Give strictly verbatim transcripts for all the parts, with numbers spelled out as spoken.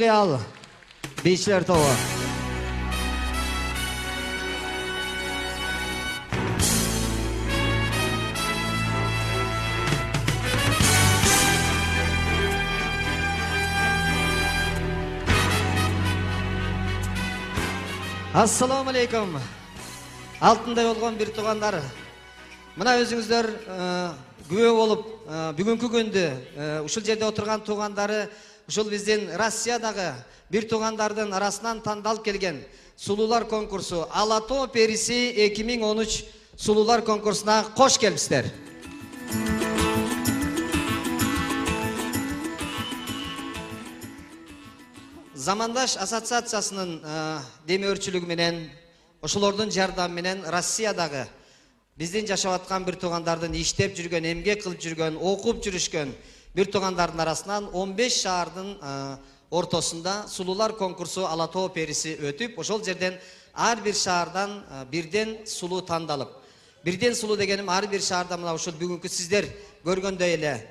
Роял бийчилер тобу. Assalamu alaikum. Алтындай болгон бир туугандар. Мына өзүңүздөр күбө болуп, бүгүнкү күндү ушул жерде отурган туугандары ушул биздин Россиядагы бир туугандардын арасынан тандалып келген сулуулар конкурсу Ала Тоо периси эки миң он үч сулуулар конкурсуна кош келипсиздер. Замандаш ассоциациясынын демөөрчүлүгү менен, ошолордун жардамы менен Россиядагы биздин жашап аткан бир туугандардын иштеп жүргөн, эмгек кылып жүргөн, окуп жүрүшкөн бир туугандардын арасынан он беш шаардын ортосунда сулуулар конкурсу Ала Тоо периси өтүп, ошол жерден ар бир шаардан бирден сулуу тандалып, бирден сулуу дегеним ар бир шаарда мына ушул бүгүнкү сиздер көргөндөй эле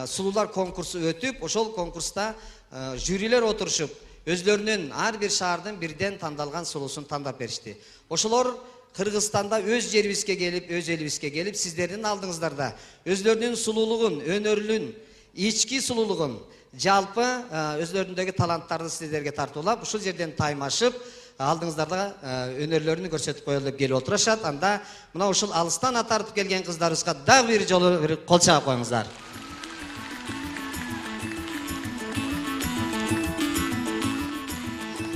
сулуулар конкурсу өтүп, ошол конкурста жюрилер отурушуп, өзлөрүнүн ар бир шаардын бирден тандалган сулуусун тандап беришти. Ошолор Кыргызстанда өз жерибизге келип, өз элибизге келип, сиздердин алдыңыздарда өзлөрүнүн сулуулугун, өнөрлүн, ички сулуулугун, жалпы өзлөрүндөгү таланттарды сиздерге тартуулап, ушул жерден таймашып, алдыңыздарда өнөрлөрүн көрсөтүп коелу деп келип отурушат. Анда мына ушул алыстан ат тартып келген кыздарыбызга дагы бир жолу бир кол чаап коюңуздар.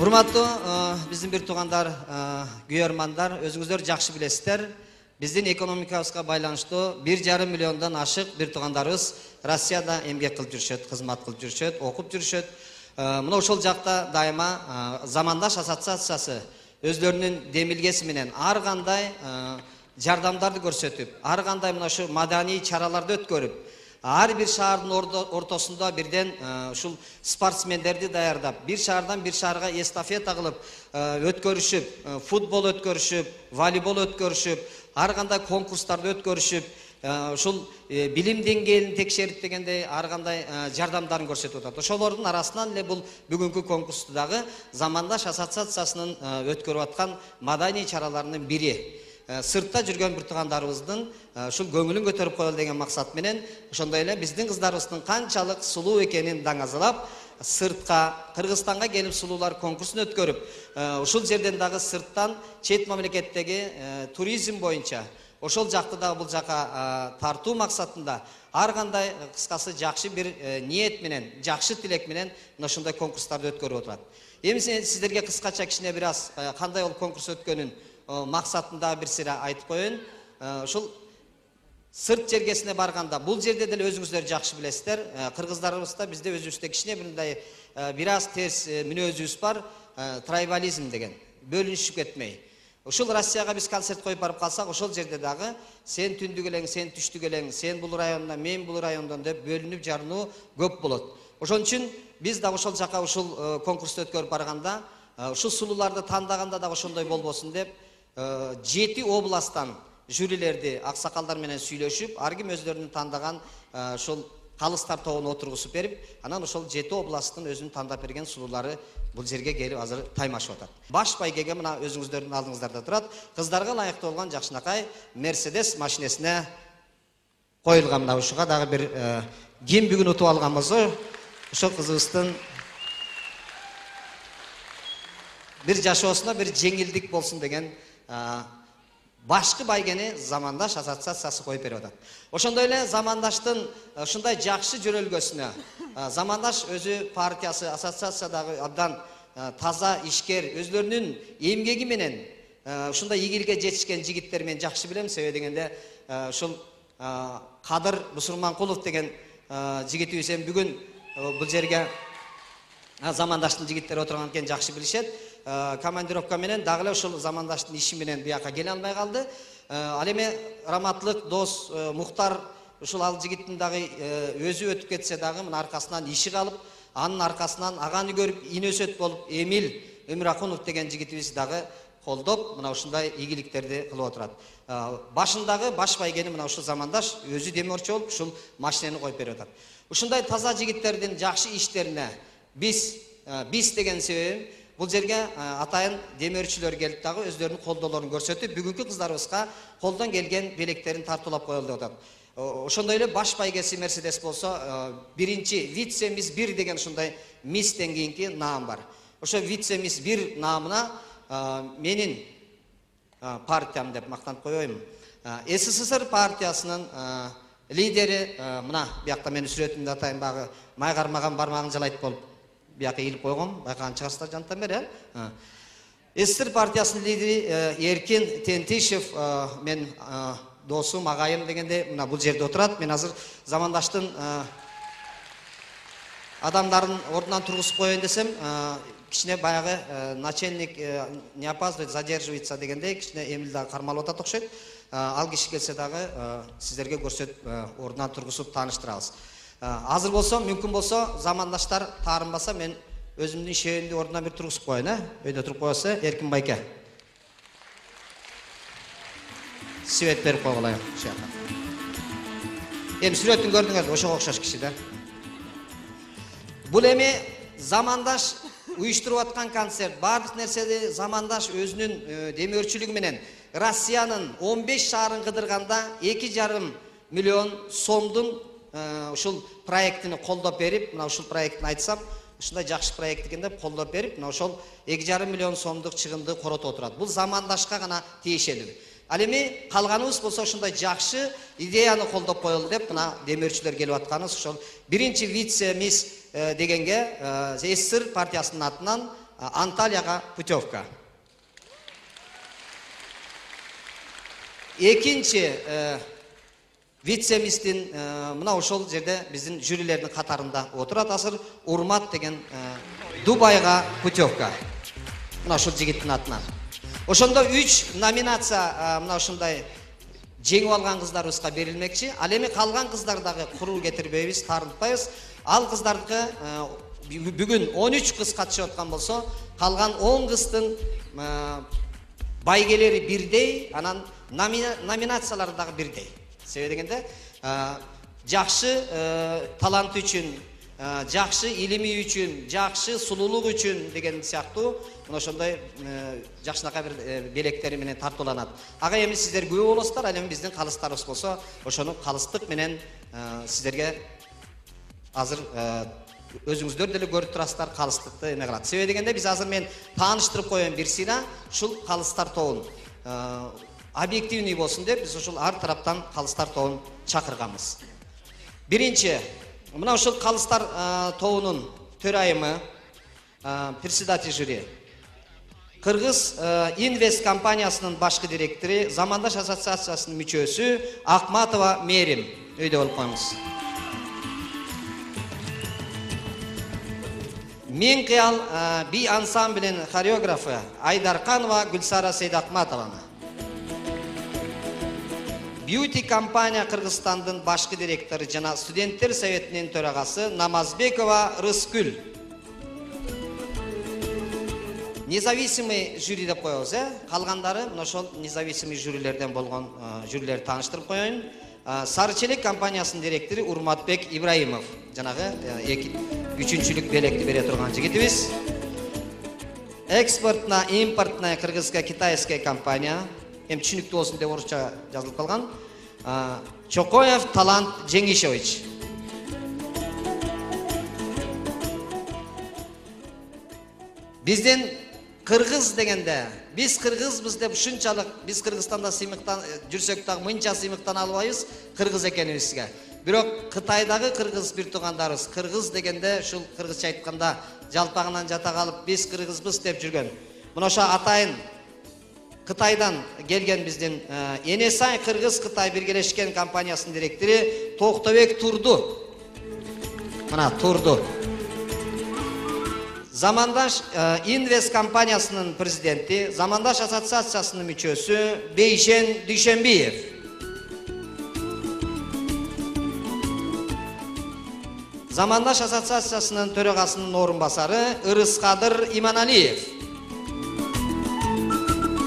Урматтуу биздин бир туугандар, күйөрмандар, өзүңүздөр жакшы билесиздер, биздин экономикабызга байланыштуу бир жарым миллиондон ашык бир туугандарыбыз Россияда эмгек кылып жүрүшөт, кызмат кылып жүрүшөт, окуп жүрүшөт. Мына ошол жакта дайыма Замандаш ассоциациясы өзлөрүнүн демилгеси менен ар кандай жардамдарды көрсөтүп, ар кандай мына ушу маданий чараларды өткөрүп, ар бир шаардын ортосунда бирден ушул спортсмендерди даярдап, бир шаардан бир шаарга эстафета кылып өткөрүшүп, футбол өткөрүшүп, волейбол өткөрүшүп, ар кандай конкурстарды өткөрүшүп, ушул билим деңгээлин текшерип дегендей ар кандай жардамдарын көрсөтүп атат. Ошолордун арасынан эле бул бүгүнкү конкурсту дагы Замандаш ассоциациясынын өткөрүп аткан маданий чараларынын бири. Сыртта жүргөн бир туугандарыбыздын ушул көңүлүн көтөрүп коелу деген максат менен, ошондой эле биздин кыздарыбыздын канчалык сулуу экенин даңазалап, сыртка, Кыргызстанга келип сулуулар конкурсун өткөрүп, ушул жерден дагы сырттан чет мамлекеттеги туризм боюнча, ошол жакты дагы бул жака тартуу максатында ар кандай кыскасы жакшы бир ниет менен, жакшы тилек менен мына ушундай конкурстарды өткөрүп отурат. Эми сиздерге кыскача кичине бир аз кандай ол конкурс өткөнүн максатында бир сыйра айтып коеюн. Ушул сырт жергесине барганда, бул жерде деле өзүңүздөр жакшы билесиздер, кыргыздарыбызда бизде өзүбүздө кичине мындай бир аз терс мүнөзүбүз бар, трайбализм деген, бөлүнүшүп кетмей. Ушул Россияга биз концерт коюп барып калсак, ошол жерде дагы сен түндүк элең, сен түштүк элең, сен бул райондан, мен бул райондон деп бөлүнүп жарынуу көп болот. Ошон үчүн биз да ошол жака ушул конкурсту өткөрүп барганда, ушул сулууларды тандаганда дагы ошондой болбосун деп, жети областтан жюрилерди аксакалдар менен сүйлөшүп, ар ким өзлөрүнүн тандаган ушул калыстар тобуна отургузуп берип, анан ошол жети областтын өзүнүн тандап берген сулуулары бул жерге келип азыр таймашып атат. Баш байгеге мына өзүңүздөрдүн алдыңыздарда турат, кыздарга ылайыктуу болгон жакшынакай Мерседес машинесине коюлган. Мына ушуга дагы бир ким бүгүн утуп алганбызбы, ошол кызыбыздын бир жашоосуна бир жеңилдик болсун деген башкы байгени Замандаш ассоциациясы коюп берип атат. Ошондой эле Замандаштын ушундай жакшы жөрөлгөсүнө Замандаш өзү партиясы, ассоциациядагы абдан таза ишкер, өзлөрүнүн эмгеги менен ушундай ийгиликке жетишкен жигиттер мен жакшы билем. Себеби дегенде ушул Кадыр Бусурманкулов деген жигитибиз эми бүгүн бул жерге Замандаштын жигиттери отурган экен, жакшы билишет. Командировка менен дагы эле ушул Замандаштын иши менен бияка келе албай калды. Ал эми раматлык дос Мухтар ушул ал жигиттин дагы өзү өтүп кетсе дагы мына аркасынан иши калып, анын аркасынан аганы көрүп инөсөт болуп Эмил Өмүракунов деген жигитибиз дагы колдоп мына ушундай ийгиликтерди кылып отурат. Башындагы баш байгени мына ушул Замандаш өзү демөөрчү болуп ушул машинени коюп берип атат. Ушундай таза жигиттердин жакшы иштерине биз биз деген себебим бул жерге атайын демөөрчүлөр келип дагы өздөрүнүн колдоолорун көрсөтүп, бүгүнкү кыздарыбызга колдон келген белектерин тартуулап коелу деп атат. Ошондой эле баш байгеси Мерседес болсо, биринчи вице мисс бир деген ушундай мисстен кийинки наам бар. Ошо вице мисс бир наамына менин партиям деп мактанып коеюн. СССР партиясынын лидери мына биякта менин сүрөтүмдү атайын багы май кармаган бармагын жалайт болуп бияка ийилип койгон, байкаган чыгарсыздар жанттан бери. СССР партиясынын лидери Эркин Тентишев мен досум, агайым дегенде мына бул жерде отурат. Мен азыр замандаштын адамдарын ордунан тургузуп коеюн десем, кичине баягы начальник не опаздывает, задерживается дегенде кичине эмил дагы кармалып атат окшойт. Ал киши келсе дагы сиздерге көрсөтүп ордунан тургузуп тааныштырабыз. Азыр болсо, мүмкүн болсо, замандаштар таарынбаса мен өзүмдүн шеримди ордунан бир тургузуп коеюн, э? Өйдө туруп коесо, Эркин байке. Свет берип койгула ушака. Эми сүрөтүн көрдүңөр, ошого окшош киши да. Бул эми замандаш уюштуруп аткан концерт. Бардык нерседи замандаш өзүнүн демөөрчүлүгү менен Россиянын он беш шаарын кыдырганда эки жарым миллион сомдун ушул проектини колдоп берип, мына ушул проектин айтсам, ушундай жакшы проект экен деп колдоп берип, мына ошол эки жарым миллион сомдук чыгымды коротуп отурат. Бул замандашка гана тиешелүү. Ал эми калганыбыз болсо ушундай жакшы идеяны колдоп коелу деп мына демөөрчүлөр келип атканыбыз ошол биринчи вице мисс дегенге СССР партиясынын атынан Анталияга путевка. Экинчи вице мисстин мына ошол жерде биздин жюрилердин катарында отурат. Азыр Урмат деген Дубайга путевка. Мына ошол жигиттин атынан. Ошондо үч номинация мына ушундай жеңип алган кыздарыбызга берилмекчи. Ал эми калган кыздар дагы куруу кетирбейбиз, таарынтпайбыз. Ал кыздардыкы бүгүн он үч кыз катышып аткан болсо, калган он кыздын байгелери бирдей, анан номинациялары дагы бирдей. Себеби дегенде, жакшы таланты үчүн, жакшы илими үчүн, жакшы сулуулук үчүн деген сыяктуу мына ошондой жакшынакай бир белектери менен тартууланат. Ага эми сиздер күбө болосуздар, ал эми биздин калыстарыбыз болсо, ошону калыстык менен сиздерге азыр өзүңүздөр деле көрүп турасыздар, калыстыкты эме кылат. Себеби дегенде биз азыр мен тааныштырып коеюн бир сыйра ушул калыстар тобун объективный болсун деп биз ушул ар тараптан калыстар тобун чакырганбыз. Биринчи, мына ушул калыстар тобунун төрайымы, председатель жюри, Кыргыз Инвест компаниясынын башкы директору, Замандаш ассоциациясынын мүчөсү Акматова Мерим. Өйдө болуп коюңуз. Мен кыял би ансамблинин хореографы Айдарканова Гүлсара Сейдакматованы. Beauty компания Кыргызстандын башкы директору жана студенттер советинин төрагасы Намазбекова Рыскүл. Независимый жюри деп коебуз, э? Калгандары мына ошол независимый жюрилерден болгон жюрилерди тааныштырып коеюн. Сарычелек компаниясынын директору Урматбек Ибраимов, жанагы үчүнчүлүк белекти бере турган жигитибиз. Экспортная, импортная кыргызско-китайская компания, эми түшүнүктүү болсун деп орусча жазылып калган. Чокоев Талант Жеңишевич. Биздин кыргыз дегенде, биз кыргызбыз деп ушунчалык биз Кыргызстанда сыймыктан жүрсөк дагы мынча сыймыктан албайбыз кыргыз экенибизге. Бирок Кытайдагы кыргыз бир туугандарыбыз кыргыз дегенде ушул кыргызча айтканда жалпагынан жата калып биз кыргызбыз деп жүргөн. Мына ошо атайын Кытайдан келген биздин Энесай Кыргыз-Кытай биргелешкен компаниясынын директору Токтобек Турду. Мына Турду. Замандаш Инвест компаниясынын президенти, Замандаш ассоциациясынын мүчөсү Бейшен Дүйшенбиев. Замандаш ассоциациясынын төрагасынын орун басары Ырыскадыр Иманалиев.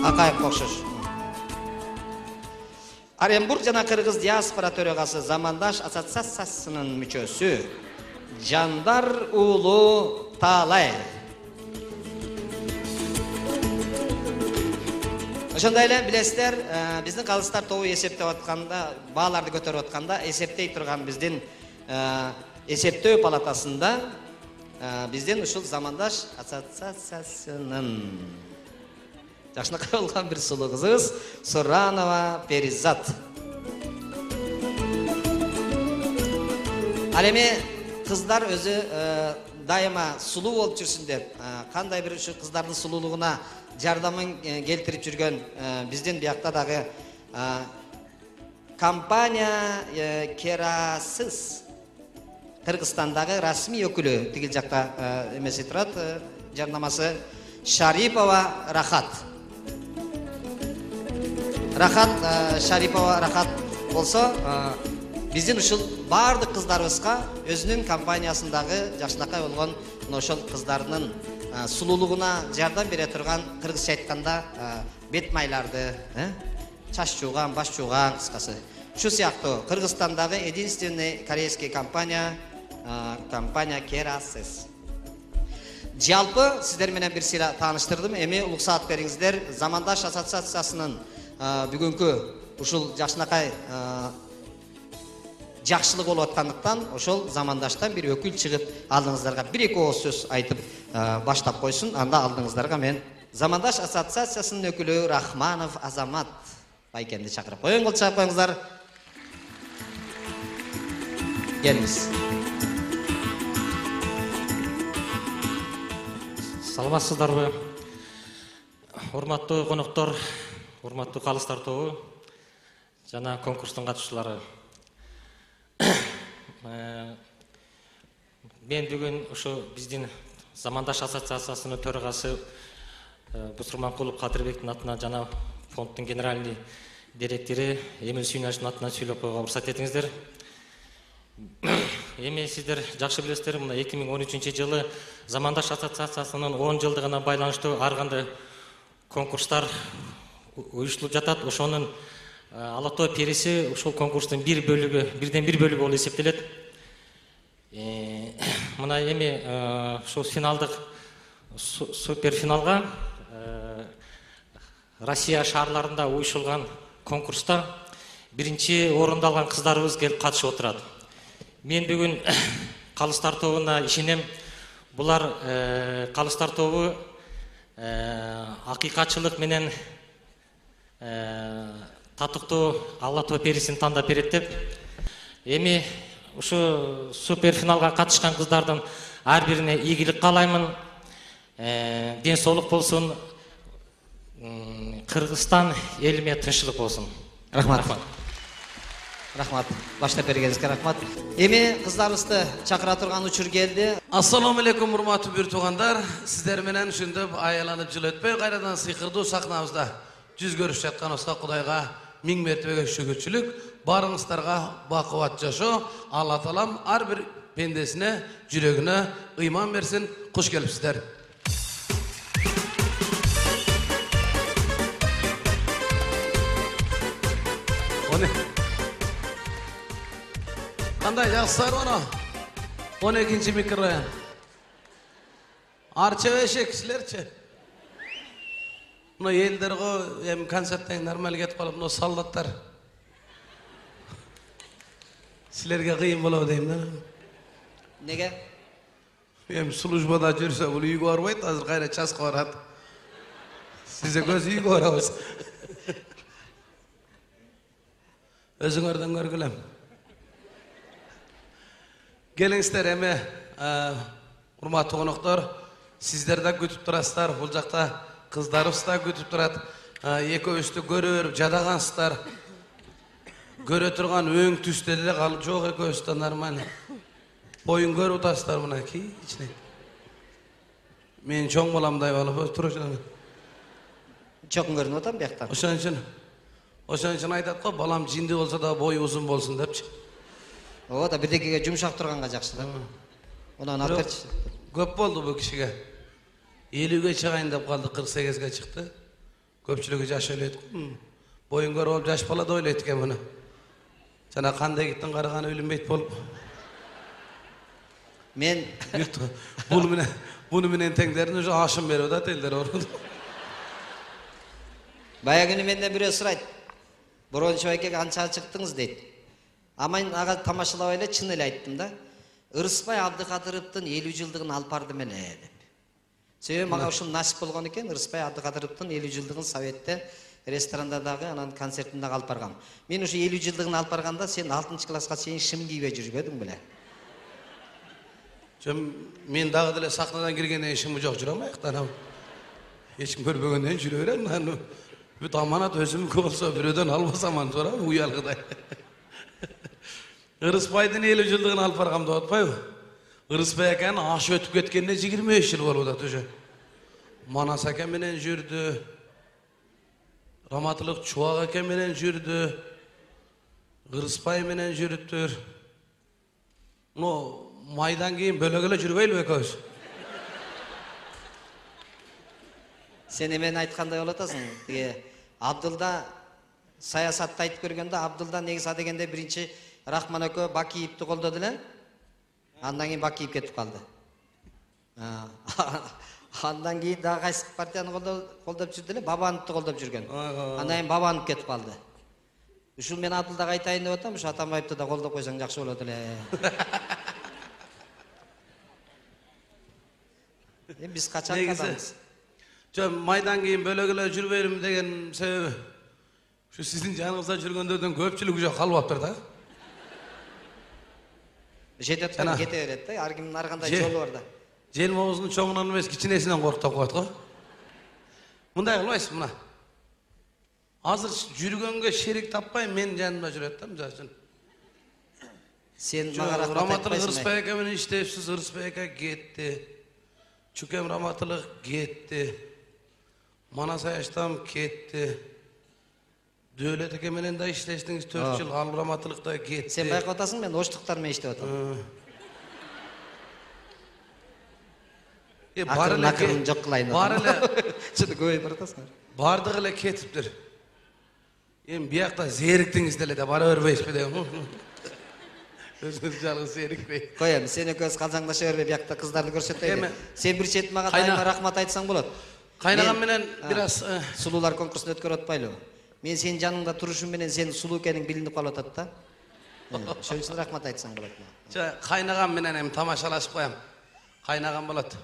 Акаев окшош. Оренбург жана Кыргыз диаспора төрагасы Замандаш ассоциациясынын мүчөсү Жандар уулу талай. Ошондой эле билесиздер, биздин калыстар тобу эсептеп атканда, бааларды көтөрүп атканда, эсептей турган биздин эсептөө палатасында биздин ушул Замандаш ассоциациясынын жакшынакай болгон бир сулуу кызыбыз Суранова Перизат. Ал эми кыздар өзү дайыма сулуу болуп жүрсүн деп, кандай бир ушу кыздардын сулуулугуна жардамын келтирип жүргөн биздин биякта дагы компания Керасыз Кыргызстандагы расмий өкүлү тигил жакта эмеси турат, жарнамасы Шарипова Рахат. Рахат Шарипова Рахат болсо, биздин ушул баардык кыздарыбызга өзүнүн компаниясындагы жакшынакай болгон ошол кыздардын сулуулугуна жардам бере турган, кыргызча айтканда бет майларды, чач жууган, баш жууган, кыскасы. Шу сыяктуу Кыргызстандагы единственный корейский компания компания Керасыз. Жалпы сиздер менен бир сыйра тааныштырдым. Эми улуксаат бериңиздер. Замандаш ассоциациясынын бүгүнкү ушул жакшынакай жакшылык болуп аткандыктан ошол Замандаштан бир өкүл чыгып, алдыңыздарга бир эки ооз сөз айтып баштап койсун. Анда алдыңыздарга мен Замандаш ассоциациясынын өкүлү Рахманов Азамат байкемди чакырып коеюн. Кол чаап коюңуздар. Келиңиз. Саламатсыздарбы? Урматтуу коноктор, урматтуу калыстар тобу жана конкурстун катышчылары. Мен бүгүн ушу биздин Замандаш ассоциациясынын төрагасы Бусурманкулов Кадырбектин атынан жана фонддун генеральный директори Эмил Сүйүнашевдин атынан сүйлөп койгонго уруксат этиңиздер. Эми сиздер жакшы билесиздер, мына эки миң он үчүнчү жылы Замандаш ассоциациясынын он жылдыгына байланыштуу ар кандай конкурстар уюштурулуп жатат. Ошонун Ала тоо периси ушул конкурстун бир бөлүгү, бирден бир бөлүгү болуп эсептелет. Мына эми ушул финалдык супер финалга Россия шаарларында уюштурулган конкурста биринчи орунду алган кыздарыбыз келип катышып отурат. Мен бүгүн калыстар тобуна ишенем. Булар калыстар тобу акыйкатчылык менен татыктуу Ала тоо перисин тандап берет деп. Эми ушу супер финалга катышкан кыздардын ар бирине ийгилик каалаймын. Ден соолук болсун. Кыргызстан элиме тынччылык болсун. Рахмат. Рахмат. Баштап бергениңизге рахмат. Эми кыздарыбызды чакыра турган учур келди. Ассаламу алейкум, урматтуу бир туугандар. Сиздер менен ушинтип аяланып жыл өтпөй кайрадан сыйкырдуу сахнабызда жүз көрүшүп жатканыбызга Кудайга миң мертебеге шүгүрчүлүк, барыңыздарга бакубат жашоо, Алла таалам ар бир пендесине, жүрөгүнө ыйман берсин. Куш келипсиздер. Кандай жакшысыздар оны? он экинчи микрорайон. Арча эшек силерчи? Мына элдер го эми концерттен нормаль кетип калып, мына солдаттар. Силерге кыйын болобу дейм да. Неге? Эми службада жүрсө бул үйгө барбайт, азыр кайра часка барат. Сиз экөөбүз үйгө барабыз. Өзүңөрдөн көргүлөм. Келиңиздер эми, урматтуу коноктор, сиздер да күтүп турасыздар. Бул жакта кыздарыбыз да күтүп турат. Экөөбүздү көрө берип жадагансыздар. Көрө турган өң түстө деле калып жок, экөөбүз да нормально. Боюн көрүп атасыздар мына кичине. Мен чоң баламдай болуп турушам. Чоң көрүнүп атам биякта. Ошон үчүн Ошон үчүн айтат го, балам жинди болсо да бою узун болсун депчи. О да бирдекеге жумшак турганга жакшы да. Онан алып берчи. Көп болду бул кишиге. элүүгө чыгайын деп калды, кырк сегизге чыкты. Көпчүлүгү жаш ойлойт. Боюн көрүп алып жаш бала да ойлойт экен муну. Жана кандай киттин караганы билинбейт болуп. Мен Bunu menен bunu menен теңдерин уже ашым берип атат элдер. Баягы күнү менден бирөө сурайт. Борончу байке канча чыктыңыз дейт. А мен ага тамашалап эле чын эле айттым да. Ырысбай Абдыкадыровдун элүү жылдыгын алып бардым эле деп. Себеби мага ушул насип болгон экен, Ырысбай Абдыкадыровдун элүү жылдыгын Советте ресторанда дагы, анан концертинде алып баргам. Мен ушу элүү жылдыгын алып барганда сен алтынчы класска чейин шым кийбей жүрбөдүң беле? Жөн мен дагы деле сахнадан киргенден ишим жок жүрөм аяктан. Эч ким көрбөгөндөн жүрө берем. Анан бүт аманат өзүмдүкү болсо бирөөдөн албасам антура уялгыдай. Ырысбайдын элүү жылдыгын алып баргам деп атпайбы? Ырысбай аканын аш өтүп кеткенине жыйырма беш жыл болуп атат уже. Манас ака менен жүрдү. Раматылык Чубак ака менен жүрдү. Ырысбай менен жүрүптүр. Но майдан кийин бөлөк эле жүрбөйлүбү экөөбүз? Сен эмени айткандай болуп атасың. Тиги Абдылда саясатты айтып көргөндө Абдылда негизи дегенде биринчи Рахман экөө Бакиевди колдоду эле. Андан кийин Бакиев кетип калды. Андан кийин дагы кайсы партияны колдоп жүрдү эле? Бабановду колдоп жүргөн. Андан кийин Бабанов кетип калды. Ушул мен Абдылдага айтайын деп атам, ушу Атамбаевди да колдоп койсоң жакшы болот эле. Эми биз качан кадамыз? Жөн майдан кийин бөлөк эле жүрбөйм деген себеби ушу сиздин жаныңызда жүргөндөрдүн көпчүлүгү жок калып атыптыр да. Жетет аткан кете берет да, ар кимдин ар кандай жолу бар да. Желмобуздун чоңунан эмес, кичинесинен корктоп коет го. Мындай кылбайсыз мына. Азыр жүргөнгө шерик таппай мен жанымда жүрөт да, мисалы үчүн. Сен мага рахмат Раматылык айтпайсың. Ырысбай ака менен иштепсиз, Ырысбай ака кетти. Чүкем Раматылык кетти. Манас Аяштам кетти. Дөөлөт ака менен да иштештиңиз төрт жыл, ал Раматылык да кетти. Сен байкап атасың, мен оштуктар менен иштеп атам. Э бар эле акырын жок кылайын. Бар эле чыды көбөйүп баратасың. Бардыгы эле кетиптир. Эми биякта зериктиңиз деле да бара бербейсизби дейм. Өзүңүз жалгыз зерикпей. Коем, сен экөөбүз калжаңдаша бербей биякта кыздарды көрсөтөйлү. Сен бир чет мага Кайна- дайыма рахмат айтсаң болот. Кайнагам менен бир аз Сулуулар конкурсун өткөрүп атпайлыбы? Мен сенин жаныңда турушум менен сен сулуу экениң билинип калып атат да. Ошон үчүн рахмат айтсаң болот. Жа кайнагам менен эми тамашалашып коям. Кайнагам болот.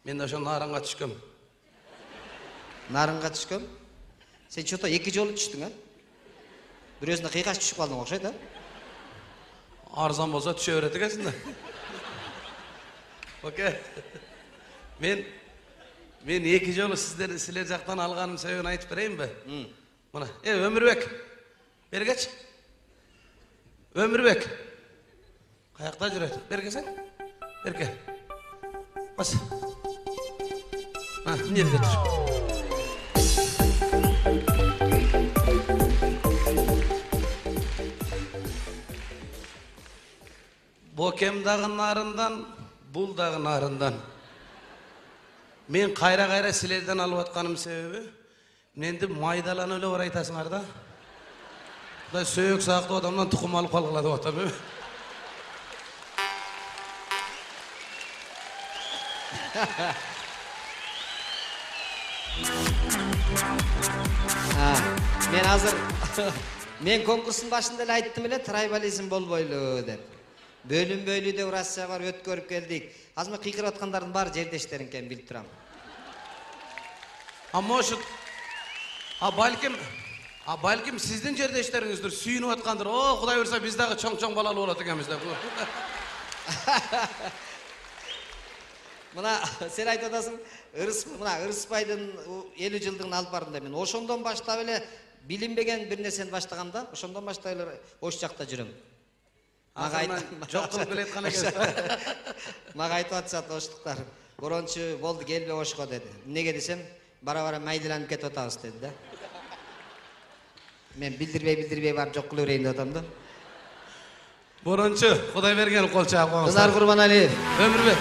Мен да ошо нарынга түшкөм. Нарынга түшкөм. Сен чото эки жолу түштүң, а? Бирөөсүндө кыйкаш түшүп калдың окшойт, а? Арзан болсо түшө берет экенсиң да. Окей. Мен мен эки жолу сиздер силер жактан алганым себебин айтып берейинби? Мына, э Өмүрбек. Бергечи. Өмүрбек. Каякта жүрөт? Бергесең? Берге. Бас. А, эмне тур? Бокем дагы нарындан, бул дагы нарындан. Мен кайра-кайра силерден алып атканым себеби, менди майдаланып эле бар айтасыңар да. Мындай сөөк сактуу адамдан тукум алып калгыла деп атам. Мен азыр мен конкурстун башында эле айттым эле, трайбализм болбойлу деп. Бөлүнбөйлү деп Россияга барып өткөрүп келдик. Азыр мен кыйкырып аткандардын баары жердештериң экенин билип турам. А может, а балким, а балким сиздин жердештериңиздир, сүйүнүп аткандыр. О, Кудай буйрса биз дагы чоң-чоң балалуу болот экенбиз деп. Мына сен айтып атасың, Ырыс, мына Ырысбайдын элүү жылдыгын алып бардым деп. Мен ошондон баштап эле билинбеген бир нерсени баштагам да, ошондон баштап эле ош жакта жүрөм. Мага айтып жок кылып келеткан экенсиз. Мага айтып атышат оштуктар. Борончу болду келбе ошко деди. Эмнеге десем, бара-бара майдаланып кетип атабыз деди да. Мен билдирбей билдирбей барып жок кыла берейин деп атам да. Борончу Кудай берген кол чаап коңуз. Кызар Курбаналиев. Өмүрбек.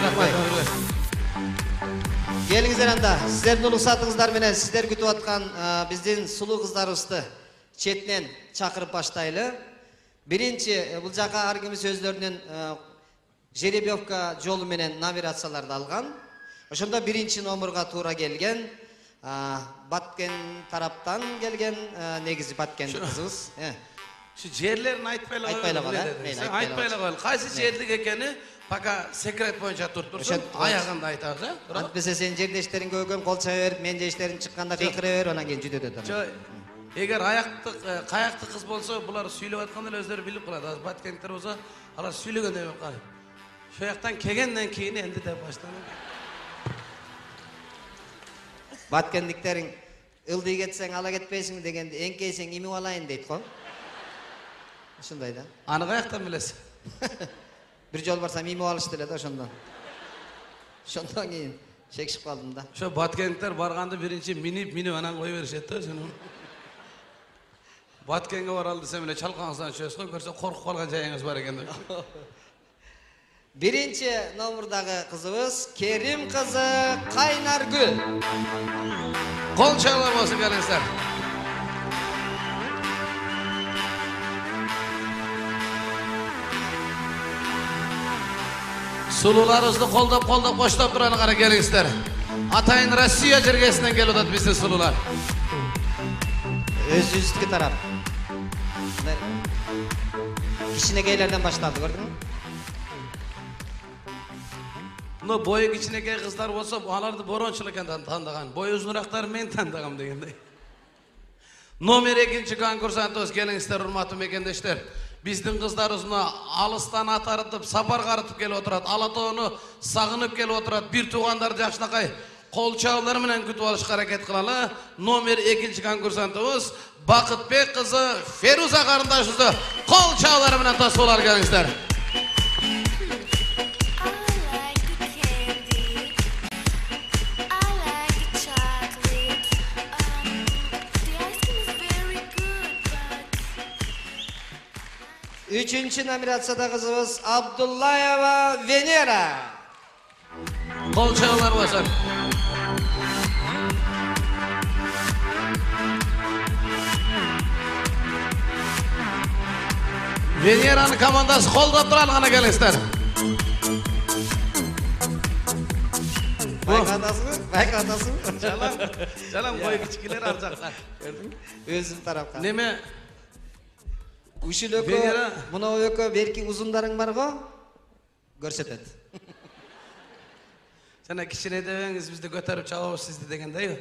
Рахмат Өмүрбек. Келиңиздер анда. Сиздердин улуксатыңыздар менен сиздер күтүп аткан биздин сулуу кыздарыбызды четинен чакырып баштайлы. Биринчи бул жака ар кимиз өздөрүнүн жеребьевка жолу менен номинацияларды алган. Ошондо биринчи номурга туура келген. Баткен тараптан келген негизи Баткен кызыбыз. Şu жерлерин айтпай эле Айтпай эле коелу. Айтпай эле коелу. Кайсы жерлик экени пока секрет боюнча туруп турсун. Аягында айтабыз, э? Антпесе сен жердештериң көйгөн кол чаба берип, мен жештерим чыкканда кыйкыра берип, анан кийин жүдөт атам. Жок. Эгер аяктык, каяктык кыз болсо, булар сүйлөп атканда эле өздөрү билип калат. Азыр Баткендер болсо, алар сүйлөгөндөй болуп калат. Şu жактан келгенден кийин энди деп баштанат. Баткендиктериң ылдый кетсең ала кетпейсиңби дегенде, эңкейсең имип алайын дейт го. Ушундай да. Аны каяктан билесиң? Бир жол барсам имип алышты эле да ошондон. Ошондон кийин шекишип калдым да. Ошо Баткендер барганда биринчи минип, минип анан кой беришет да, ошону. Баткенге баралы десем эле чалкаңыздан чөйсүз го, көрсө коркуп калган жайыңыз бар экен деп. Биринчи номурдагы кызыбыз Керим кызы Кайнаргүл. Кол чалар болсун келиңиздер. Сулууларыбызды колдоп-колдоп коштоп турганы кара келиңиздер. Атайын Россия жергесинен келип атат биздин сулуулар. Өзүбүздүкү тарап. Кичинекейлерден башталды, көрдүңбү? Но бою кичинекей кыздар болсо, аларды борончул экен тандаган. Бою узунурактар мен тандагам дегендей. Номер экинчи конкурсантыбыз келиңиздер, урматтуу мекендештер. Биздин кыздарыбызны алыстан атарытып, сапар карытып келип отурат. Алатоону сагынып келип отурат. Бир туугандар жакшынакай кол чабуулар менен күтүп алышка аракет кылалы. Номер экинчи конкурсантыбыз Бакытбек кызы Феруза карындашыбызды кол чабуулар менен тосуп алалы келиңиздер. Üçüncü номинацияда кызыбыз Абдуллаева Венера. Кол чабуулар болсун. Венеранын командасы колдоп туралы гана келиңиздер. Байкадасыңбы? Байкадасыңбы? Жалам, жалам бой кичикелер ал жакта. Көрдүңбү? Өзүм тарапка. Неме? Ушул өкө, мына өкө берки узундарың бар го? Көрсөтөт. Жана кичине дебеңиз бизди көтөрүп чабабыз сизди дегендей.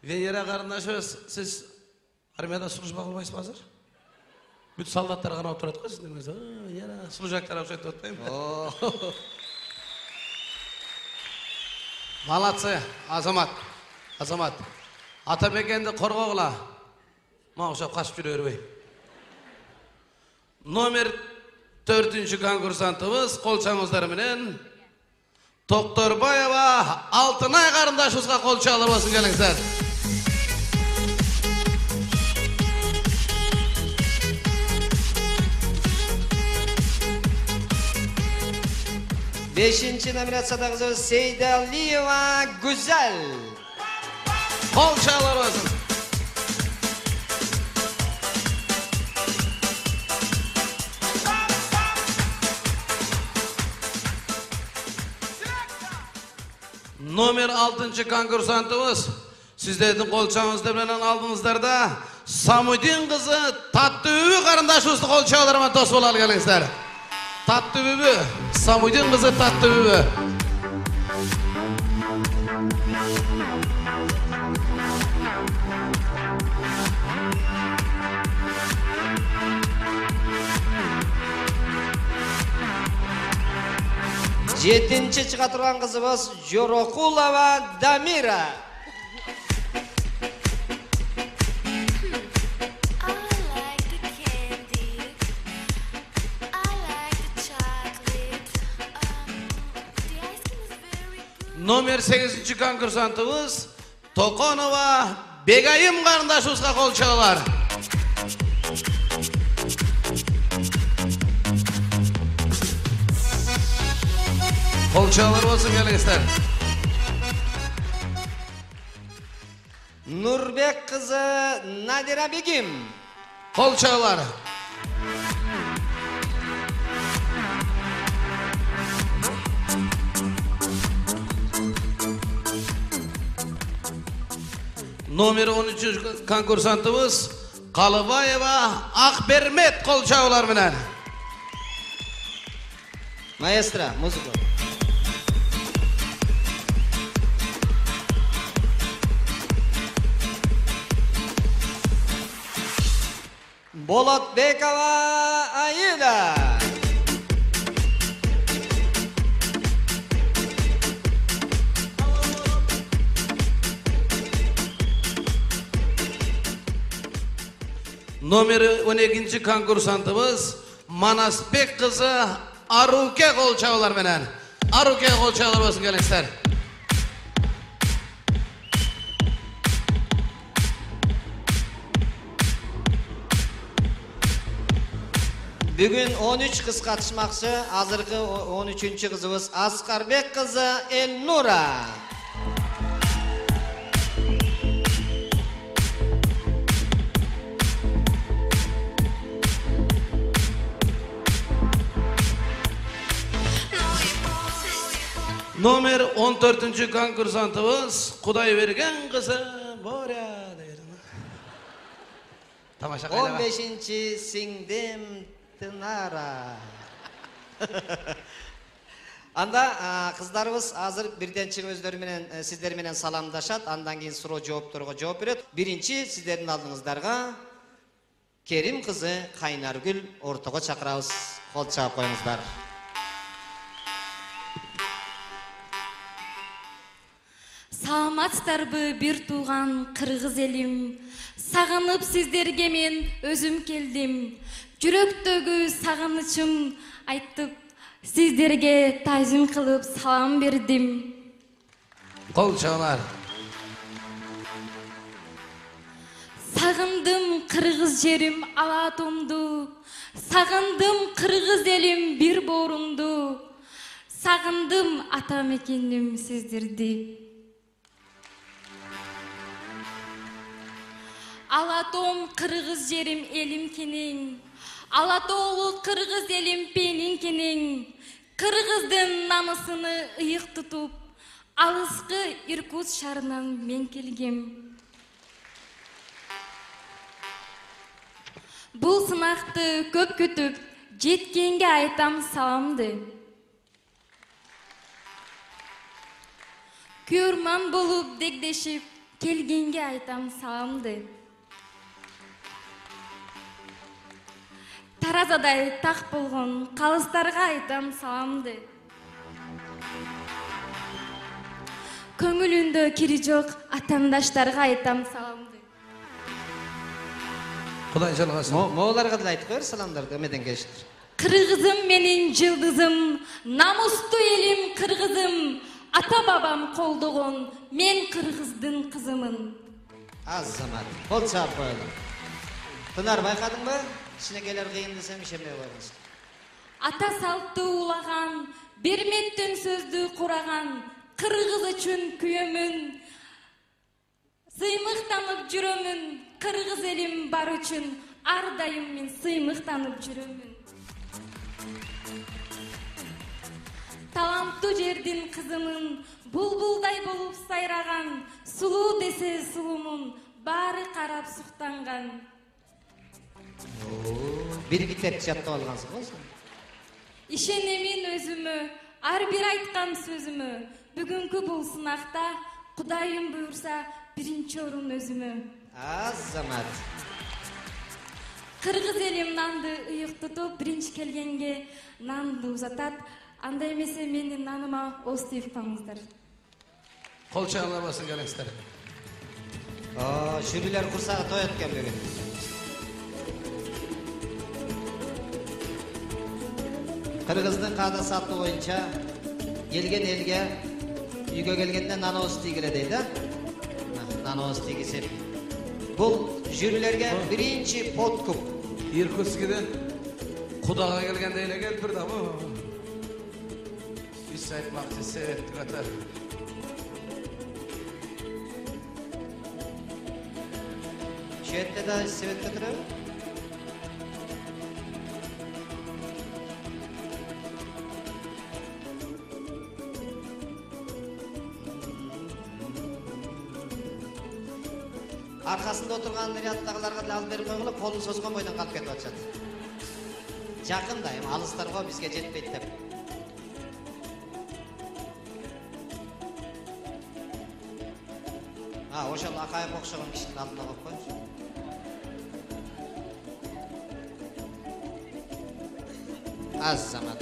Венера карындашыбыз, сиз армияда служба кылбайсызбы азыр? Бүт солдаттар карап турат го сиздин өзү. Венера служактар окшоп атпайбы? Молодцы, Азамат. Азамат. Ата мекенди коргогула. Мага окшоп качып жүрө бербей. Номер төртүнчү конкурсантыбыз кол чабуулар менен Токторбаева Алтынай карындашыбызга кол чабуулар болсун келиңиздер. Бешинчи номинацияда кызыбыз Сейдалиева Гүзел. Кол чабуулар болсун. Номер алтынчы конкурсантыбыз сиздердин кол чабууларыңызды менен алдыңыздарда Самудин кызы Таттыбүбү карындашыбызды кол чабуулар менен тосуп алалы келиңиздер. Таттыбүбү, Самудин кызы Таттыбүбү. Жетинчи чыга турган кызыбыз Жорокулова Дамира. Номер сегизинчи конкурсантыбыз Токонова Бегайым карындашыбызга кол чабуулар. Кол чабуулар болсун келиңиздер. Нурбек кызы Надира Бегим. Кол чабуулар. Номер он үчүнчү конкурсантыбыз Калыбаева Акбермет кол чабуулар менен. Маэстро, музыка. Болотбекова Аида. Номер он экинчи конкурсантыбыз Манасбек кызы Аруке кол чабуулар менен. Аруке кол чабуулар болсун келиңиздер. Бүгүн он үч кыз катышмакчы. Азыркы он үчүнчү кызыбыз Аскарбек кызы Элнура. Номер он төртүнчү конкурсантыбыз Кудайберген кызы Боря. Тамаша кайда? он бешинчи сиңдим Тынара. Анда кыздарыбыз азыр бирден чыгып өздөрү менен сиздер менен саламдашат, андан кийин суроо жоопторго жооп берет. Биринчи сиздердин алдыңыздарга Керим кызы Кайнаргүл ортого чакырабыз. Кол чаап коюңуздар. Саламатсыздарбы бир тууган кыргыз элим? Сагынып сиздерге мен өзүм келдим. Жүрөктөгү сагынычым айтып, сиздерге тазим кылып салам бердим. Кол чабуулар. Сагындым кыргыз жерим ала атомду. Сагындым кыргыз элим бир боорумду. Сагындым ата мекеним сиздерди. Алатом кыргыз жерим элим кенең. Алатоолу кыргыз элим пенин кенең. Кыргыздын намысыны ыйык тутуп, алыскы Иркутск шаарынан мен келгем. Бул сынакты көп күтүп, жеткенге айтам саламды. Көрман болуп дегдешип, келгенге айтам саламды. Таразадай так болгон калыстарга айтам саламды. Көңүлүндө кири жок атандаштарга айтам саламды. Кудай жалгасын. Мооларга да айтып коер саламдарды эмеден келиштир. Кыргызым менин жылдызым, намустуу элим кыргызым, ата бабам колдогон, мен кыргыздын кызымын. Азамат, кол чаап коелу. Тынар, байкадыңбы? Кичинекейлер кыйын десем ишенбей койгонсуң. Ата салтты улаган, берметтен сөздү кураган, кыргыз үчүн күйөмүн. Сыймыктанып жүрөмүн, кыргыз элим бар үчүн, ар дайым мен сыймыктанып жүрөмүн. Таланттуу жердин кызымын, булбулдай болуп сайраган, сулуу десе сулумун, баары карап суктанган. Бир китеп жаттап алгансың го сен? Ишенемин өзүмө, ар бир айткан сөзүмө. Бүгүнкү бул сынакта Кудайым буйрса биринчи орун өзүмө. Азамат. Кыргыз элим нанды ыйык тутуп, биринчи келгенге нанды узатат. Андай эмесе менин наныма оз тийип калыңыздар. Кол чабуулар болсун келиңиздер. О, жюрилер курсагы тоет экен бүгүн. Кыргыздын каада саты боюнча келген элге үйгө келгенде нанооз тийгиле дейт, а? Нанооз тийгизип. Бул жюрилерге биринчи подкуп. Иркутскиден Кудага келгенде эле келип турду бу. Биз айтмакчы Советтик ата. Шетте да Советке турабы? аркасында отурган ряддагыларга деле алып берип койгула, колун созгон бойдон калып кетип атышат. Жакын да, эми алыстарга бизге жетпейт деп. А, ошол Акаев окшогон кишинин алдына коюп коюңуз. Az zaman.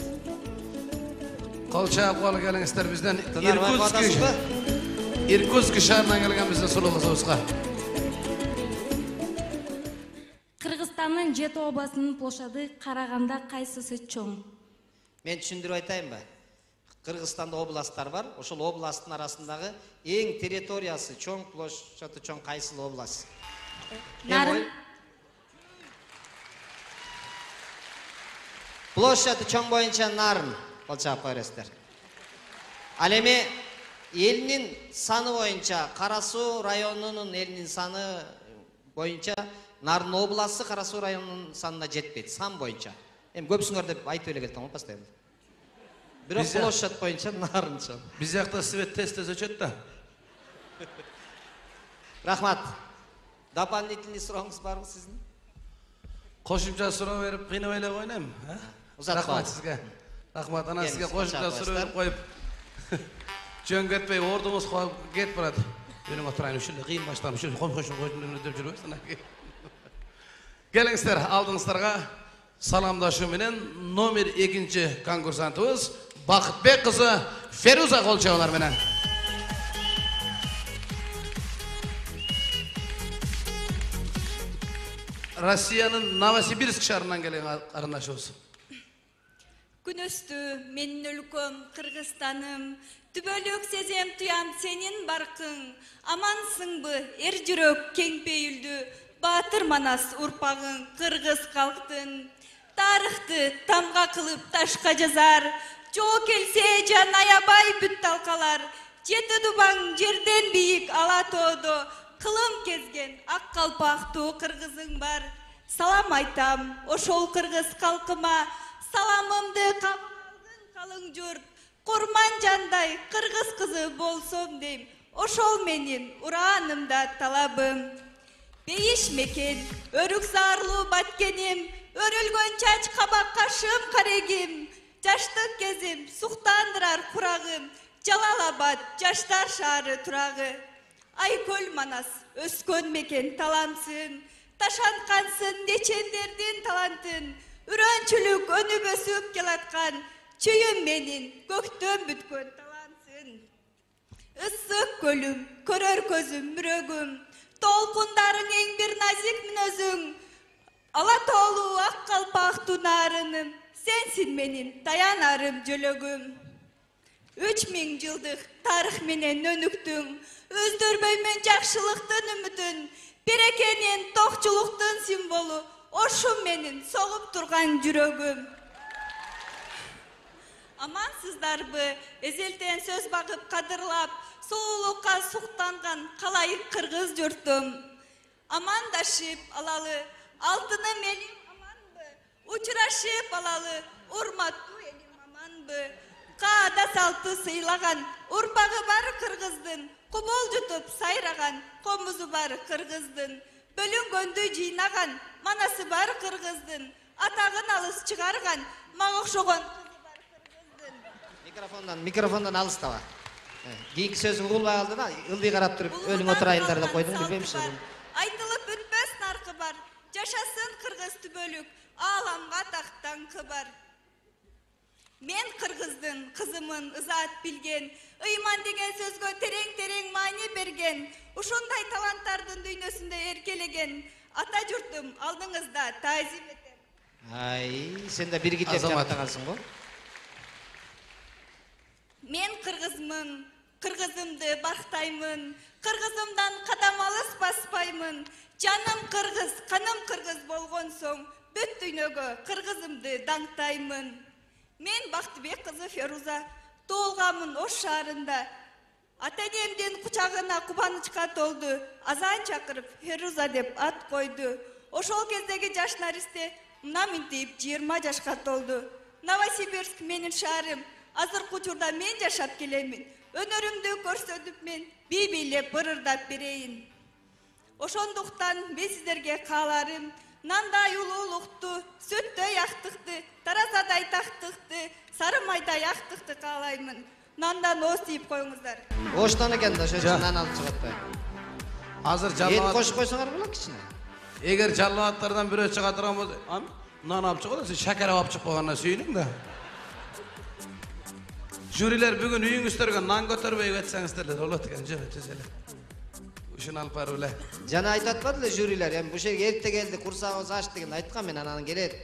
Колча абгалы келиңиздер бизден Тынарбай катасызбы? Иркутск шаарынан келген биздин сулуу кызыбызга. Кыргызстандын жети областынын площади караганда кайсысы чоң? Мен түшүндүрүп айтайынбы? Кыргызстанда областтар бар. Ошол областтын арасындагы эң территориясы чоң, площади чоң кайсы область? Нарын. Площади чоң боюнча Нарын болчап койростор. Ал эми элинин саны боюнча Кара Суу районунун элинин саны боюнча Нарын областы Кара Суу районунун санына жетпейт, сан боюнча. Эми көпсүңөр деп айтып эле келдим го постоянно. Бирок площадь боюнча Нарын чоң. Биз жакта свет тест өчөт да. Рахмат. Дополнительный сурооңуз барбы сиздин? Кошумча суроо берип кыйнап эле койнойм, а? Рахмат сизге. Рахмат, ана сизге кошумча суроо берип коюп. Жөн кетпей ордуңуз кетип барат. Менин отурайын ушул кыйын баштам, ушул ком кошум кошум деп жүрбөйсүң. Келиңиздер, алдыңыздарга саламдашуу менен номер экинчи конкурсантыбыз Бакытбек кызы Феруза Колчабалар менен. Россиянын Новосибирск шаарынан келген карындашыбыз. Күн өстү менин өлкөм Кыргызстаным, түбөлүк сезем туям сенин баркың, амансыңбы эр жүрөк кең пейилдүү, Батыр Манас урпагың кыргыз калктын, тарыхты тамга кылып ташка жазар, жоо келсе жан аябай бүт талкалар, жети дубаң жерден бийик ала тоодо, кылым кезген ак калпактуу кыргызың бар. Салам айтам ошол кыргыз калкыма, саламымды кабыл алгын калың журт, курман жандай кыргыз кызы болсом дейм, ошол менин ураанымда талабым. Бейиш мекен өрүк заарлуу баткеним, өрүлгөн чач кабак кашым карегим, жаштык кезим суктандырар курагым, Жалалабад жаштар шаары турагы. Айкөл Манас өскөн мекен таламсын, ташанткансың нечендердин талантын, үрөнчүлүк өнүп өсүп келаткан, чүйүм менин көктөн бүткөн талантсын. Ыссык көлүм, көрөр көзүм, мүрөгүм, толкундарың эң бир назик мүнөзүң, ала тоолуу ак калпактуу нарыным, сенсин менин таянарым жөлөгүм. Үч миң жылдык тарых менен өнүктүң, өздөрбөймөн жакшылыктын үмүтүн, берекенин токчулуктун символу, ошум менин согуп турган жүрөгүм. Амансыздарбы, эзелтен сөз багып кадырлап, сулуулукка суктанган калайык кыргыз журтум. Амандашып алалы, алтыным элим аманбы, учурашып алалы, урматтуу элим аманбы. Каада салты сыйлаган, урпагы бар кыргыздын, кубул жутуп сайраган, комузу бар кыргыздын, бөлүнгөндү жыйнаган, манасы бар кыргыздын, атагын алыс чыгарган, мага окшогон кызы бар кыргыздын. Микрофондан, микрофондан алыстаба. Кийинки сөзү угулбай калды да, ылдый карап туруп өлүң отурайындар деп койдум, билбейм сизди. Айтылып бүтпөс наркы бар, жашасын кыргыз түбөлүк, ааламга тактан кыбар. Мен кыргыздын кызымын ызаат билген, ыйман деген сөзгө терең-терең маани берген, ушундай таланттардын дүйнөсүндө эркелеген, ата журтум алдыңызда таазим этем. Ай, сен да бир китеп жаттагансың го. Мен кыргызмын, кыргызымды бактаймын, кыргызымдан кадам алыс баспаймын. Жаным кыргыз, каным кыргыз болгон соң, бүт дүйнөгө кыргызымды даңктаймын. Мен Бактыбек кызы Феруза, тоолгамын Ош шаарында. Ата-энемдин кучагына кубанычка толду, азан чакырып Феруза деп ат койду. Ошол кездеги жаш наристе мына минтип жыйырма жашка толду. Новосибирск менин шаарым, азыркы учурда мен жашап келемин. Өнөрүмдү көрсөтүп мен бий бийлеп ырырдап берейин. Ошондуктан мен сиздерге кааларым нандай улуулукту, сүттөй актыкты, таразадай тактыкты, сары майдай актыкты каалаймын. Нандан ооз тийип коюңуздар. Оштон экен да, ошо нан алып чыгып атпайбы? Азыр Ет жаллабат. кошуп койсоңор болот кичине. Эгер жаллабаттардан бирөө чыга турган болсо, ам нан алып чыгып, сен шакар алып чыгып койгонуна сүйүнүң да. Жюрилер бүгүн үйүңүздөргө нан көтөрбөй кетсеңиздер эле болот экен, жөн түз эле. Ушуну алып барып эле. Жана айтып атпады эле жюрилер, эми бул жерге эрте келди, курсагыбыз ачты деген айткам мен, анан келет.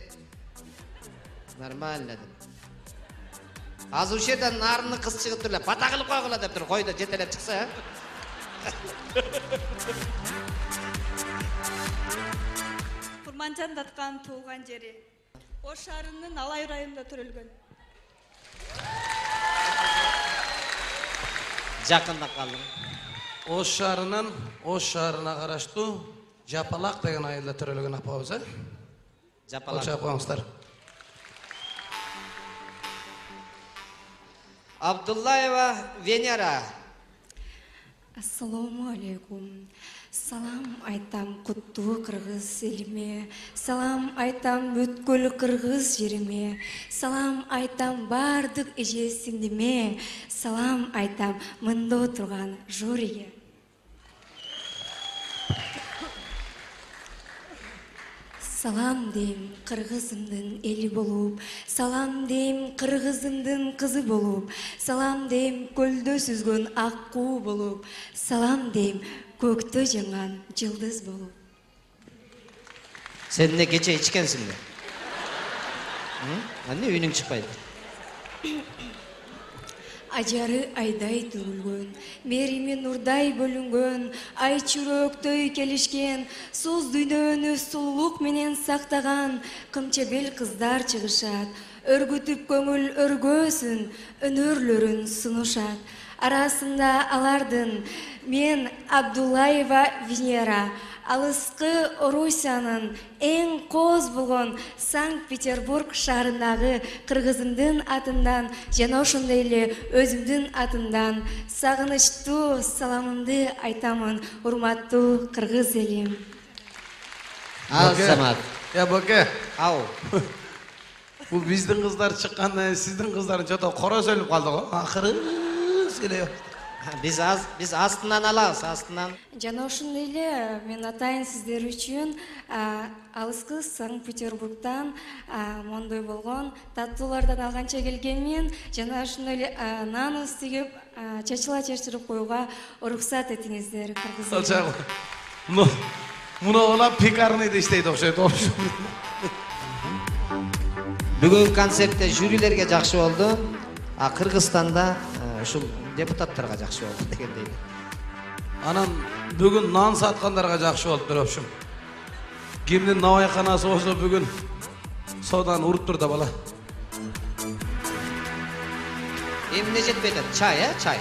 Нормально деп. Азыр ушул жерден нарынны кыз чыгып туруп эле, бата кылып койгула деп тур, койду жетелеп чыкса. Курманжан Даткан туулган жери. Ош шаарынын Алай районунда төрөлгөн. Жакында калдым. Ош шаарынын Ош шаарына караштуу Жапалак деген айылда төрөлгөн апабыз, э? Жапалак. Кошо коюңуздар. Абдуллаева Венера. Ассаламу алейкум. Салам айтам куттуу кыргыз элиме. Салам айтам бүткүл кыргыз жериме. Салам айтам бардык эже сиңдиме. Салам айтам мында отурган жюриге. Салам дейм кыргызымдын эли болуп, салам дейм кыргызымдын кызы болуп, салам дейм көлдө сүзгөн ак куу болуп, салам дейм көктө жанган жылдыз болуп. Сен эмне кече ичкенсиңби? Эмне үйүнүң чыкпайт? Ажары айдай төгүлгөн, мерими нурдай бөлүнгөн, ай чүрөктөй келишкен, соз дүйнөнү сулуулук менен сактаган кымчебел кыздар чыгышат, өргүтүп көңүл өргөөсүн, өнөрлөрүн сунушат. Арасында алардын мен Абдуллаева Венера, алыскы Орусиянын эң кооз болгон Санкт-Петербург шаарындагы кыргызымдын атынан жана ошондой эле өзүмдүн атымдан сагынычтуу саламымды айтамын, урматтуу кыргыз элим. Азамат. Я боке. Ау. Бул биздин кыздар чыккандан сиздин кыздарын жото кора сөйлөп калды го. Акыры эле. Биз аз биз астынан алабыз, астынан. Жана ошондой эле мен атайын сиздер үчүн алыскы Санкт-Петербургдан мондой болгон таттуулардан алганча келгенмин. Жана ошондой эле нан тигип чачыла чачырып коюуга уруксат этиңиздер, кыргыз. Алчак. Ну, муну гана пекарныйда иштейт окшойт. Бүгүнкү концертте жюрилерге жакшы болду, а Кыргызстанда ушул депутаттарга жакшы болду дегендей. Анан бүгүн нан саткандарга жакшы болуп туруп ушум. Кимдин набайканасы болсо бүгүн соданы уруп тур да бала. Эмне жетпей атат? Чай, э? Чай.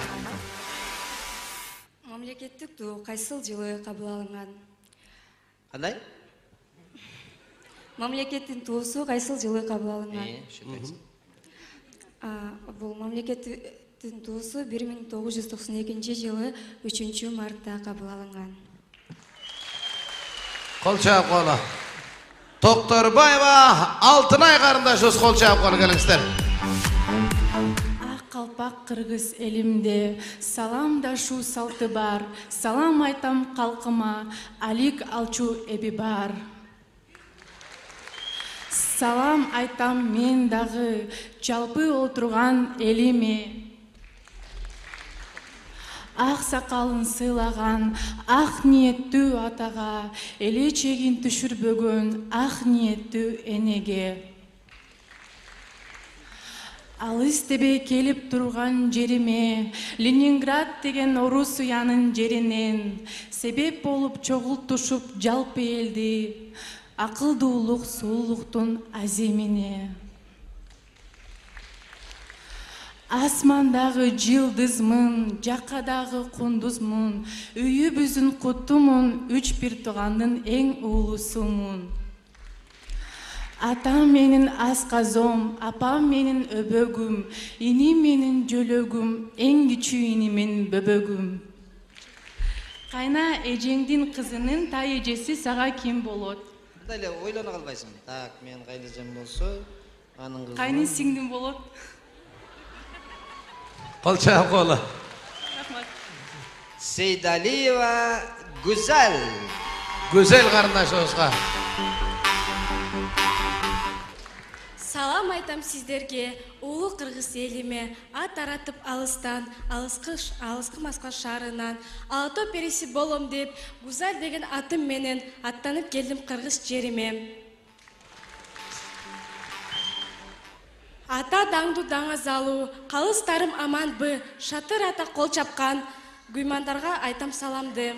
Мамлекеттик туу кайсыл жылы кабыл алынган? Кандай? Мамлекеттин туусу кайсыл жылы кабыл алынган? Э, ошентесиң. Бул мамлекеттин туусу бир миң тогуз жүз токсон экинчи жылы үчүнчү мартта кабыл алынган. Кол чаап кола. Токторбаева Алтынай карындашыбыз кол чаап кола келиңиздер. Ак калпак кыргыз элимде саламдашуу салты бар. Салам айтам калкыма, алик алчу эби бар. Салам айтам мен дагы жалпы отурган элиме. Ак сакалын сыйлаган ак ниеттүү атага, эли чегин түшүрбөгөн ак ниеттүү энеге. Алыс тебе келип турган жериме, Ленинград деген орус уянын жеринен себеп болуп чогултушуп жалпы элди, акылдуулук суулуктун аземине. Асмандагы жылдызмын, жакадагы кундузмун, үйүбүздүн куттумун, үч бир туугандын эң уулусумун. Атам менин асказом, апам менин өбөгүм, иним менин жөлөгүм, эң кичүү иниmin бөбөгүм. Кайна эжеңдин кызынын тай эжеси сага ким болот? Мындай эле ойлоно калбайсыңбы? Так, мен кайнэжем болсо, анын кызы. Кайны сиңдим болот? Кол чаап коела. Рахмат. Сейдалиева Гүзел. Güzel карындашыбызга. Салам айтам сиздерге, улуу кыргыз элиме, ат аратып алыстан, алыскы алыскы Москва шаарынан, Ала Тоо периси болом деп, Гүзел деген атым менен аттанып келдим кыргыз жериме. Ата даңду даңа залуу, калыстарым аманбы, шатыр ата кол чапкан, гүймандарга айтам саламды.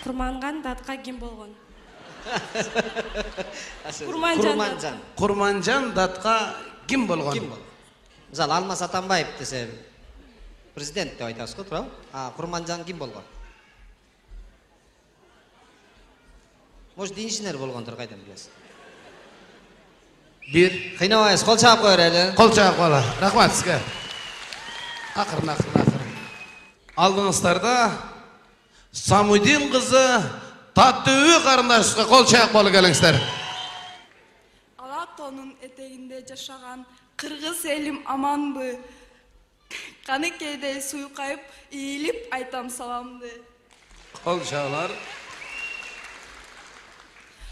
Курманган датка ким болгон? Курманжан. Курманжан датка ким болгон? Ким болгон? Мисалы Алмаз Атамбаев десе президент деп айтасыз го, туурабы? А Курманжан ким болгон? Может, инженер болгондур, кайдан билесиз? Бир. Кыйнабайсыз, кол чаап коелу эле. Кол чаап коела. Рахмат сизге. Акырын, акырын, акырын. Алдыңыздарда Самудин кызы Таттыбек карындашыбызга кол чаап коелу келиңиздер. Ала Тоонун этегинде жашаган кыргыз элим аманбы? Каныкейдей суйкайып, ийилип айтам саламды. Кол чаалар.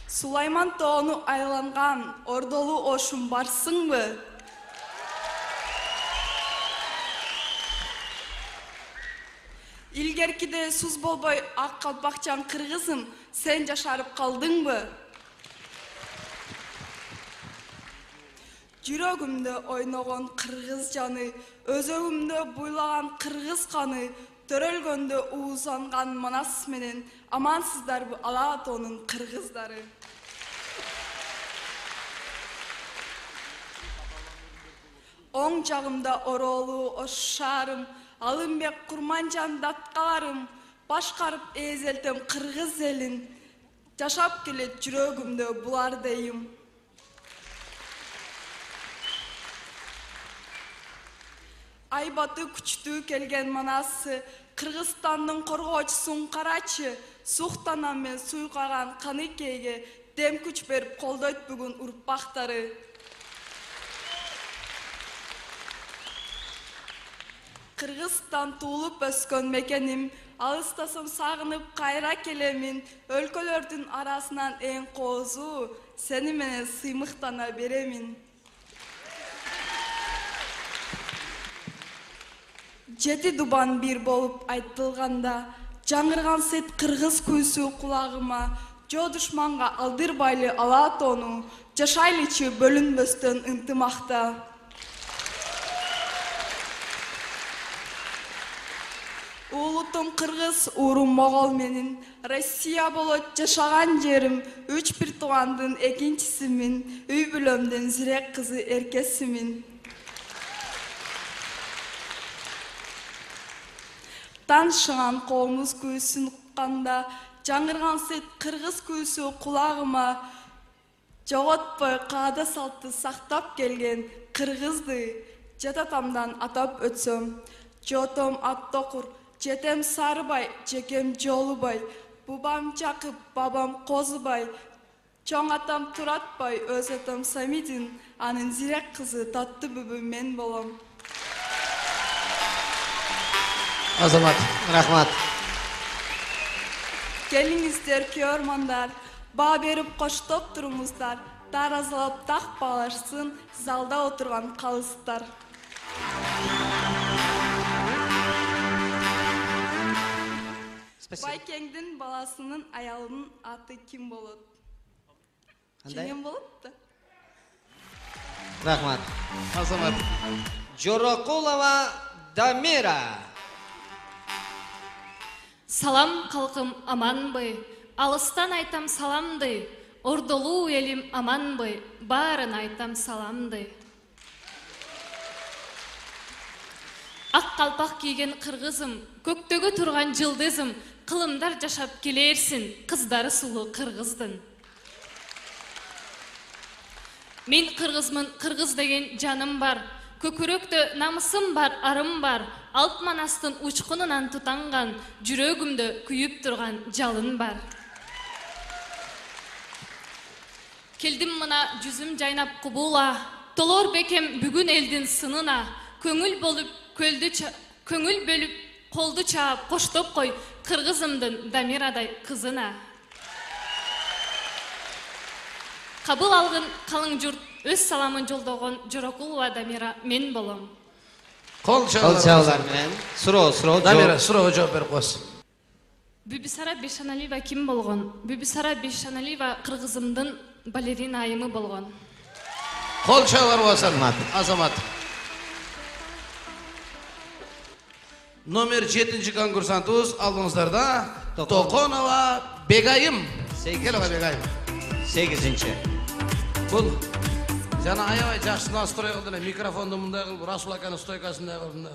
Сулайман Тоону айланган ордолуу ошум барсыңбы? Илгеркиде суз болбой ак калпакчан кыргызым, сен жашарып калдыңбы? Жүрөгүмдө ойногон кыргыз жаны, өзөгүмдө буйлаган кыргыз каны, төрөлгөндө уузанган манас менен, амансыздарбы Ала Тоонун кыргыздары? Оң жагымда ороолуу ош шаарым, Алымбек Курманжан даткаларым, башкарып эзелтем кыргыз элин, жашап келет жүрөгүмдө булар дейим. Айбаты күчтүү келген манасы, Кыргызстандын коргоочусун карачы, суктанам мен суйкаган Каныкейге дем күч берип колдойт бүгүн урпактары. Кыргызстан туулуп өскөн мекеним, алыстасам сагынып кайра келемин, өлкөлөрдүн арасынан эң коозу, сени менен сыймыктана беремин. Жети дубан бир болуп айтылганда, жаңырган сет кыргыз күйсү кулагыма, жоо душманга алдырбайлы Ала Тоону, жашайлычы бөлүнбөстөн ынтымакта. Улутум кыргыз, урум могол менин, Россия болот жашаган жерим, үч бир туугандын экинчисимин, үй бүлөмдүн зирек кызы эркесимин. Танышыган коомуз күйсүн укканда, жаңырган сет кыргыз күйсү кулагыма, жоготпой каада салтты сактап келген кыргызды жататамдан атап өтсөм, жотом аттокур, жетем Сарыбай, жекем Жолубай, бубам Жакып, бабам Козубай, чоң атам Туратбай, өз атам Самидин, анын зирек кызы Таттыбүбү мен болом. Азамат, Рахмат. Келиңиздер, көрмандар, баа берип коштоп туруңуздар, таразалап так баалашсын залда отурган калыстар. Байкеңдин баласынын аялынын аты ким болот? Ким болот да? Рахмат. Азамат. Жорокулова Дамира. Салам калкым аманбы, алыстан айтам саламды, ордолуу элим аманбы, баарын айтам саламды. Ак калпак кийген кыргызым, көктөгө турган жылдызым, кылымдар жашап келерсин, кыздары сулуу кыргыздын. Мен кыргызмын, кыргыз деген жаным бар, Көкүрөктө намысым бар, арым бар. Алп манастын учкунунан тутанган, жүрөгүмдө күйүп турган жалын бар. Келдим мына жүзүм жайнап кубула, толор бекем бүгүн элдин сынына, көңүл болуп көлдү көңүл бөлүп колду чаап коштоп кой кыргызымдын Дамирадай кызына. Кабыл алгын калың журт өз саламын жолдогон Жорокулова Дамира мен болом. Кол чабуулар менен суроо суроо Дамира суроо жооп берип коесуз. Бүбүсара Бешаналиева ким болгон? Бүбүсара Бешаналиева кыргызымдын балерина айымы болгон. Кол чабуулар болсун. Азамат. Номер жетинчи конкурсантыбыз алдыңыздарда Токонова Бегайым. Келиңиз Бегайым. сегизинчи. Бул жана аябай жакшы настрой кылды, микрофонду мындай кылып, Расул аканын стойкасындай кылып.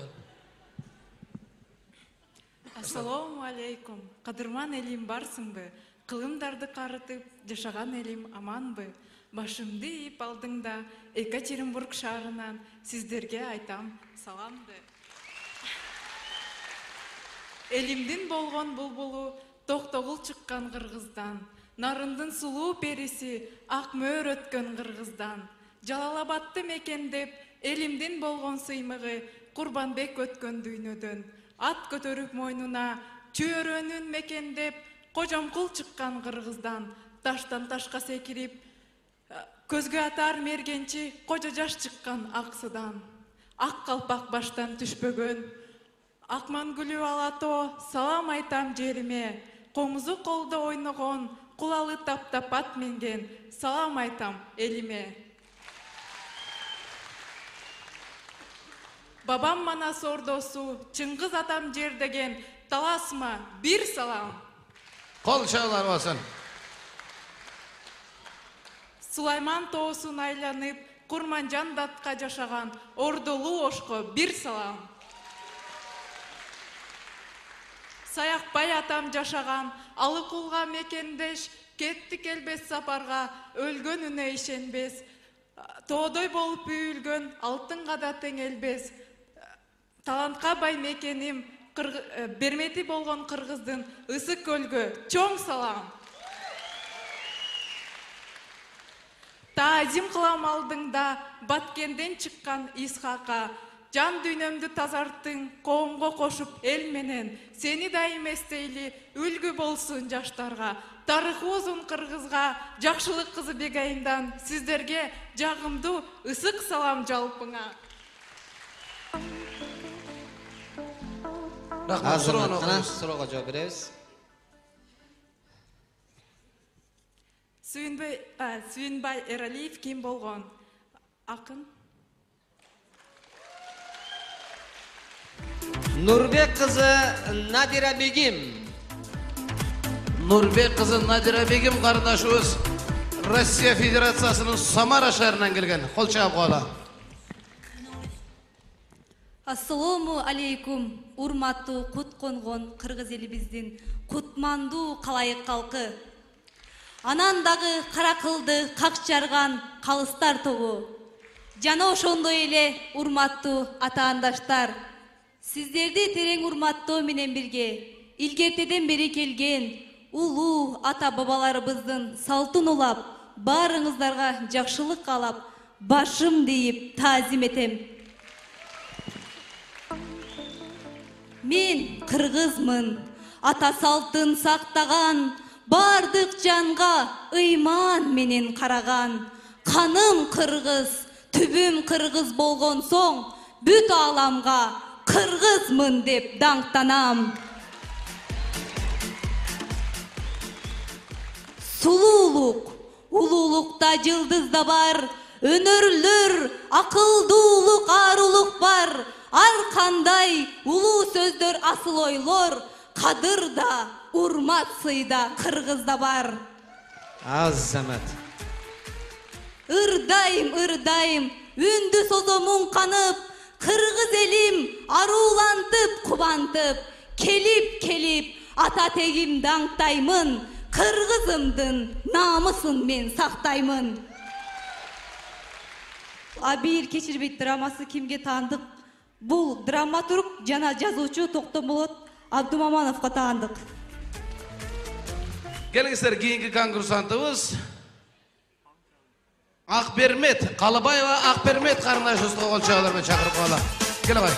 Ассаламу алейкум. Кадырман элим барсыңбы? Кылымдарды карытып жашаган элим аманбы? Башымды ийип алдыңда Екатеринбург шаарынан сиздерге айтам саламды. Элимдин болгон булбулу токтогул чыккан Кыргыздан, нарындын сулуу периси ак мөөр өткөн Кыргыздан, Жалалабадты мекендеп элимдин болгон сыймыгы Курбанбек өткөн дүйнөдөн, ат көтөрүп мойнуна чөөрөнүн мекендеп Кожомкул чыккан Кыргыздан, таштан ташка секирип көзгө атар мергенчи кожо жаш чыккан Аксыдан, ак калпак баштан түшпөгөн Акмангүлү Алато салам айтам жериме, комузу колдо ойногон кулалы таптап ат менген салам айтам элиме. Бабам Манас ордосу Чыңгыз атам жер деген таласыма бир салам. Кол чабуулар болсун. Сулайман тоосун айланып Курманжан датка жашаган Ордолуу Ошко бир салам. Саякбай атам жашаган Алыкулга мекендеш кетти келбес сапарга өлгөнүнө ишенбес, тоодой болуп үйүлгөн алтынга да теңелбес, талантка бай мекеним бермети болгон Кыргыздын Ысык көлгө чоң салам. Таазим кылам алдыңда Баткенден чыккан Исхака, жан дүйнөмдү тазарттың коомго кошуп эл менен, сени дайым эстейли үлгү болсун жаштарга, тарыхы узун Кыргызга жакшылык кызы Бегайымдан сиздерге жагымдуу ысык салам жалпыңа. Азамат, суроого жооп беребиз. Сүйүнбай Эралиев ким болгон? Акын. Нурбек кызы Надира Бегим. Нурбек кызы Надира Бегим кардашыбыз Россия Федерациясынын Самара шаарынан келген. Кол чаап коела. Ассаламу алейкум, урматтуу кут конгон кыргыз элибиздин кутмандуу калайык калкы. Анан дагы кара кылды как жарган калыстар тобу. Жана ошондой эле урматтуу атаандаштар, сиздерди терең урматтоо менен бирге илгертеден бери келген улуу ата бабаларыбыздын салтын улап, баарыңыздарга жакшылык каалап, башым дейип таазим этем. Мен кыргызмын, ата салтын сактаган, бардык жанга ыйман менен караган. Каным кыргыз, түбүм кыргыз болгон соң, бүт ааламга кыргызмын деп даңктанам. Сулуулук, улуулукта жылдыз да бар, өнөрлөр, акылдуулук, арулук бар. Ар кандай улуу сөздөр, асыл ойлор, кадырда, урмат сыйда кыргызда бар. Азамат. Ырдайым, ырдайым, үндү созомун канып, кыргыз элим аруулантып, кубантып, келип, келип, ата тегим даңктаймын, кыргызымдын намысын мен сактаймын. Абийир кечирбейт драмасы кимге таандык? Бул драматург жана жазуучу Токтомолот Абдумамановго таандык. Келиңиздер, кийинки конкурсантыбыз Акбермет Калыбаева. Акбермет карындашыбызды кол чабуулар менен чакырып калалы. Кел агай.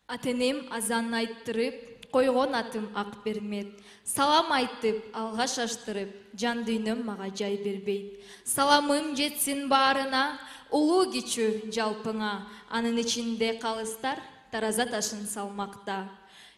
Атенем азан айттырып, койгон атым Акбермет. Салам айтып, алга шаштырып, жан дүйнөм мага жай бербейт. Саламым жетсин баарына, улуу кичүү жалпыңа, анын ичинде калыстар тараза ташын салмакта.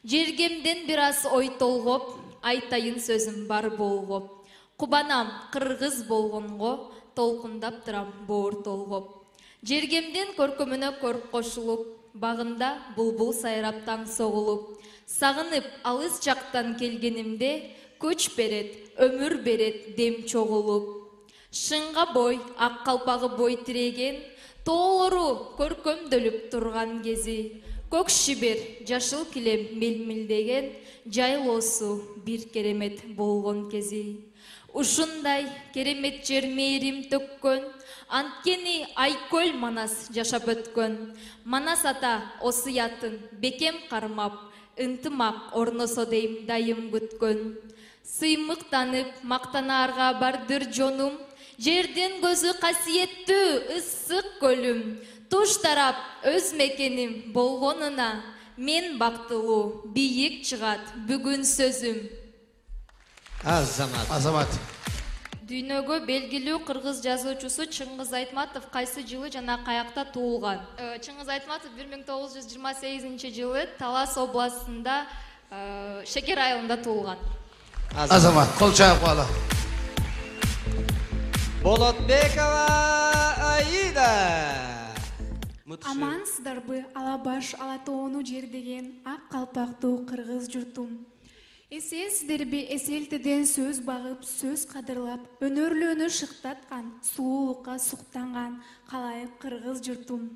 Жергемден бир аз ой толгоп, айтайын сөзүм бар болгоп. Кубанам кыргыз болгонго, толкундап турам боор толгоп. Жергемден көркөмүнө көрк кошулуп, багында булбул сайрап таң согулуп. Сагынып алыс жактан келгенимде, күч берет, өмүр берет дем чогулуп. Шыңга бой, ак калпагы бой тиреген, тоолору көркөмдөлүп турган кези. Көк шибер, жашыл килем мелмилдеген, жайлоосу бир керемет болгон кези. Ушундай керемет жер мээрим төккөн, анткени Айкөл Манас жашап өткөн. Манас ата осуятын бекем кармап, ынтымак орносо дейм дайым күткөн. Сыймыктанып мактанаарга бардыр жонум, жердин көзү касиеттүү ысык көлүм. Туш тарап өз мекеним болгонуна, мен бактылуу бийик чыгат бүгүн сөзүм. Азамат. Азамат. Дүйнөгө белгилүү кыргыз жазуучусу Чыңгыз Айтматов кайсы жылы жана каякта туулган? Чыңгыз Айтматов бир миң тогуз жүз жыйырма сегизинчи жылы Талас областында Шекер айылында туулган. Азамат, кол чаап кала. Болотбекова Аида. Амансыздарбы, Алабаш Алатоону жердеген ак калпактуу кыргыз журтум. Эсенсиздерби, эселтеден сөз багып, сөз кадырлап, өнөрлүүнү шыктаткан, сулуулукка суктанган калайык кыргыз журтум.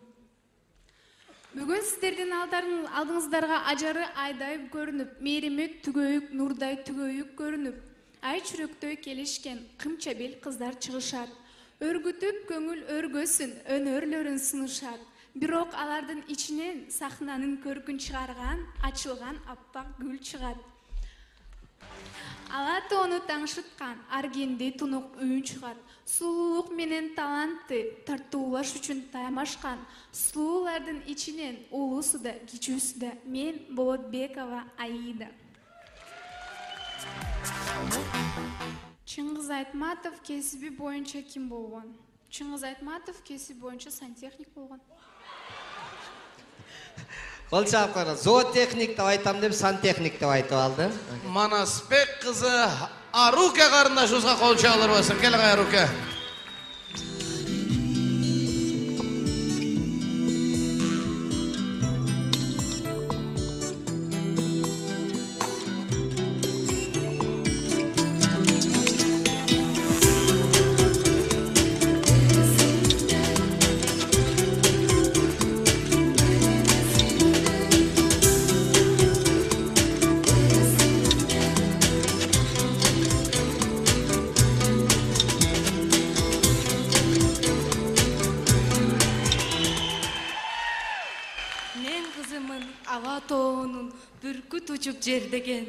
Бүгүн сиздердин алдыңыздарга ажары айдай көрүнүп, мээрими түгөйүк, нурдай түгөйүк көрүнүп, ай чүрөктөй келишкен кымча бел кыздар чыгышат. Өргүтүп көңүл өргөсүн, өнөрлөрүн сунушат. Бирок алардын ичинен сахнанын көркүн чыгарган, ачылган аппак гүл чыгат. Алатоону таңшыткан, аргенди тунук үйүн чыгат. Сулуулук менен талантты тартуулаш үчүн таямашкан, сулуулардын ичинен улуусу да, кичүүсү да мен Болотбекова Аида. Чыңгыз Айтматов кесиби боюнча ким болгон? Чыңгыз Айтматов кесиби боюнча сантехник болгон. Кол чаап кара, зоотехник деп айтам деп сантехник деп айтып алды. Манасбек кызы Аруке карындашыбызга кол чабуулар болсун. Кел агай Аруке. Жердеген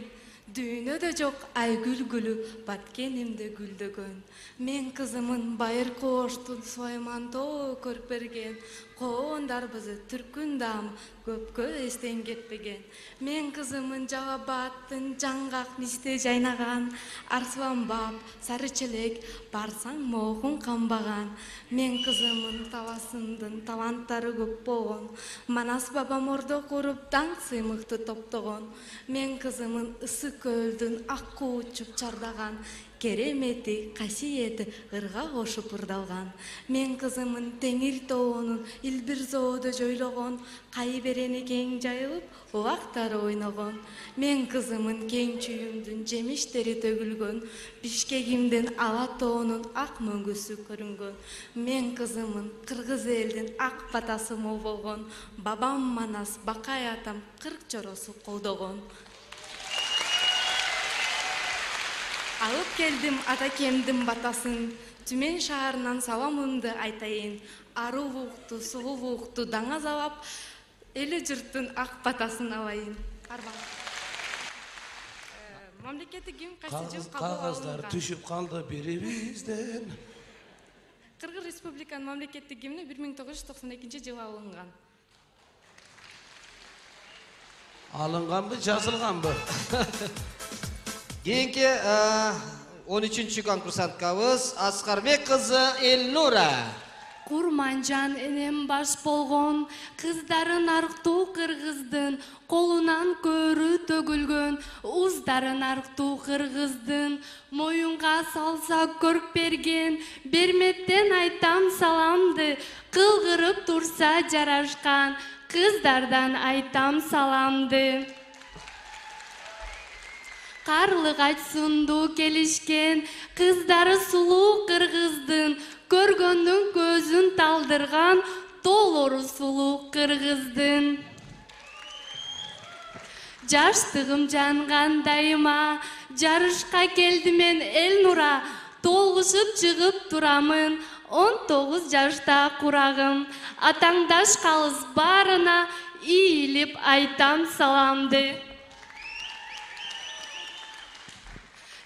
дүйнөдө жок айгүл гүлү баткенимде гүлдөгөн. Мен кызымын байыркы оштун Сойман тоо көрүп берген. Коон дарбызы түркүн дам көпкө эстен кетпеген. Мен кызымын Жабааттын жаңгак мисте жайнаган, Арслан бап, сары челек, барсаң моохун камбаган. Мен кызымын Таласымдын таланттары көп болгон. Манас бабам ордо куруп таң сыймыкты топтогон. Мен кызымын ысык көлдүн ак куучуп чардаган, керемети, касиети ырга кошуп ырдалган. Мен кызымын Теңир тоонун илбир зоодо жойлогон, кай берени кең жайылып, убактары ойногон. Мен кызымын кең чүйүмдүн жемиштери төгүлгөн, Бишкегимдин Ала тоонун ак мөңгүсү көрүнгөн. Мен кызымын кыргыз элдин ак батасы мол болгон, бабам Манас, Бакай атам кырк жоросу колдогон. алып келдим атакемдин батасын, Түмен шаарынан саламымды айтайын. Арулукту, сулуулукту даңазалап, эли журттун ак батасын алайын. Арман. Мамлекеттик гимн кайсы жыл кабыл Кагаздар алынган? түшүп калды бирибизден. Кыргыз Республиканын мамлекеттик гимни бир миң тогуз жүз токсон экинчи жылы алынган. Алынганбы, жазылганбы? Кийинки он үчүнчү конкурсанткабыз Аскарбек кызы Элнура. Курманжан энем баш болгон, кыздарын арктуу кыргыздын, колунан көрү төгүлгөн, уздарын арктуу кыргыздын, моюнга салса көрк берген, берметтен айтам саламды, кылгырып турса жарашкан, кыздардан айтам саламды. Карлык айтсунду келишкен, кыздары сулуу кыргыздын, көргөндүн көзүн талдырган, толору сулуу кыргыздын. Жаштыгым жанган дайыма, жарышка келдим мен Элнура, толгушуп чыгып турамын, он тогуз жашта курагым, атаңдаш калыс барына ийилип айтам саламды.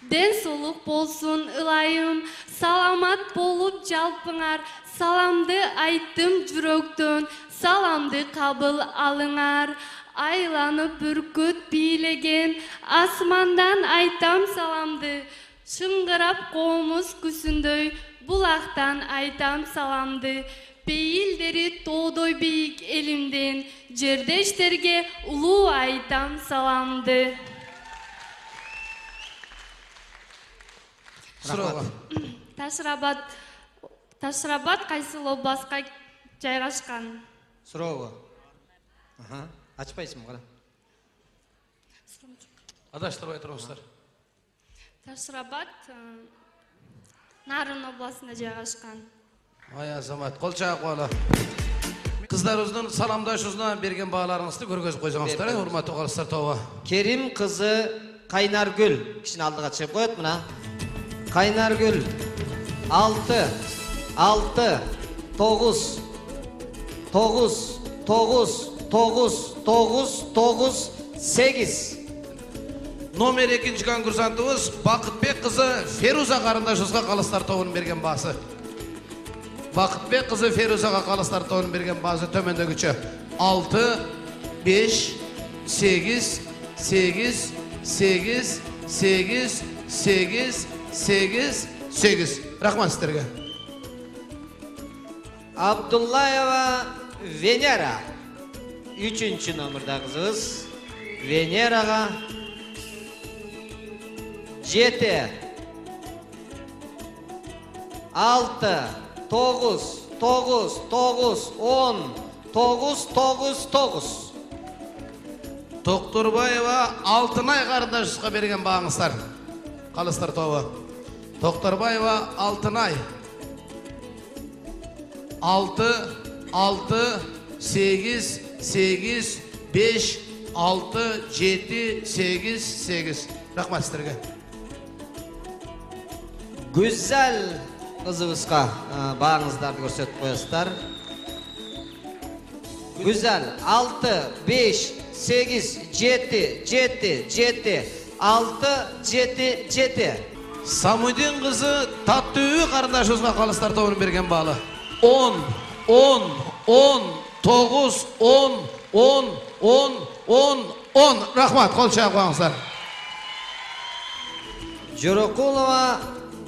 Ден соолук болсун ылайым, саламат болуп жалпыңар, саламды айттым жүрөктөн, саламды кабыл алыңар. Айланып бүркүт бийлеген, асмандан айтам саламды, шыңгырап комуз күсүндөй, булактан айтам саламды. Пейилдери тоодой бийик элимден, жердештерге улуу айтам саламды. Ташрабад Ташрабад кайсыл областка жайгашкан? Сурообу. Аха, ачпайсыңбы кара? Адаштырбай турыңуздар. Ташрабад Нарын областында жайгашкан. Ай азамат, кол чаап коелу. Кыздарыбыздын саламдашуусуна берген бааларыңызды көргөзүп койсоңуздар, урматтуу калыстар тобу. Керим кызы Кайнаргүл кишини алдыга чыгып коет мына. Кайнаргүл алты, алты, тогуз, тогуз, тогуз, тогуз, тогуз, тогуз, сегиз. Номер экинчи конкурсантыбыз Бакытбек кызы Феруза карындашыбызга калыстар тобунун берген баасы. Бакытбек кызы Ферузага калыстар тобунун берген баасы төмөндөгүчө: алты, беш, сегиз, сегиз, сегиз, сегиз, сегиз, сегиз, сегиз. Рахмат сиздерге. Абдуллаева Венера үчүнчү номерда кызыбыз. Венерага жети, алты, тогуз, тогуз, тогуз, он, тогуз, тогуз, тогуз. Токторбаева Алтынай карындашыбызга берген бааңыздар. Калыстар тобу. Токторбаева Алтынай. алты, алты, сегиз, сегиз, беш, алты, жети, сегиз, сегиз. Рахмат сиздерге. Гүзел кызыбызга бааңыздарды көрсөтүп коесуздар. Гүзел алты, беш, сегиз, жети, жети, жети, алты, жети, жети. Самудин кызы Таттуу карындашыбызга калыстар тобунун берген баалы. он, он, он, тогуз, он, он, он, он, он. Рахмат, кол чаап коюңуздар. Жорокулова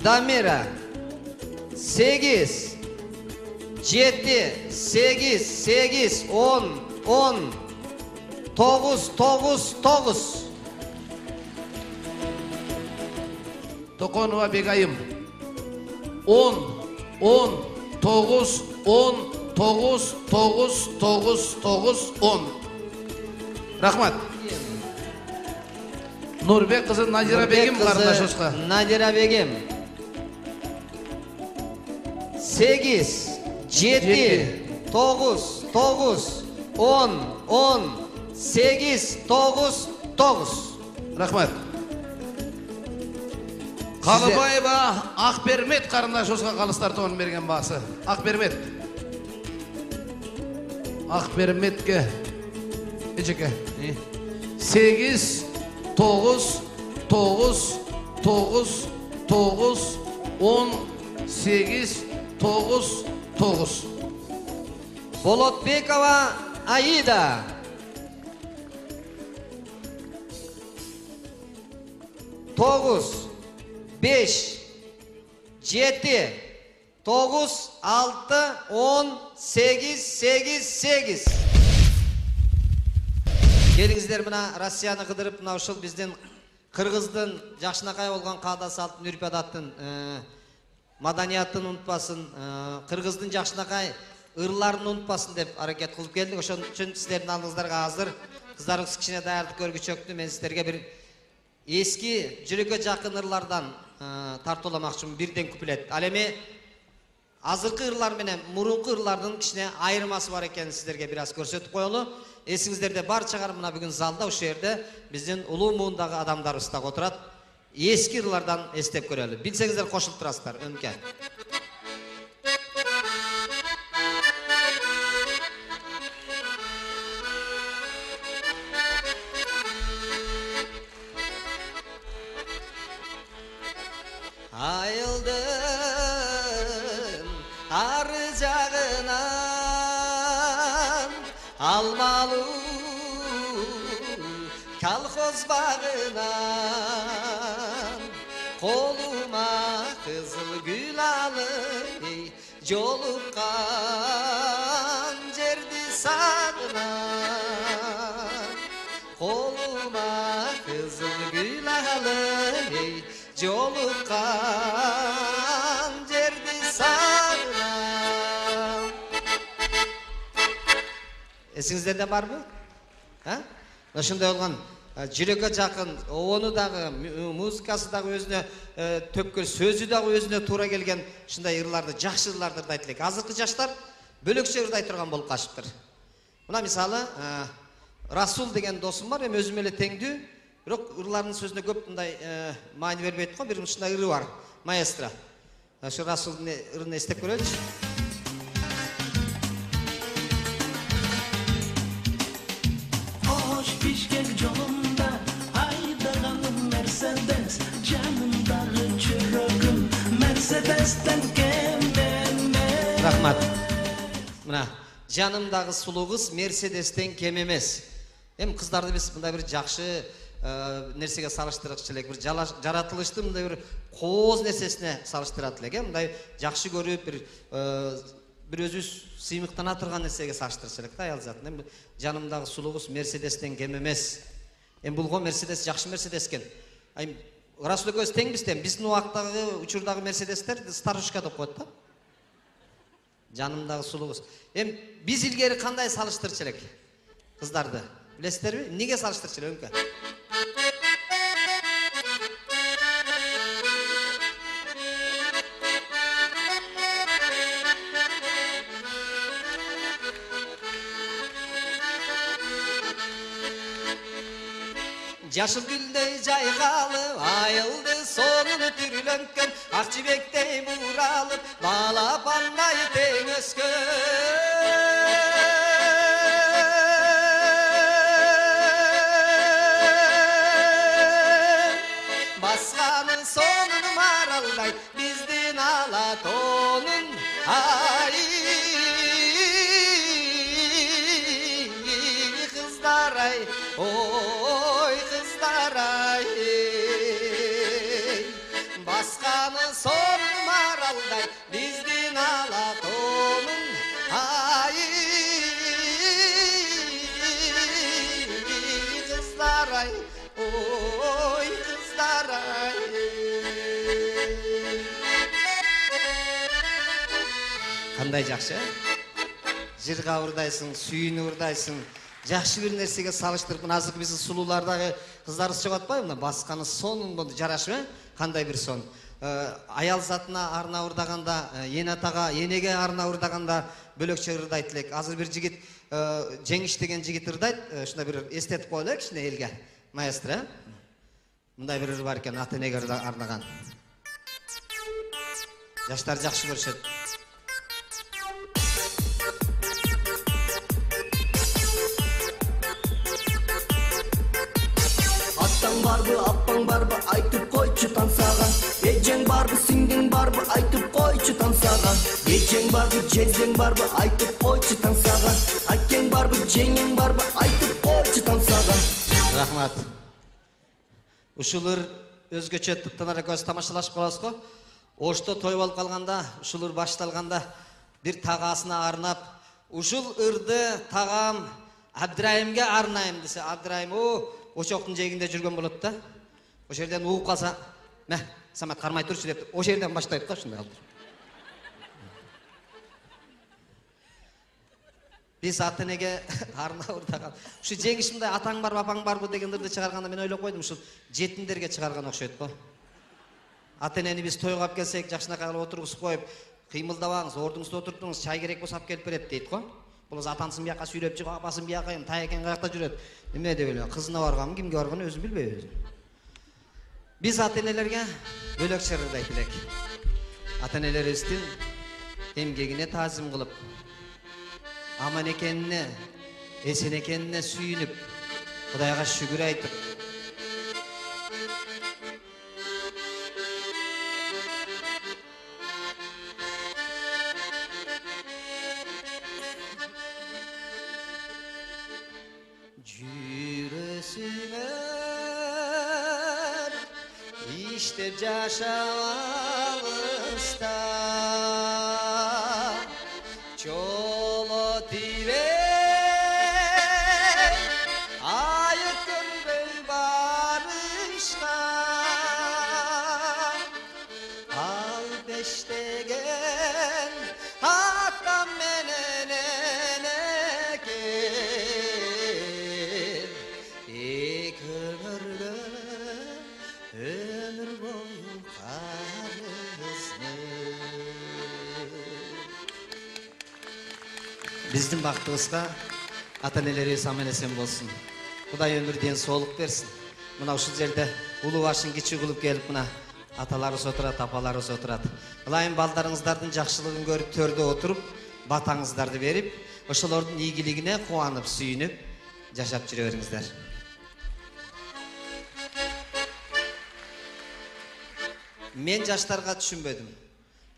Дамира сегиз, жети, сегиз, сегиз, он, он, тогуз, тогуз, тогуз. Токонова Бегайым он, он, тогуз, он, тогуз, тогуз, тогуз, тогуз, он. Рахмат. Нурбек кызы Надира Бегим карындашыбызга. Надира Бегим сегиз, жети, тогуз, тогуз, он, он, сегиз, тогуз, тогуз. Рахмат. Калыбаева Акбермет карындашыбызга калыстар тобунун берген баасы. Акбермет. Акберметке эчеке. сегиз, тогуз, тогуз, тогуз, тогуз, он сегиз, тогуз, тогуз. Болотбекова Аида. Тогуз, беш, жети, тогуз, алты, он, сегиз, сегиз, сегиз. Келиңиздер мына Россияны кыдырып, мына ушул биздин Кыргыздын жакшынакай болгон каада салттын үрп адаттын маданиятын унутпасын, Кыргыздын жакшынакай ырларын унутпасын деп аракет кылып келдик. Ошон үчүн сиздердин алдыңыздарга азыр кыздарыбыз кичине даярдык көргүчөктү. Мен сиздерге бир эски жүрөккө жакын ырлардан тартууламакчымын, бирден куплет. Ал эми азыркы ырлар менен мурунку ырлардын кичине айырмасы бар экенин сиздерге бир аз көрсөтүп коелу. Эсиңиздерде барчаңар мына бүгүн залда ушул жерде биздин улуу муундагы адамдарыбыз да отурат. Эски ырлардан эстеп көрөлү. Билсеңиздер кошулуп турасыздар өнкө. Айылдын ары жагынан алмалуу колхоз багынан колума кызыл гүл алып жолуккан жерди сагынам. Колума кызыл гүл алып жолуккан жерди сагынам. Эсиңиздерде барбы? А? Ошондой болгон жүрөккө жакын, обону дагы, музыкасы дагы өзүнө төпкөл, сөзү дагы өзүнө туура келген ушундай ырларды, жакшы ырларды ырдайт элек. Азыркы жаштар бөлөкчө ырдай турган болуп калышыптыр. Мына мисалы, Расул деген досум бар, эми өзүм эле теңдүү, бирок ырлардын сөзүнө көп мындай маани бербейт го. Бир ушундай ыры бар, маэстро. Ошо Расулдун ырын эстеп көрөлүчү. Hoş pişken yolumda aydaganım Mercedes, canımdağı çürüğüm Mercedes'ten kemdeme. Rahmat. Мына жанымдагы сулуу кыз Мерседестен кем эмес. Эми кыздарды биз мындай бир жакшы нерсеге салыштырчу элек, бир жаратылыштын мындай бир кооз нерсесине салыштырат элек, мындай жакшы көрүп бир бир өзүбүз сыймыктана турган нерсеге салыштырчу элек да аял затын. Эми жанымдагы сулуу кыз Мерседестен кем эмес. Эми бул го Мерседес жакшы Мерседес экен. Эми Расул экөөбүз теңбиз тең. Биздин убактагы учурдагы Мерседестер старушка деп коет да. Жанымдагы сулуу кыз. Эми биз илгери кандай салыштырчу элек кыздарды? Билесиздерби? Эмнеге салыштырчу элек өнкө? Жашыл гүлдөй жайгалып, айылды сонун түрүлөнкөн, ак жибектей буралып, балапандай тең өскөн. Басканын сонун маралдай, биздин ала тонун ай кыздар ай, ой кыздар ай. Басканы сонун маралдай, биздин ала тонун ай кыздар ай, ой кыздар ай. Кандай жакшы, жырга урдайсың, сүйүүнү урдайсың, жакшы бир нерсеге салыштырып, мына азыркы биздин сулуулардагы кыздарыбыз чыгып атпайбы? Мына басканы сонун болду, жарашып, э? Кандай бир сон. Аял затына арна урдаганда, эне атага, энеге арна урдаганда бөлөкчө ырдайт элек. Азыр бир жигит, Жеңиш деген жигит ырдайт, ушундай бир эстетип коелу кичине элге. Маэстро, э? Мындай бир ыр бар экен, ата энеге арнаган. Жаштар жакшы көрүшөт. Атаң барбы, апаң барбы, айтып койчу тансага. Эжең барбы, сиңдиң барбы, айтып койчу тансага. Эжең барбы, жездең барбы, айтып койчу тансага. Акең барбы, жеңең барбы, айтып койчу тансага. Рахмат. Ушулар өзгөчө тыптанар көз тамашалашып каласыз го. Ошто той болуп калганда, ушулар башталганда бир тагасына арнап, ушул ырды тагам Абдырайымга арнайым десе, Абдырайым о очоктун жегинде жүргөн болот да. Ошол жерден ууп калса, "Мә, Самат кармай турчу" деп, ошол жерден баштайт да ушундай алып. Биз ата-энеге арнап ырдаган. Ушу жеңиш мындай атаң барбы, апаң барбы деген ырды чыгарганда мен ойлоп койдум, ушул жетимдерге чыгарган окшойт го. Ата-энени биз тойго алып келсек, жакшынакай кылып отургузуп коюп, кыймылдабаңыз, ордуңузда отуруптуңуз, чай керек болсо алып келип берет дейт го. Болос атасын бияка сүйлөп чыгып, апасын бияка, тайекең каякта жүрөт. Эме деп эле, кызына барганмы, кимге барганын өзү билбейбиз. Биз ата-энелерге бөлөкчө ырдайт элек. Ата-энелерибиздин эмгегине таазим кылып, аман экенине, эсен экенине сүйүнүп, Кудайга шүгүр айтып, жүрөсүңөр иштеп жашап алыста, чоло тибей айып көрбөй барышка, ал бештеген атам менен энекем, эки өмүргө өмүр бою карызмын. Биздин бактыбызга ата-энелерибиз аман эсен болсун. Кудай өмүрдөн соолук берсин. Мына ушул жерде улуу башын кичи кылып келип, мына аталарыбыз отурат, апаларыбыз отурат. Ылайым балдарыңыздардын жакшылыгын көрүп төрдө отуруп, батаңыздарды берип, ошолордун ийгилигине кубанып, сүйүнүп жашап жүрө бериңиздер. Мен жаштарга түшүнбөдүм.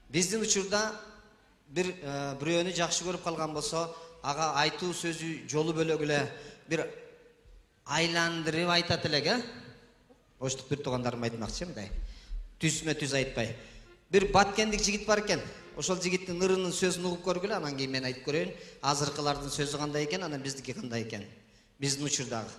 Биздин учурда бир бирөөнү жакшы көрүп калган болсо, ага айтуу сөзү жолу бөлөк эле бир айландырып айтат элек, э? Оштук бир туугандарым айтмакчы мындай. Түзмө түз айтпай. Бир баткендик жигит бар экен. Ошол жигиттин ырынын сөзүн угуп көргүлө, анан кийин мен айтып көрөйүн. Азыркылардын сөзү кандай экен, анан биздики кандай экен. Биздин учурдагы.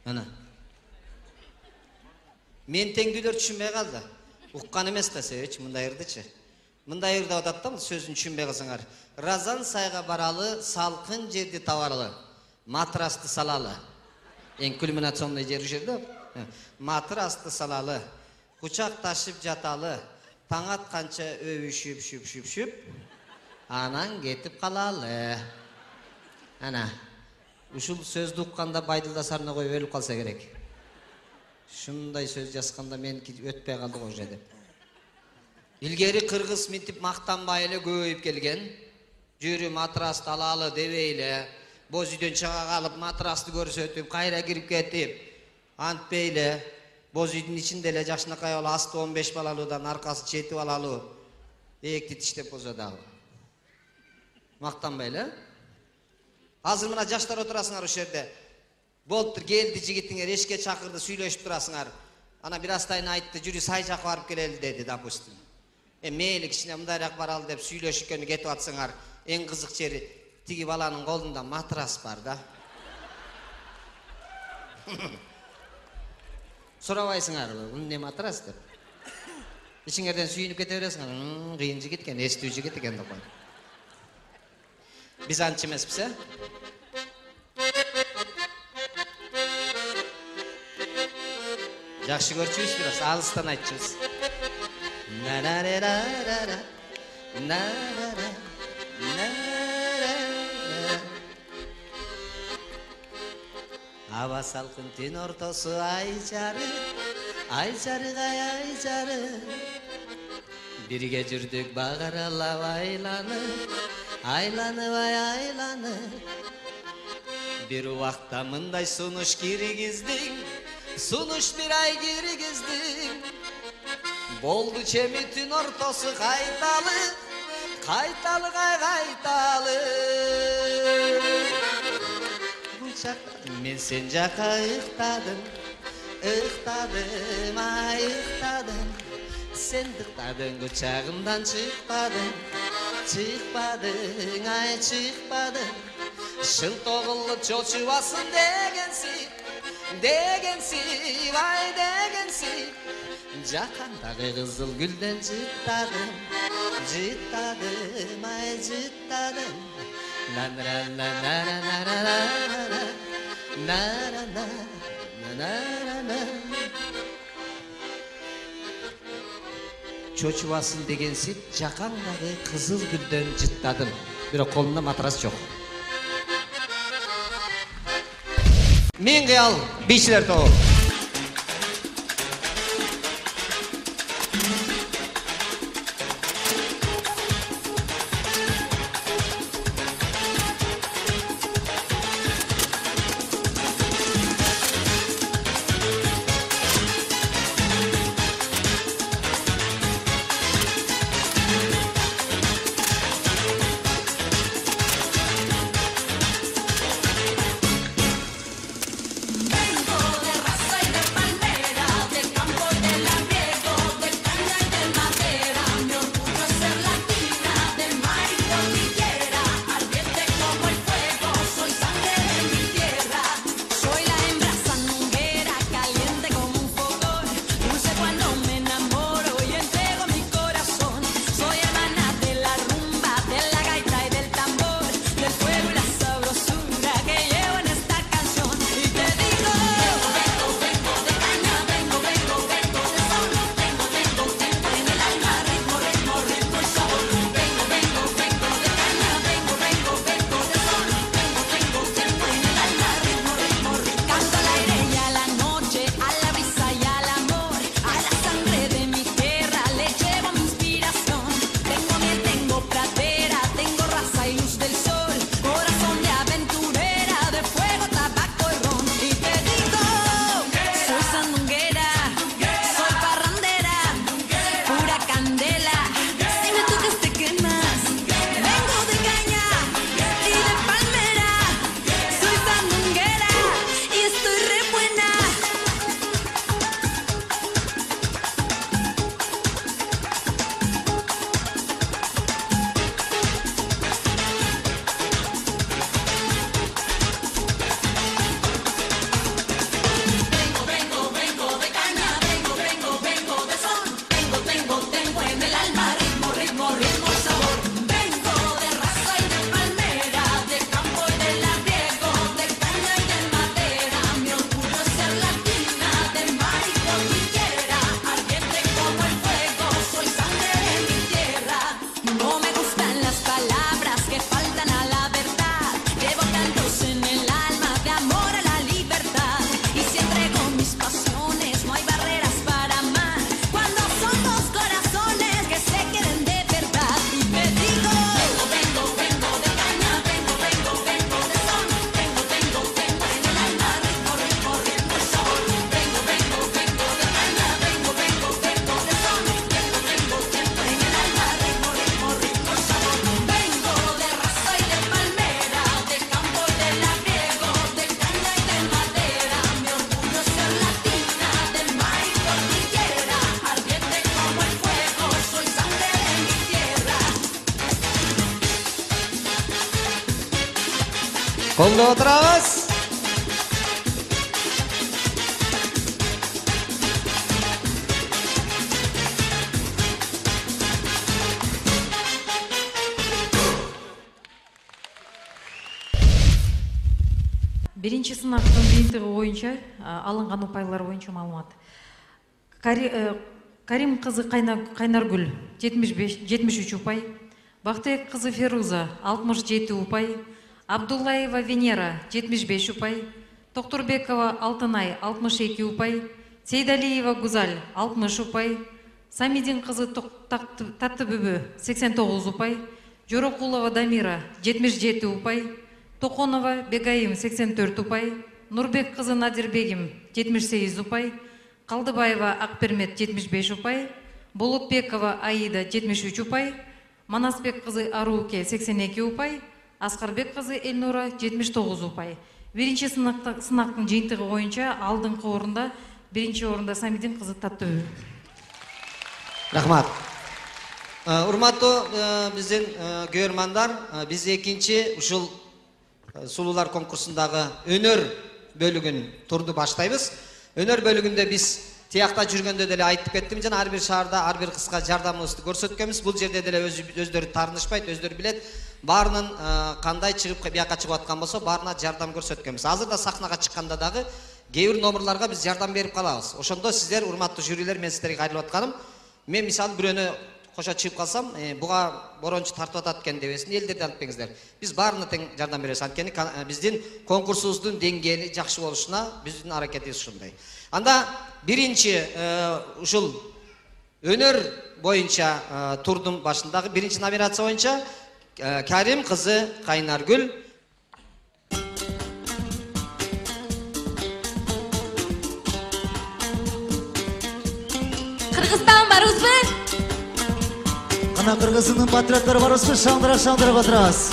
Ana. Мен теңдүүлөр түшүнбөй калды. Уккан эмес да себеч мындай ырдычы. Мындай ырда атат да, сөзүн түшүнбөй калсаңар. Разан сайга баралы, салкын жерди табарлы. Матрасты салалы. Эң кульминационный жер жерде. Матрасты салалы. Кучакташып жаталы. Таң атканча өбүшүп, шүп, шүп, шүп. Анан кетип калалы. Ана. Ушул сөздү укканда Байдылда Сарногой өлүп калса керек. Шундай сөз жазганда мен өтпөй калды го же деп. Илгери кыргыз мынтип мактанбай эле көбөйүп келген. Жүрү матрасты алалы дебей эле, боз үйдөн чыга калып матрасты көрсөтүп, кайра кирип кетип, антпей эле боз үйдүн ичинде эле жакшынакай болуп асты он беш балалуудан аркасы жети балалуу эки тиштеп болсо дагы. Мактанбай эле. Азыр мына жаштар отурасыңар ошол жерде. Болуптур, келди жигитиңер, эшикке чакырды, сүйлөшүп турасыңар. Ана бир астайын айтты, жүрү сай жакка барып келели деди, допустим. Э мейли кичине мындайраак баралы деп сүйлөшүп кетип атсаңар, эң кызык жери тиги баланын колунда матрас бар да. Сурабайсыңар, бул эмне матрас деп. Ичиңерден сүйүнүп кете бересиңер. Кыйын жигит экен, эстүү жигит экен деп койду. Биз анча эмеспиз, э? Жакшы көрчүбүз, бирок алыстан айтчубуз. На-на-ра-ра-ра-ра. На-ра-ра. На-ра-ра. Аба салкын түн ортосу ай жары, ай жарыгай ай жары. Бирге жүрдүк багаралап айланып, айланыбай айланып. Бир убакта мындай сунуш киргиздиң, сунуш бир ай киргиздиң. Болду чеми түн ортосу кайталы, кайталы кай кайталы. Мен сен жака ыктадым, ыктадым, ай ыктадым. Сен ыктадың, кучагымдан чыкпадың, чыкпадың, ай чыкпадың. Шын тогулуп чочубасын дегенсип, дегенсип, ай дегенсип. Жакандагы кызыл гүлдөн жыттадым, жыттадым, ай жыттадым. На-на-на-на-на-на-на-на-на, на-на-на-на-на-на. Чочубасын дегенсип, жакандагы кызыл гүлдөн жыттадым. Бирок колумда матрас жок. Мен кыял бийчилер тобу. Колдоп отурабыз. биринчи сынактын жыйынтыгы боюнча алынган упайлар боюнча маалымат. Карим кызы Кайнаргүл жетимиш үч упай, Бактыбек кызы Феруза алтымыш жети упай, Абдуллаева Венера жетимиш беш упай, Токторбекова Алтынай алтымыш эки упай, Сейдалиева Гузаль алтымыш упай, Самидин кызы Таттыбүбү сексен тогуз упай, Жорокулова Дамира жетимиш жети упай, Токонова Бегаим сексен төрт упай, Нурбек кызы Надирбегим жетимиш сегиз упай, Калдыбаева Акпермет жетимиш беш упай, Болотбекова Аида жетимиш үч упай, Манасбек кызы Арууке сексен эки упай, Аскарбек кызы Элнура жетимиш тогуз упай. Биринчи сынактын жыйынтыгы боюнча алдыңкы орунда биринчи орунда Самидин кызы Таттыбүбү. Рахмат. Урматтуу биздин көрөрмандар, биз экинчи ушул сулуулар конкурсундагы өнөр бөлүгүн турду баштайбыз. Өнөр бөлүгүндө биз тиякта жүргөндө деле айтып кеттим жана ар бир шаарда ар бир кызга жардамыбызды көрсөткөнбүз. Бул жерде деле өздөрү таарынышпайт, өздөрү билет. Баарынын кандай чыгып бияка чыгып аткан болсо, баарына жардам көрсөткөнбүз. Азырда сахнага чыкканда дагы кээ бир номерларга биз жардам берип калабыз. Ошондо сиздер, урматтуу жюрилер, мен сиздерге кайрылып атканым, мен мисалы бирөөнө кошо чыгып калсам, буга борончу тартып атат экен дебесин, элдерди антпеңиздер. Биз баарына тең жардам беребиз. Анткени биздин конкурсубуздун деңгээли жакшы болушуна биздин аракетибиз ушундай. Анда биринчи ушул өнөр боюнча турдун башындагы биринчи номинация боюнча Карим кызы Кайнаргүл. Кыргызстан барыбызбы? Ана Кыргыздын патриоттор барыбызбы? Шаңдыра шаңдырып отурабыз.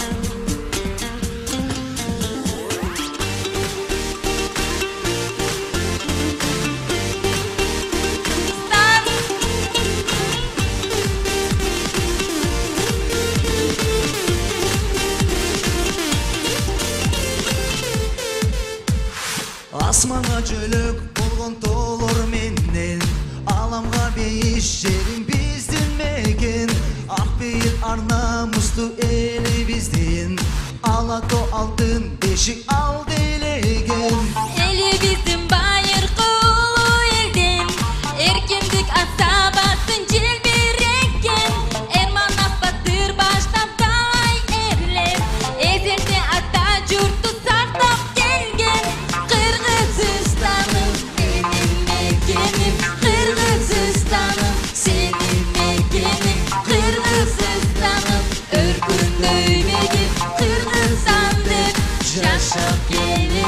Асманга жөлөк болгон тоолор менен, аламга бейиш жерим биздин мекен. Ак бейил ар намустуу элибиздин, ала тоо алтын бешик алды элеген. Элибиздин байыркы улуу элден, эркиндик асабасын желбиреккен. Эрманов батыр баштап талай эрлер, эзерде ата журтту сактап келген. Кыргызстаным менин мекеним, Кыргызстаным сенин мекеним, Кыргызстаным өркүндөй мегим, Кыргызстан деп жашап келемин.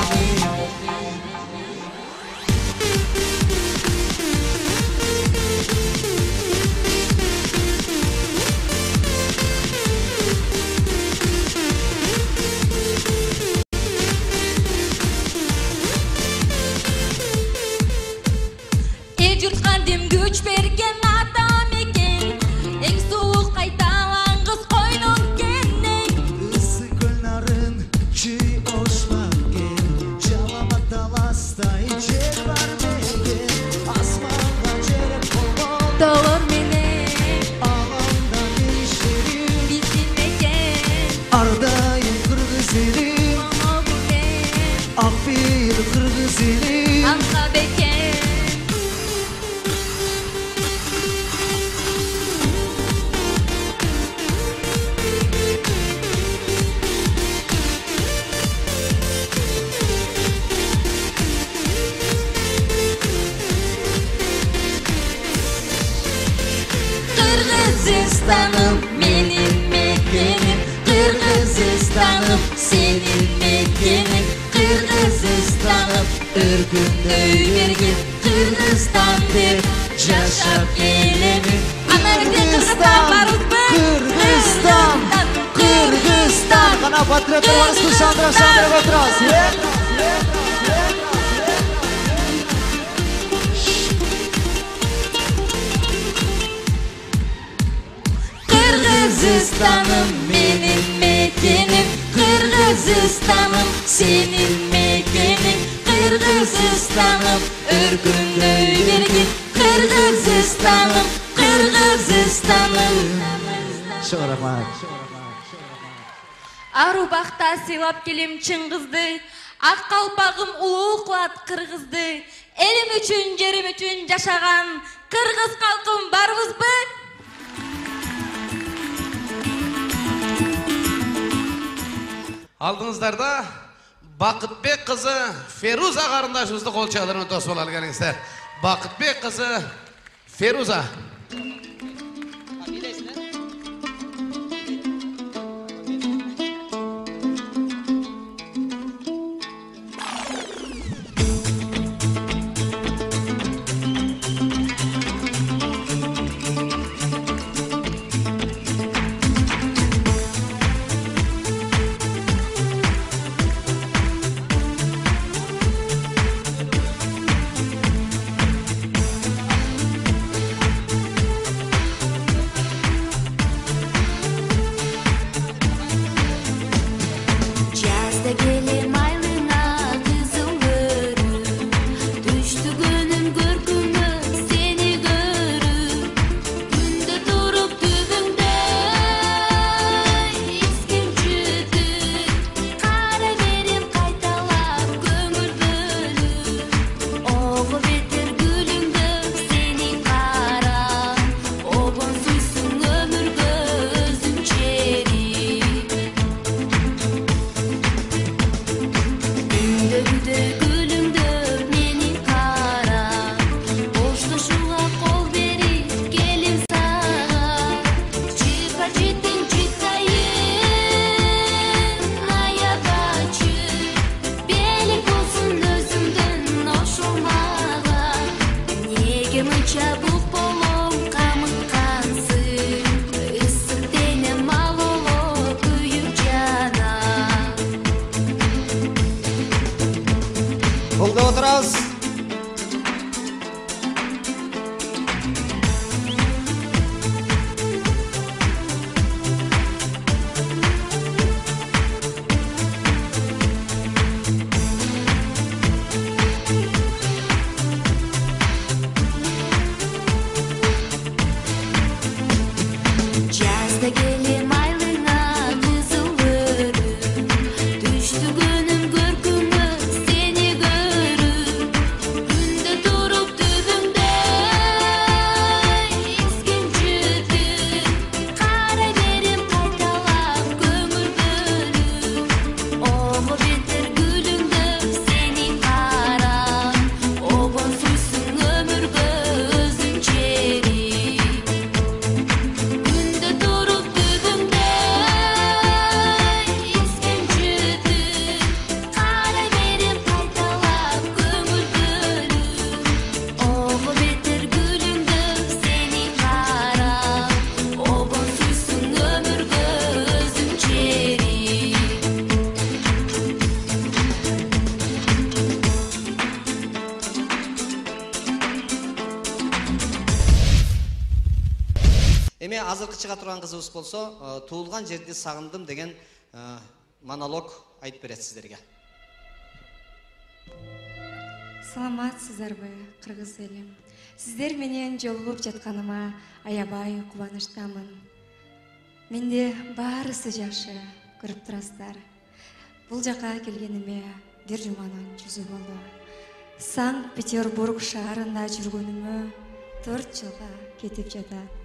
Эл журтка дем күч берген ата мекен, эң сулуу кайталангыс койнун кенен. Ысы көл нарын чүй ошмакен, жалама таластай жер бар мекен. Асманга желек болгон тоолор менен, аламда бейишерим биздин мекен. Ардайым кыргыз элим, ак бейил кыргыз элим. Аңса бекен. Kırgızistanım benim mekenim, Kırgızistanım senin mekenin, Kırgızistanım örgündöy bergin, Kırgızstan dep жашап келемин. Кыргызстан, Кыргызстан, Кыргызстан. Кана патриоттор барыбызбы? Шаңдыра шаңдырып отурабыз. Kırgızistanım benim mekenim, Kırgızistanım senin mekenin, Kırgızistanım örgündöy bergin, Kırgızistanım, Kırgızistanım. Çok rahmat. Ару бакта сыйлап келем Чыңгызды, Ак калпагым улуу кылат кыргызды. Элим үчүн, жерим үчүн жашаган кыргыз калкым барбызбы? Алдыңыздарда Бакытбек кызы Феруза карындашыбызды кол чалырына тосуп алып келиңиздер. Бакытбек кызы Феруза. Эми азыркы чыга турган кызыбыз болсо, туулган жерди сагындым деген монолог айтып берет сиздерге. Саламатсыздарбы, кыргыз элим. Сиздер менен жолугуп жатканыма аябай кубанычтамын. Менде баарысы жакшы, көрүп турасыздар. Бул жака келгениме бир жуманын жүзү болду. Санкт-Петербург шаарында жүргөнүмө төрт жылга кетип жатат.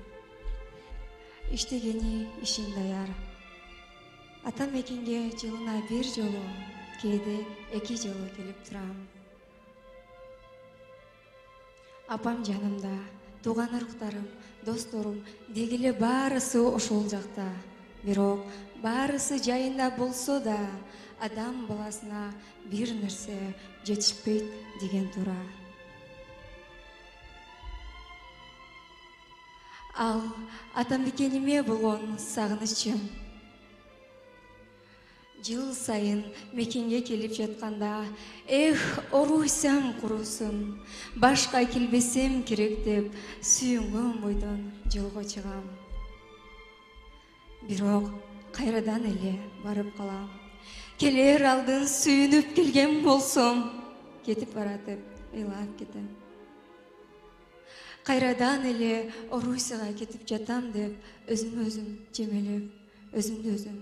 Иштегени ишим даяр. Атам экинге жылына бир жолу, кээде эки жолу келип турам. Апам жанымда, тууган ыруктарым, досторум дегиле баарысы ошол жакта. Бирок баарысы жайында болсо да, адам баласына бир нерсе жетишпейт деген туура. Ал атамбекениме болгон сагынычым. Жыл сайын мекенге келип жатканда, эх, оруйсам курусун, башка келбесем керек деп сүйүнгөн бойдон жолго чыгам. Бирок кайрадан эле барып калам. Келер алдын сүйүнүп келген болсом, кетип баратып ыйлап кетем. Кайрадан эле Орусияга кетип жатам деп өзүм өзүм жемелеп, өзүмдү өзүм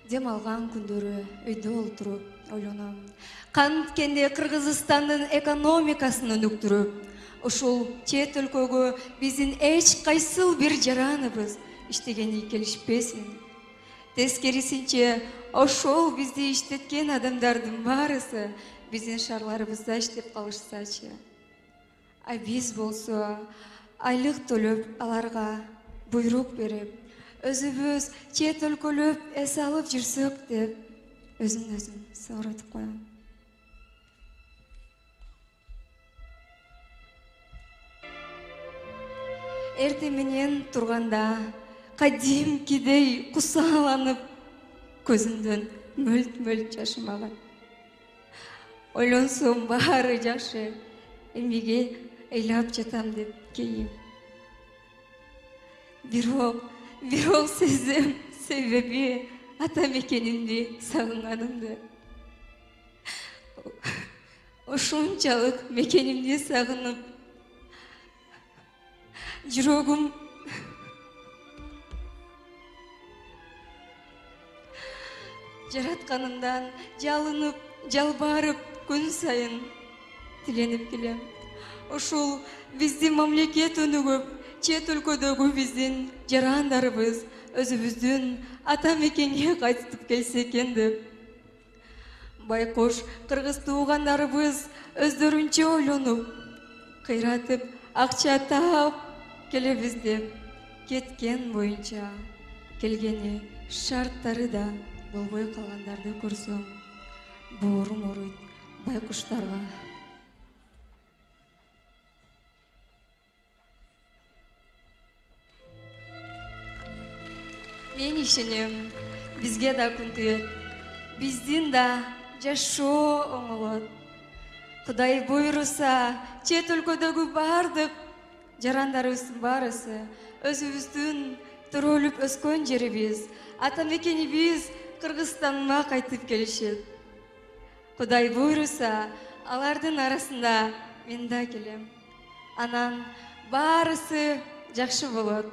дем алган күндөрү үйдө олтуруп ойлоном. Канткенде Кыргызстандын экономикасын өнүктүрүп, ушул чет өлкөгө биздин эч кайсыл бир жараныбыз иштегени келишпесин. Тескерисинче, ошол бизди иштеткен адамдардын баарысы биздин шаарларыбызда иштеп калышсачы. А биз болсо айлык төлөп аларга буйрук берип, өзүбүз чет өлкөлөп эс алып жүрсөк деп өзүн өзүм сооротуп коем. Эртең менен турганда кадимкидей кусааланып, көзүмдөн мөлт-мөлт жашым агат. Ойлонсом баары жакшы, эмнеге ыйлап жатам деп кейим. Бирок, бирок сезем себеби ата мекенимди сагынганымды. Ошончалык мекенимди сагынып, жүрөгүм жаратканымдан жалынып, жалбарып күн сайын тиленип келем. Ушул биздин мамлекет өнүгүп, чет өлкөдөгү биздин жарандарыбыз өзүбүздүн ата мекенге кайтып келсе экен деп. Байкуш кыргыз туугандарыбыз өздөрүнчө ойлонуп, кыйратып, акча таап келебиз деп кеткен боюнча келгени шарттары да болбой калгандарды көрсөм, боорум ооруйт байкуштарга. Мен ишенем, бизге да күн түйөт, биздин да жашоо оңолот. Кудай буйруса, чет өлкөдөгү бардык жарандарыбыздын баарысы өзүбүздүн төрөлүп өскөн жерибиз, ата мекенибиз Кыргызстанга кайтып келишет. Кудай буйруса, алардын арасында мен да келем. Анан баарысы жакшы болот.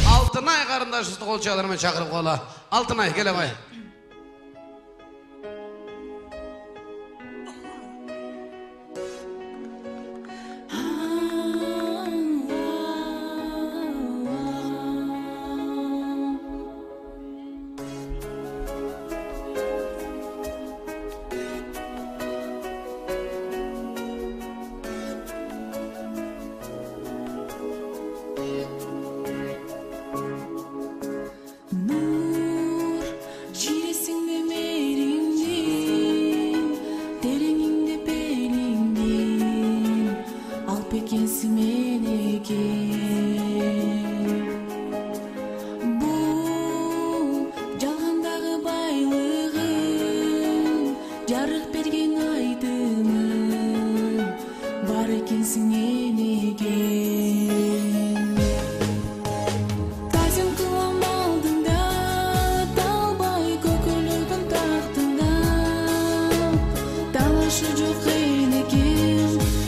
Алтынай карындашыбызды кол чаларымен чакырып кала. Алтынай, келе бай.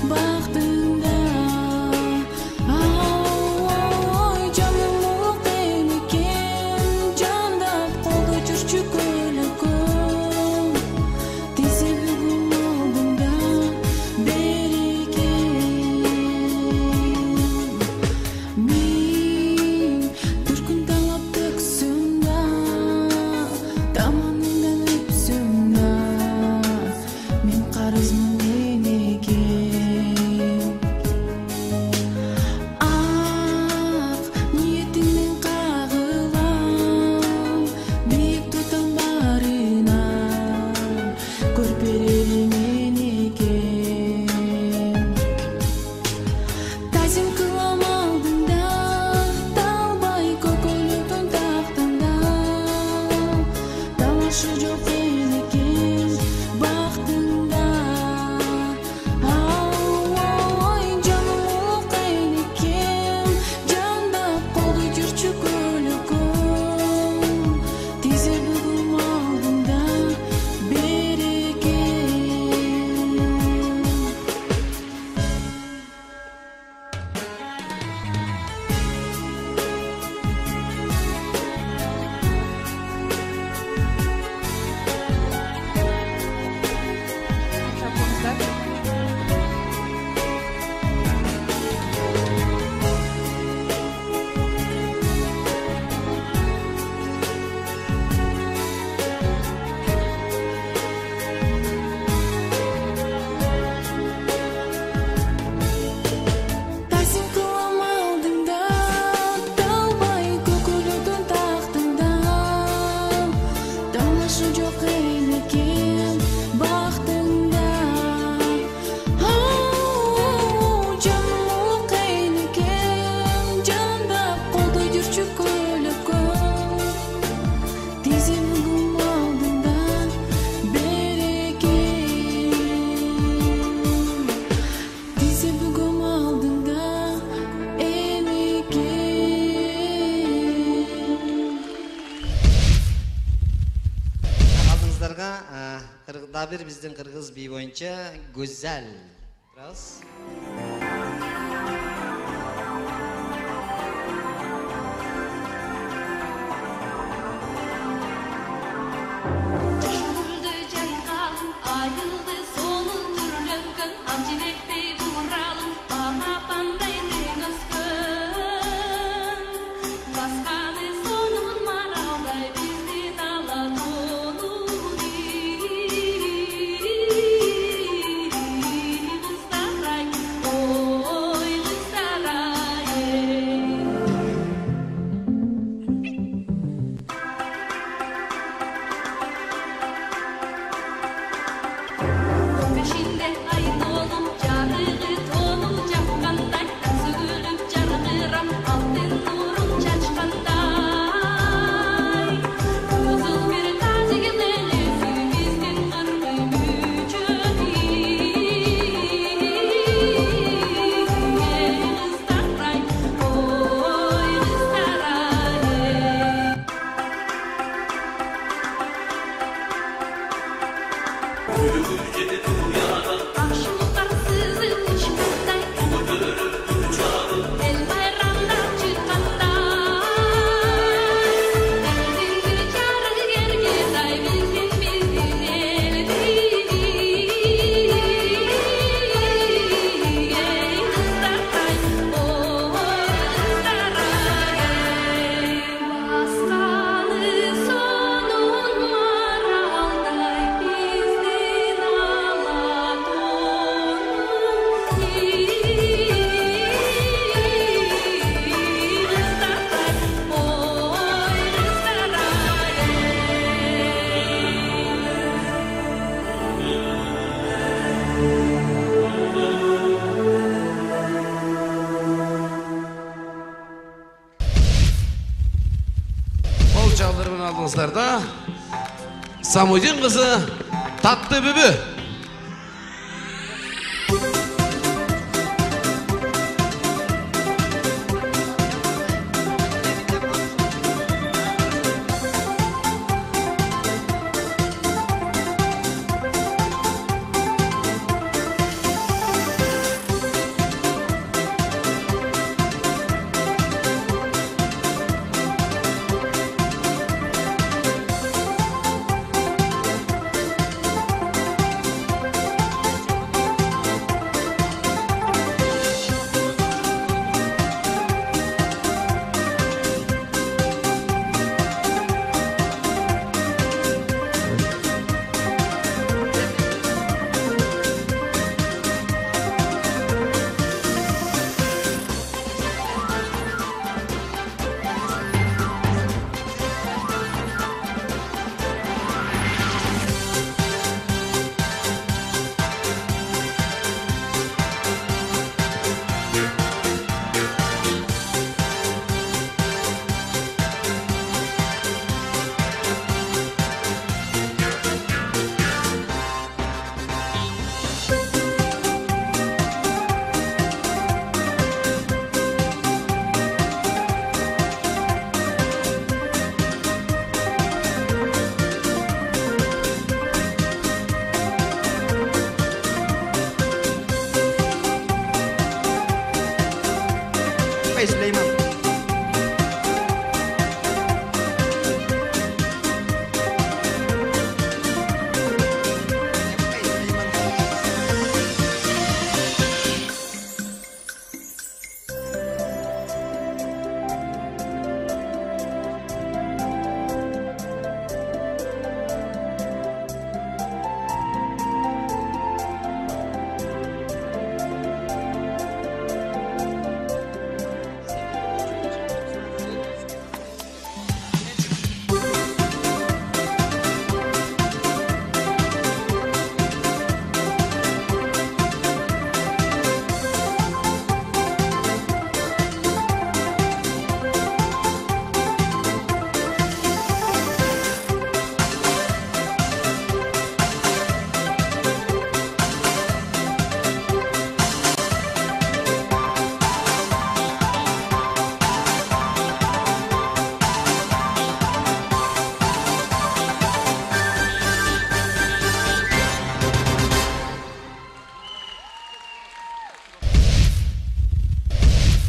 Бактыңда, ау бир биздин кыргыз бий боюнча Güzel. Раз. Aldığınızlarda Samucun kızı Tatlı Bübü.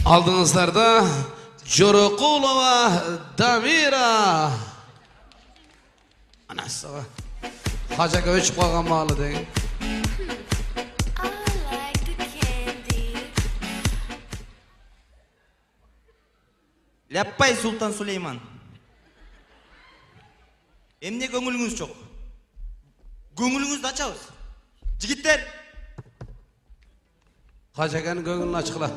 Алдыңыздарда Жорокулова Дамира. Анасыға. Хажаға өчіп қалған малы деген. Ляппай Султан Сулейман. Эмне көңүлүңүз жок? Көңүлүңүздү ачабыз. Жигиттер. Хажаганын көңүлүн ачкыла.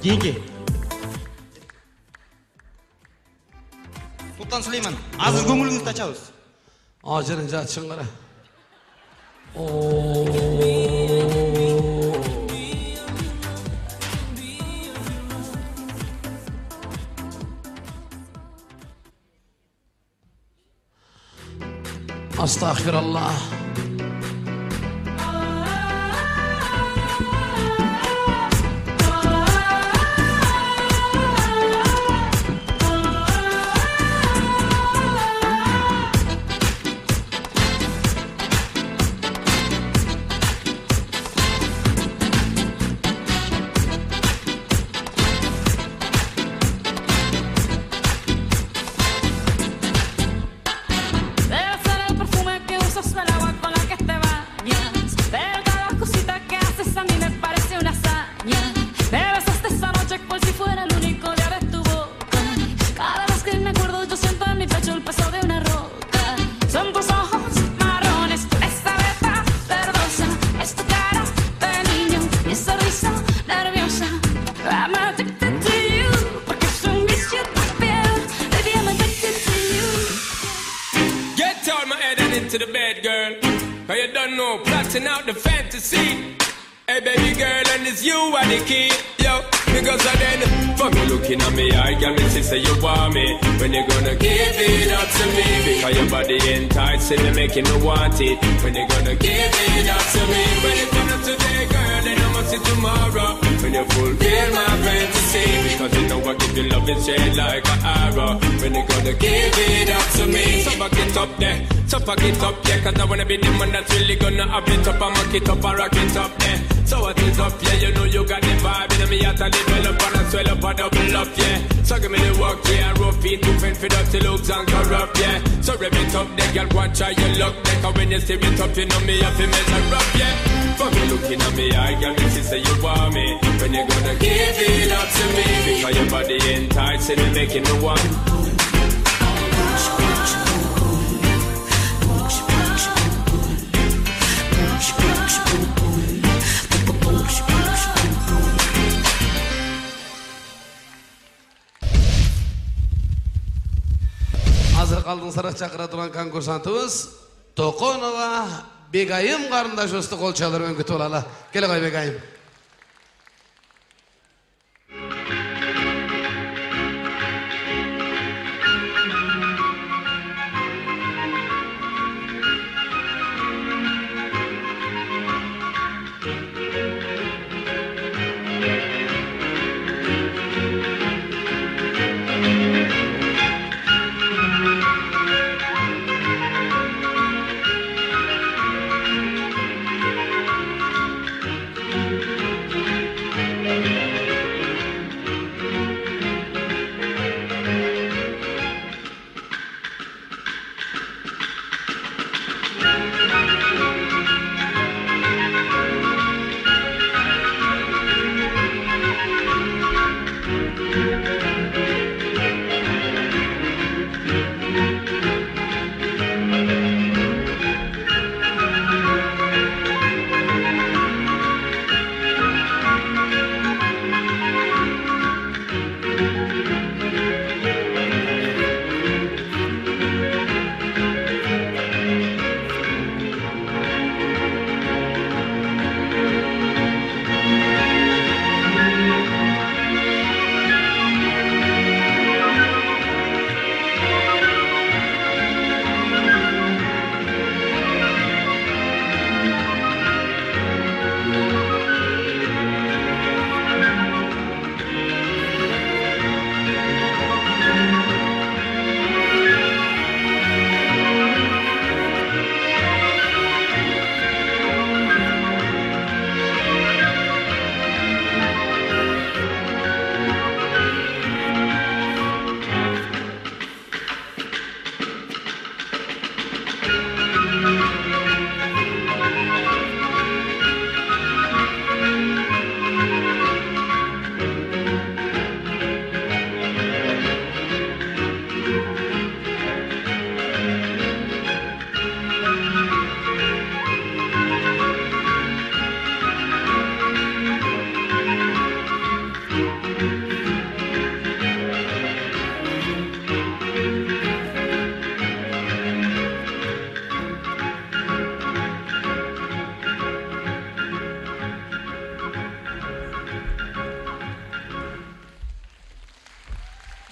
Кийинки. Султан Сулейман, азыр көңүлүңүздү ачабыз. Ажырын жатышын кара. Astagfirullah. To the bed, girl, cause you don't know, plotting out the fantasy. Hey baby girl, and it's you are the key, yo. Because of then, fuck you looking at me, I got me to say you want me. When you gonna give it up to me? Because your body enticing me, making me want it. When you gonna give it up to me? When it comes up today, girl, then I must see tomorrow. When you fulfill my fantasy, because you know I give you love and shade like an arrow. When you gonna give it up to me? So back it up there, so back it up there, cause I wanna be the man that's really gonna have it up and mock it up and rock it up there. So what is up, yeah, you know you got the vibe, and me at a develop and I swell up and double up, yeah. So give me the work, yeah, and rope it, too fend for dirty looks and corrupt, yeah. So rev it up, there, girl, go and try your luck, there, cause when you steer it up, you know me have to measure up, yeah. Fuck you looking at me, I got me, she say you want me. When you gonna give it up to me? Because your body enticing me, making me want. Азыр калдыңыздар чакыра турган конкурсантыбыз Токонова Бегайым карындашыбызды кол чалып күтүп алалы. Келе кой Бегайым.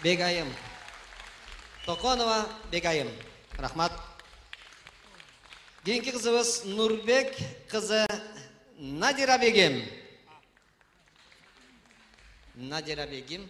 Бегайым. Токонова Бегайым. Рахмат. Кийинки кызыбыз Нурбек кызы Надира Бегим. Надира Бегим.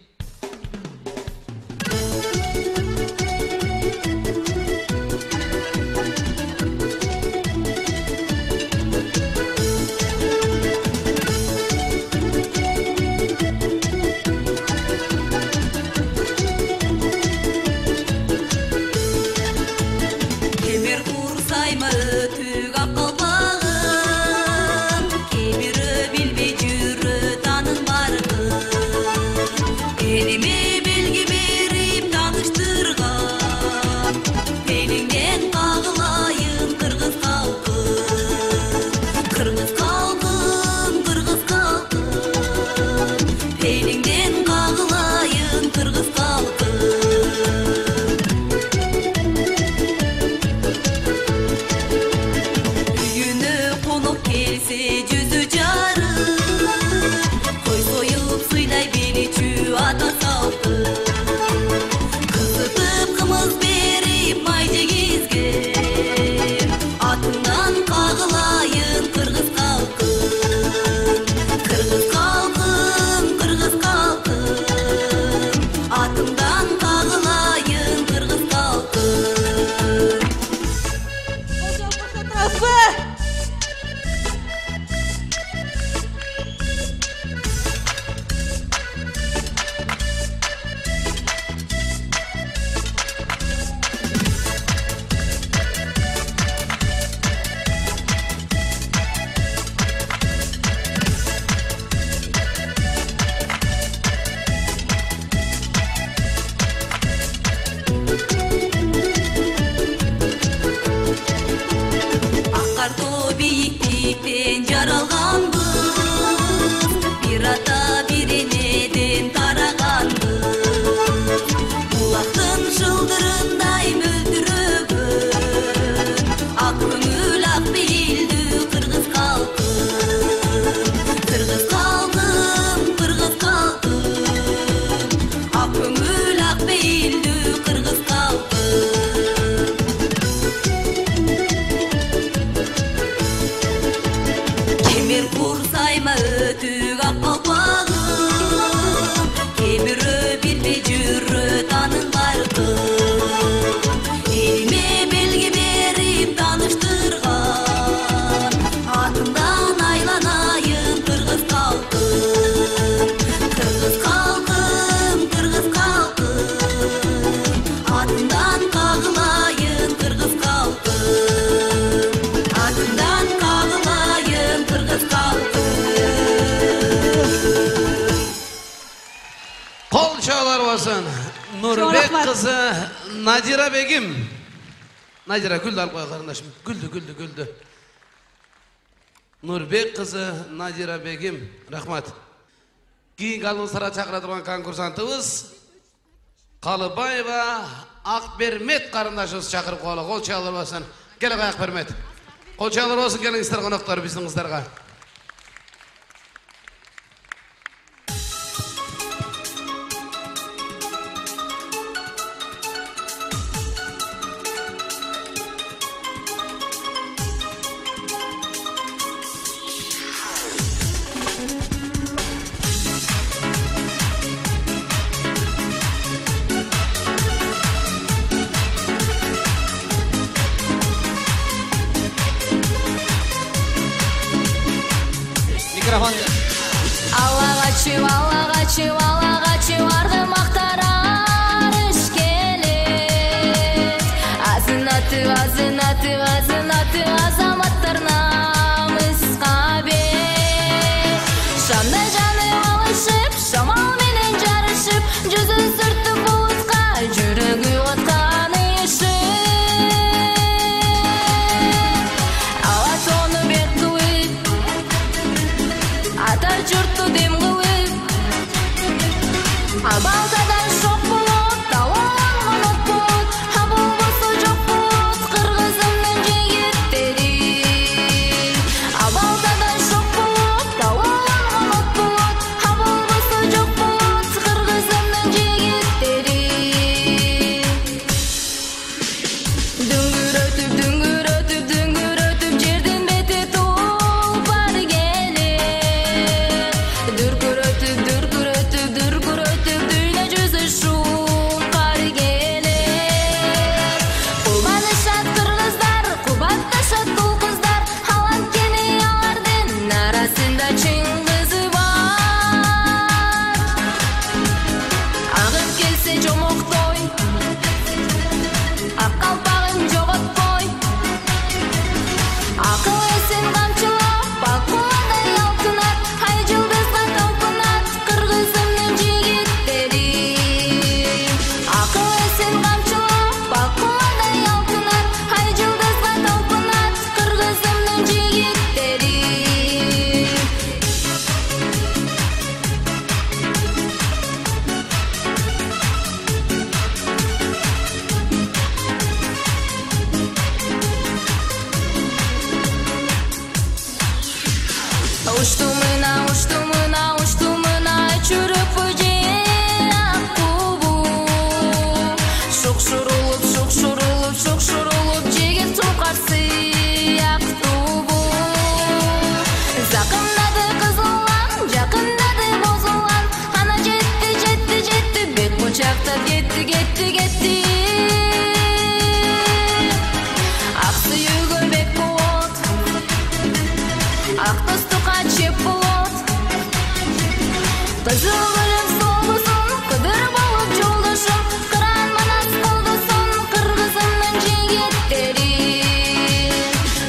Нурбек кызы Надира Бегим. Надира гүлдү алып кой карындашым. Гүлдү, гүлдү, гүлдү. Нурбек кызы Надира Бегим. Рахмат. Кийинки алдыңыздарга чакыра турган конкурсантыбыз Калыбаева Акбермет карындашыбыз чакырып коелу. Кол чалып алсын. Кел Акбермет. Кол чалып алсын, келиңиздер коноктор биздин кыздарга. Аллағачу, аллағачу, аллағачу, арды мақтарар ішкелек. Азынаты, азынаты, азынаты, азаматтарына мысқа бек. Шамдай жаны алышып, шамал менен жарышып, жүзі сүртті бұлытқа, жүрегі отқан ішіп. Ала тоны бек қылып, атар жұртты дем қылып, Уштумына, уштумына, уштумына чүрүп жер акубу. Шукшурулуп, шукшурулуп, шукшурулуп жеген сукарсы актубу. Закындады кызыллан, жакындады бозулан, ана жетти, жетти, жетти, бет мучактап кетти, кетти, кетти. Ак сүйүүгө бек болот, ак достукка чеп болот. Кызыл гүлүм солгусун, кыдыр болуп жолдошум, кыран манас колдосун, кыргызымдын жигиттери.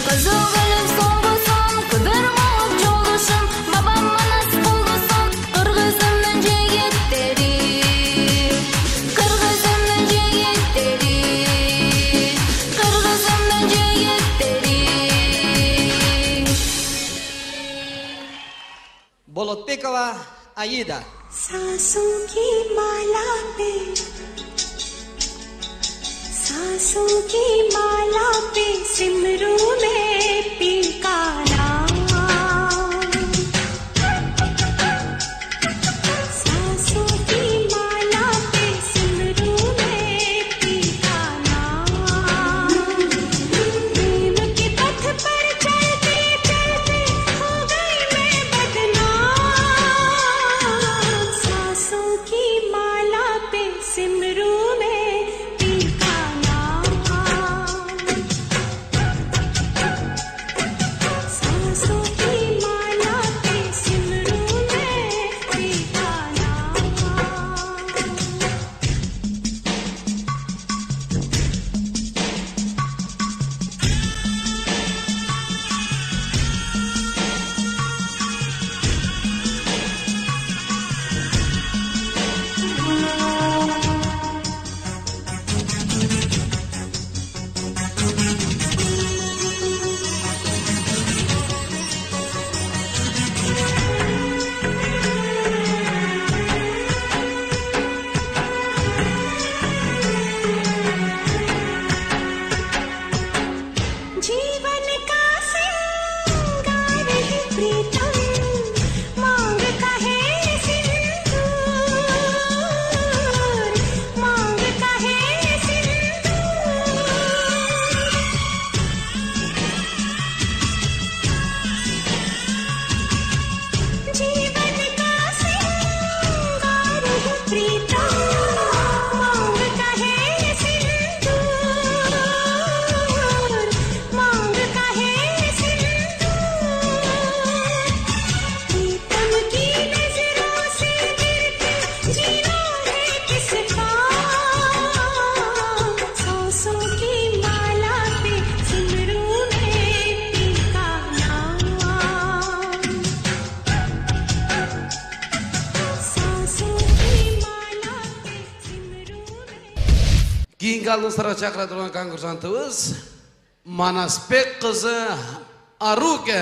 Кызыл гүлүм солгусун, кыдыр болуп жолдошум, бабам манас колдосун, кыргызымдын жигиттери. Кыргызымдын жигиттери, кыргызымдын жигиттери. Болотбекова Аида. सांसों की माला पे सांसों की माला पे सिमरू में पी का नाम सांसों की माला पे सिमरू में पी का नाम प्रेम के पथ पर चलते चलते हो गई मैं बदनाम सांसों की माला पे सिमरू में पी का नाम सांसों की माला पे सिमरू में पी का नाम जीवन का सिंगार है प्रीतम मांग का है सिंदूर मांग का है सिंदूर जीवन का सिंगार है प्रीतम मांग का है सिंदूर मांग का है सिंदूर प्रीतम की नजरों से गिरते जीना है किस काम सांसों की माला पे सिमरू में पी का नाम सांसों की माला पे सिमरू Кийинки алымсырга чакыра турган конкурсантыбыз Манасбек кызы Аруке.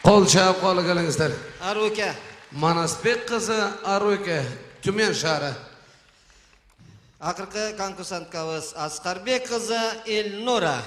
Qol çağıp qo'li kelingizlar. Aruke. Manasbek kızı Aruke, Tümen şahri. Акыркы конкурсанткабыз Аскарбек кызы Элнура.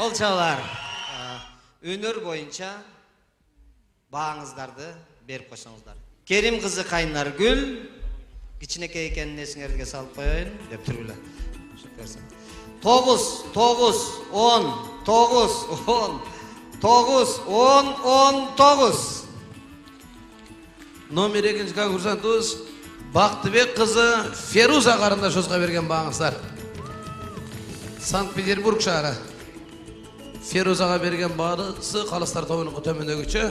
Колчалар, өнөр боюнча бааңыздарды берип койсоңуздар. Керим кызы Кайнаргүл, кичинекей экенин эсиңерге салып коеюн деп тургула. Тогуз, тогуз, он, тогуз, он, тогуз, он, он, тогуз. Номер экинчи конкурсантыбыз Бактыбек кызы Феруза карындашыбызга берген бааңыздар. Санкт-Петербург шаары. Ферузага берген баасы калыстар тобунун төмөндөгүчө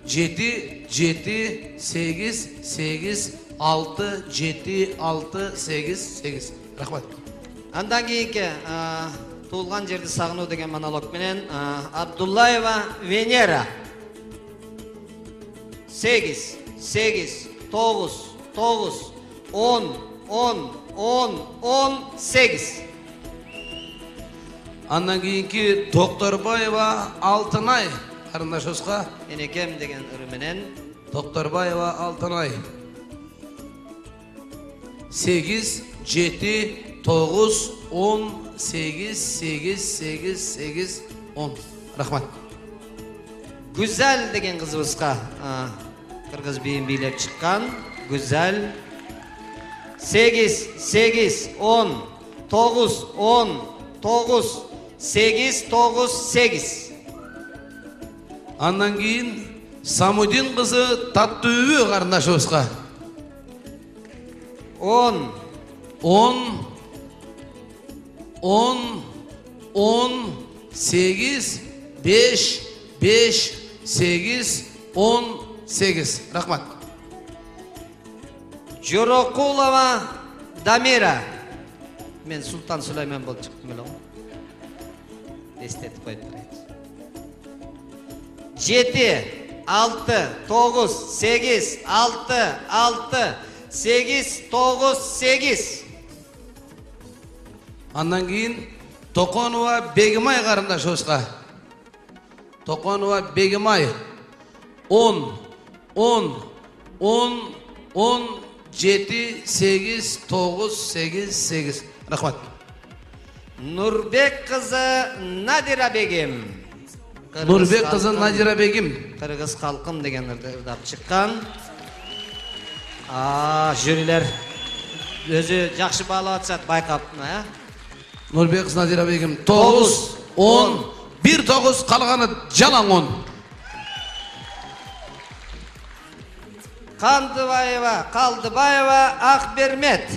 жети, жети, сегиз, сегиз, алты, жети, алты, сегиз, сегиз. Рахмат. Андан кийинки туулган жерди сагынуу деген монолог менен Абдуллаева Венера. сегиз, сегиз, тогуз, тогуз, он, он, он, он, сегиз. Андан кийинки Докторбаева Алтынай карындашыбызга энекем деген ыры менен Докторбаева Алтынай. сегиз, жети, тогуз, он, сегиз, сегиз, сегиз, сегиз, он. Рахмат. Güzel деген кызыбызга кыргыз бийин бийлеп чыккан. Güzel. сегиз, сегиз, он, тогуз, он, тогуз, сегиз, тогуз, сегиз. Андан кийин Самудин кызы Таттуубү карындашыбызга. он, он, он, он, сегиз, беш, беш, сегиз, он, сегиз. Рахмат. Жорокулова Дамира. Мен Султан Сулайман болуп чыктым эле го. Эстетип коюп турайын. жети, алты, тогуз, сегиз, алты, алты, сегиз, тогуз, сегиз. Андан кийин Токонова Бегимай карындашыбызга. Токонова Бегимай. он, он, он, он, жети, сегиз, тогуз, сегиз, сегиз. Рахмат. Нурбек кызы Надира Бегим. Нурбек кызы Надира Бегим. Кыргыз халкым деген ырдап чыккан. А, жюрилер өзү жакшы баалап атышат, байкап, э? Нурбек кызы Надира Бегим. тогуз, он, бир тогуз, калганы жалаң он. Кандыбаева, Калдыбаева Акбермет.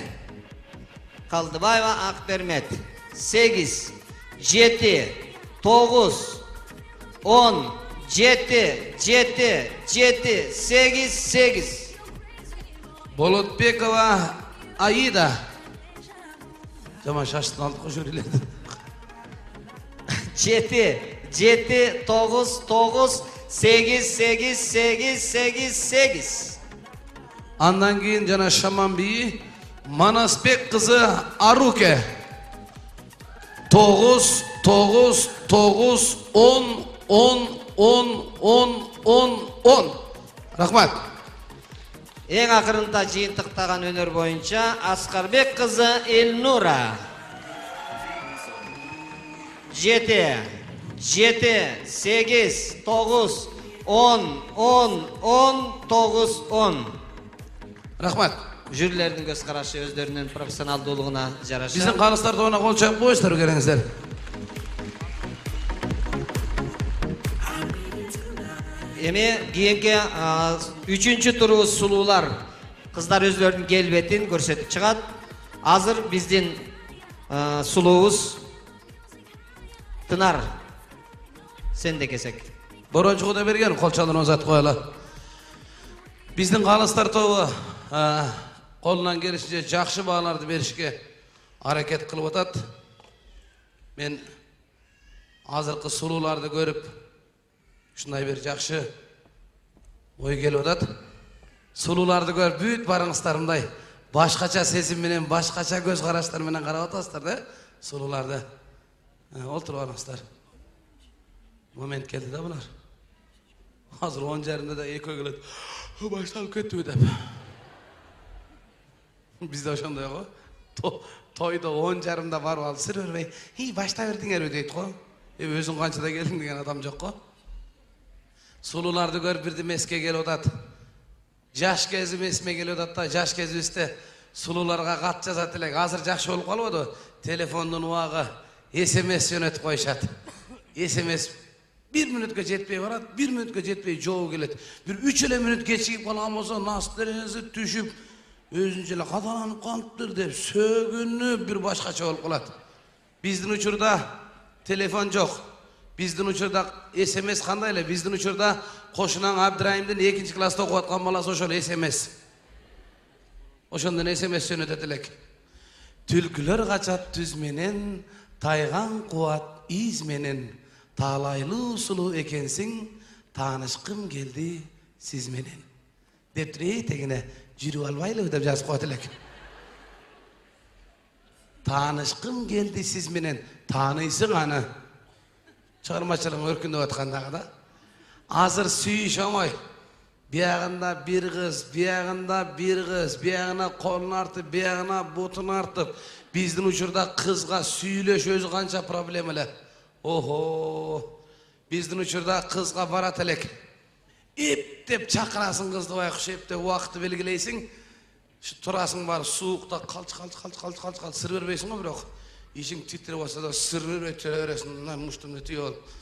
Калдыбаева Акбермет. сегиз, жети, тогуз, он, жети, жети, жети, сегиз, сегиз. Болотбекова Аида. Жаман шаштын алдық жюрилерди. жети, жети, тогуз, тогуз, сегиз, сегиз, сегиз, сегиз, сегиз. Андан кийин жана Шаман бии Манасбек кызы Аруке. тогуз, тогуз, тогуз, он, он, он, он, он, он. Рахмат. Эң акырында жыйынтыктаган өнөр боюнча Аскарбек кызы Элнура. жети, жети, сегиз, тогуз, он, он, он, тогуз, он. Рахмат. Жюрилердин көз карашы өздөрүнүн профессионалдуулугуна жараша. Биздин калыстар тобуна кол чаап коюңуздар, келиңиздер. Эми кийинки үчүнчү турубуз сулуулар. Кыздар өздөрүнүн келбетин көрсөтүп чыгат. Азыр биздин сулуубуз Тынар. Сен де кесек. Борончугу да берген, кол чалын озат коела. Биздин калыстар тобу колунан келишинче жакшы бааларды беришке аракет кылып атат. Мен азыркы сулууларды көрүп ушундай бир жакшы ой келип атат. Сулууларды көрүп бүт барыңыздар мындай башкача сезим менен, башкача көз караштар менен карап атасыздар да сулууларды. Олтуруп алыңыздар. Момент келди да булар. Азыр он жарымда да экөө келет. Башталып кеттиби деп. Бизде ошондой го. Тойдо он жарымда барып алып сыр бербей, "И, башта бердиңерби" дейт го. Э, өзүң канчада келдиң деген адам жок го. Сулууларды көрүп бирдем эске келип атат. Жаш кезим эсиме келип атат да, жаш кезибизде сулууларга кат жазат элек. Азыр жакшы болуп калбады. Телефондун убагы эс эм эс жөнөтүп коюшат. эс эм эс bir мүнөткө жетпей барат, bir мүнөткө жетпей жоого келет. Бир үч эле мүнөт кечигип калган болсо, настереңизи түшүп, өзүнчө эле кадаланып калыптыр деп сөгүнүп бир башкача болуп калат. Биздин учурда телефон жок. Биздин учурда эс эм эс кандай эле? Биздин учурда Кошунан Абдырайымдын экинчи класста окуп аткан баласы ошол эс эм эс. Ошондон эс эм эс жөнөтөт элек. Түлкүлөр качат түз менен, тайган кубат из менен. Таалайлуу сулуу экенсиң, таанышкым келди сиз менен. Деп турей тегине жүрүп албайлыбы деп жазып коет элек. Таанышкым келди сиз менен, тааныйсың аны. Чыгармачылык өркүндөп аткандагы да. Азыр сүйүш оңой. Биягында бир кыз, биягында бир кыз, биягына колун артып, биягына бутун артып. Биздин учурда кызга сүйлөш өзү канча проблема эле. Охо, биздин учурда кызга барат элек. Эптеп чакырасың кызды байкуш, эптеп убакытты белгилейсиң. Турасың бар суукта калч калч калч калч калч калч сыр бербейсиң го бирок. ишиң титирип атса да сырыр өтүрө бересиң, мына муштумду тийип алып.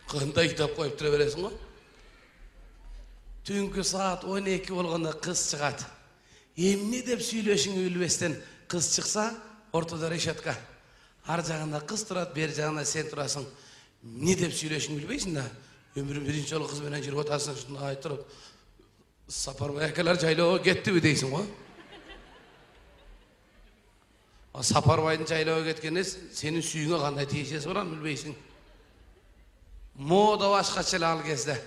Кандай китап коюп тура бересиң го? Түнкү саат он эки болгондо кыз чыгат. Эмне деп сүйлөшүңү билбестен кыз чыкса, ортодо решетка. Ар жагында кыз турат, бер жагында сен турасың. Эмне деп сүйлөшүңү билбейсиң да, өмүрүң биринчи жолу кыз менен жүрүп атасың, ушундай туруп, Сапарбай акалар жайлоого кеттиби дейсиң го? А Сапарбайдын жайлоого кеткенде сенин сүйүңө кандай тиешеси бар аны билбейсиң. Мода башкача эле ал кезде.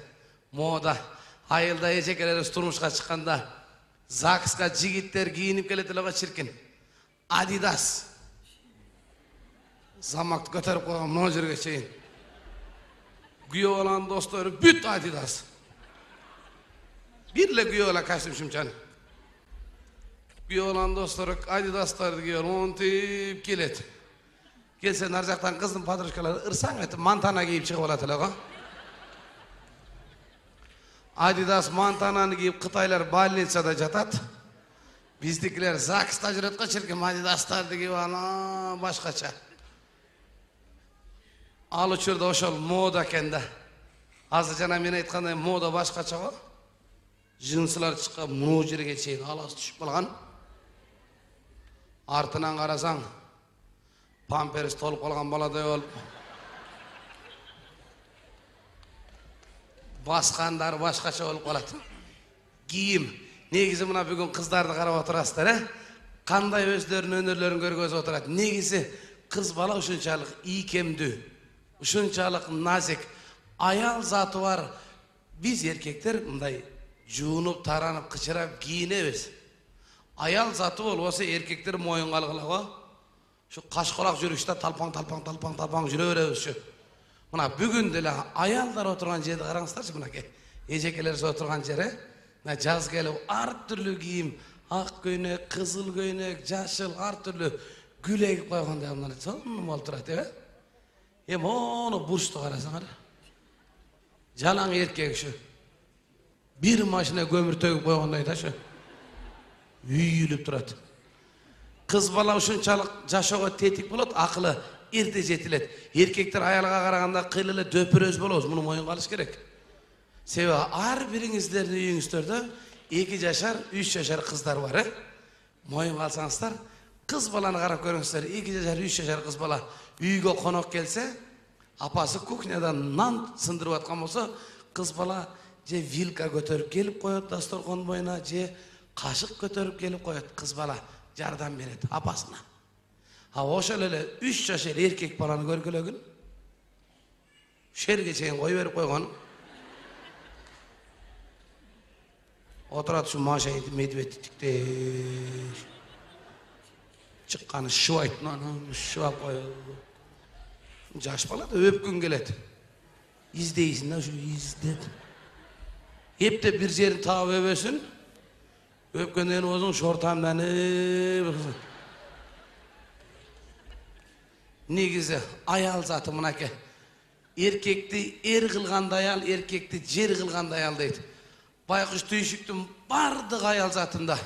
Мода айылда эжекелерибиз турмушка чыкканда ЗАГСка жигиттер кийинип келет эле го чиркин. Адидас. Замакты көтөрүп койгон могу жерге чейин. Күйөө баланын достору бүт Адидас. Бир эле күйөө бала костюм шымчан. Күйөө баланын достору Адидастарды кийип монтип келет. Келсе нар жактан кыздын подружкалары ырсаң этип мантана кийип чыгып алат эле го. Адидас мантананы кийип кытайлар больницада жатат. Биздикилер ЗАГСта жүрөт го чирким Адидастарды кийип ана башкача. Ал учурда ошол мода экен да. Азыр жана мен айткандай мода башкача го. Жынсылар чыккан муну жерге чейин аласы түшүп калган. Артынан карасаң, памперс толуп калган баладай болуп. Баскандар башкача болуп калат. Кийим. Негизи мына бүгүн кыздарды карап отурасыздар, э? Кандай өздөрүнүн өнөрлөрүн көргөзүп отурат. Негизи кыз бала ушунчалык ийкемдүү, ушунчалык назик, аял заты бар. Биз эркектер мындай жуунуп, таранып, кычырап кийинебиз. Аял заты болбосо эркектер моюнга алгыла го. Şu kaşkolak жүрүштө талпаң талпаң талпаң талпаң жүрө беребизчү. Мына бүгүн деле аялдар отурган жерди караңыздарчы мынакей. Эжекелер отурган жери. Мына жаз келип ар түрлүү кийим, ак көйнөк, кызыл көйнөк, жашыл ар түрлүү гүл эгип койгондой мына сонун болуп турат, э? Эми ону бурчту карасаңар. Жалаң эркек ушу. Бир машина көмүр төгүп койгондой ташы. Үйүлүп турат. Кыз бала ушунчалык жашоого тетик болот, акылы эрте жетилет. Эркектер аялга караганда кыйла эле дөпөрөз болобуз, муну моюнга алыш керек. Себеби ар бириңиздердин үйүңүздөрдө эки жашар, үч жашар кыздар бар, э? Моюнга алсаңыздар, кыз баланы карап көрүңүздөр. эки жашар, үч жашар кыз бала үйгө конок келсе, апасы кухнядан нан сындырып аткан болсо, кыз бала же вилка көтөрүп келип коет дасторкон боюна, же кашык көтөрүп келип коет. Кыз бала жардам берет апасына. А ошол эле үч жашар эркек баланы көргүлөгүн. Шерге чейин кой берип койгон. Отурат ушу Маша медведь тиктеш. Чыкканы шыбайт, анан шыбап коет. Жаш бала да өпкүн келет. Издейсиң да ушу издеп. Эптеп бир жерин таап өбөсүн. Өпкөндөн өзүң шортамданып. Негизи аял заты мынаке. Эркекти эр кылгандай аял, эркекти жер кылгандай аял дейт. Байкуш түйшүктүн бардык аял затында.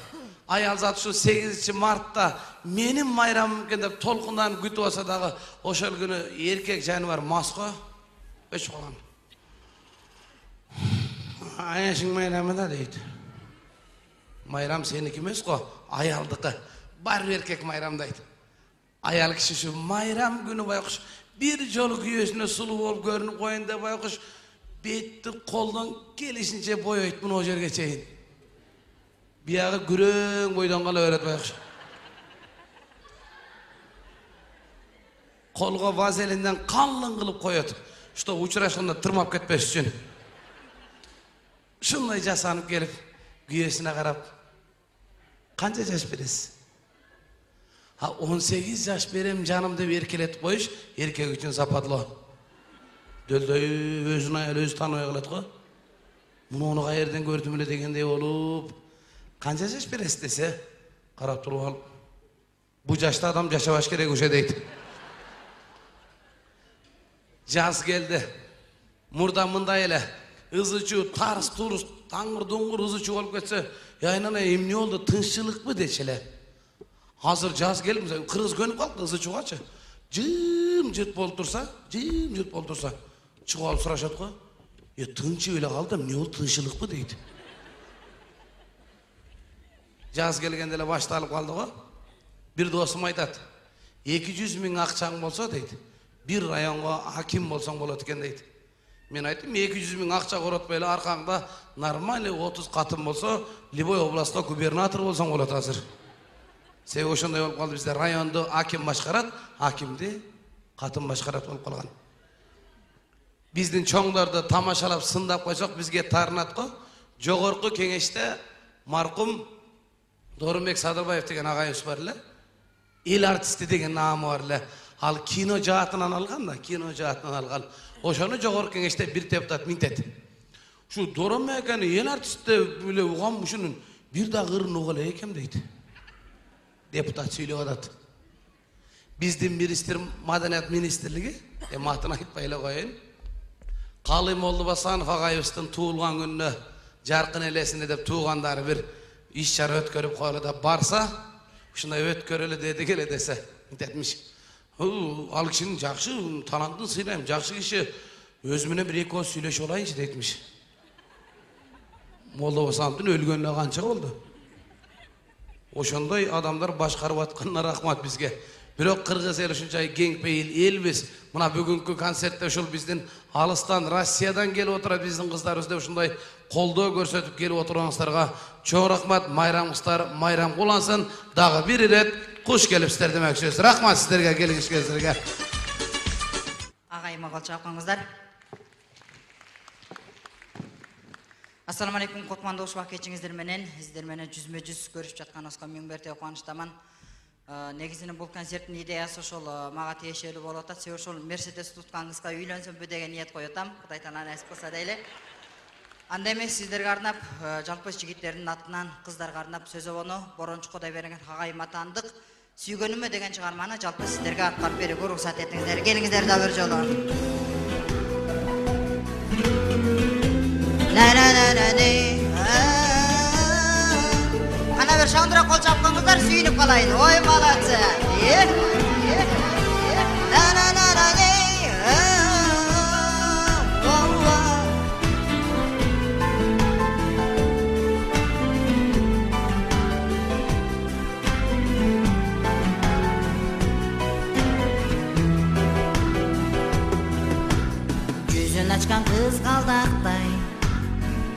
Аял заты ушу сегизинчи мартта менин майрамым экен деп толкундан күтүп алса дагы ошол күнү эркек жаныбар мас го. Өчүп калган. Аяшың майрамы да дейт. Майрам сеники эмес го, аялдыкы. Бар эркек майрамдайт. Аял киши ушу майрам күнү байкуш бир жолу күйөөсүнө сулуу болуп көрүнүп коюн деп байкуш бетти колдон келишинче боёйт муну жерге чейин. Биягы күрөң бойдон кала берет байкуш. Колго вазелинден калың кылып коет. Что учурашканда тырмап кетпеш үчүн. Ушундай жасанып келип күйөөсүнө карап канча жаш бересиз? Ha он сегиз жаш берем жаным деп эркелетип коюш эркек үчүн сапатлоо. Дөлдөй өзүн аял өзү тааныбай калат го. Муну каерден көрдүм эле дегендей болуп, канча жаш бересиз десе, карап туруп алып, бу жашта адам жашабаш керек ушу дейт. Жаз келди. Мурда мындай эле ызычуу, тарс турус, таңыр дуңгур ызычуу болуп кетсе, айнана эмне болду, тынччылыкпы дечи эле. Азыр жаз келип, кыргыз көнүп калды, ызы чугачы. Жым жырт болуп турса, жым жырт болуп турса, чыгып алып сурашат го. Е, тынчып эле калдым, эмне болду, тынччылыкпы дейт. Жаз келгенде эле башталып калды го. Бир досум айтат, эки жүз миң акчаң болсо дейт, бир районго аким болсоң болот экен дейт. Мен айттым, эки жүз миң акча коротпой эле аркаңда нормальный отуз катын болсо, любой областта губернатор болсоң болот азыр. Себеби ошондой болуп калды, бизде районду аким башкарат, акимди катын башкарат болуп калган. Биздин чоңдорду тамашалап сындап койсок, бизге таарынат го. Жогорку кеңеште маркум Дорумбек Садырбаев деген агайыбыз бар эле. Эл артисти деген наамы бар эле. Ал кино жаатынан алган да, кино жаатынан алган. Ошону жогорку кеңеште бир депутат минтет. Ушу Дорумбек эл артисти эле угам ушунун бир да кырын угу эле экем дейт. Депутат сүйлөп атат. Биздин министр маданият министрлиги, эми атын айтпай эле коеюн. Калый Молдобасанов агайыбыздын туулган күнүнө жаркын элесине деп туугандары бир иш чара өткөрүп коелу да барса, ушундай өткөрөлү деди келе десе, мынтетмиш. Ал кишинин жакшы талантын сыйлайм, жакшы киши, өзү менен бир эки ооз сүйлөшүп алайынчы дейтмиш. Молдобасановдун өлгөнүнө канча болду? Ошондой адамдар башкарып атканына рахмат бизге. Бирок кыргыз эл ушунчай кең пейил элбиз. Мына бүгүнкү концертте ушул биздин алыстан Россиядан келип отурат биздин кыздарыбыз деп ушундай колдоо көрсөтүп келип отургаңыздарга чоң рахмат. Майрамыңыздар майрам кулансын. Дагы бир ирет куш келипсиздер демекчүбүз. Рахмат сиздерге, келиңиңиздерге. Агайыма кол чапкаңыздар. Ассаламу алейкум, Котмандош бакетчиңиздер менен, сиздер менен жүзмө жүз көрүшүп жатканыбызга миң берте кубанычтаман. Негизинен бул концерттин идеясы ошол мага тиешелүү болуп атат. Себеби ошол Мерседес туткан кызга үйлөнсөмбү деген ниет коюп атам. Кудай таала насип кылса дейли. Анда эмес сиздерге арнап, жалпы жигиттердин атынан кыздарга арнап сөз обону Борончу Кудай берген агайыма таандык сүйгөнүмө деген чыгарманы жалпы сиздерге аткарып берүүгө уруксат этиңиздер. Келиңиздер да бир жолу. Ана бир шаңдыра кол чапкаңыздар, сүйүнүп калайын. Ой, молодцы. Жүзүн ачкан кыз калдактай,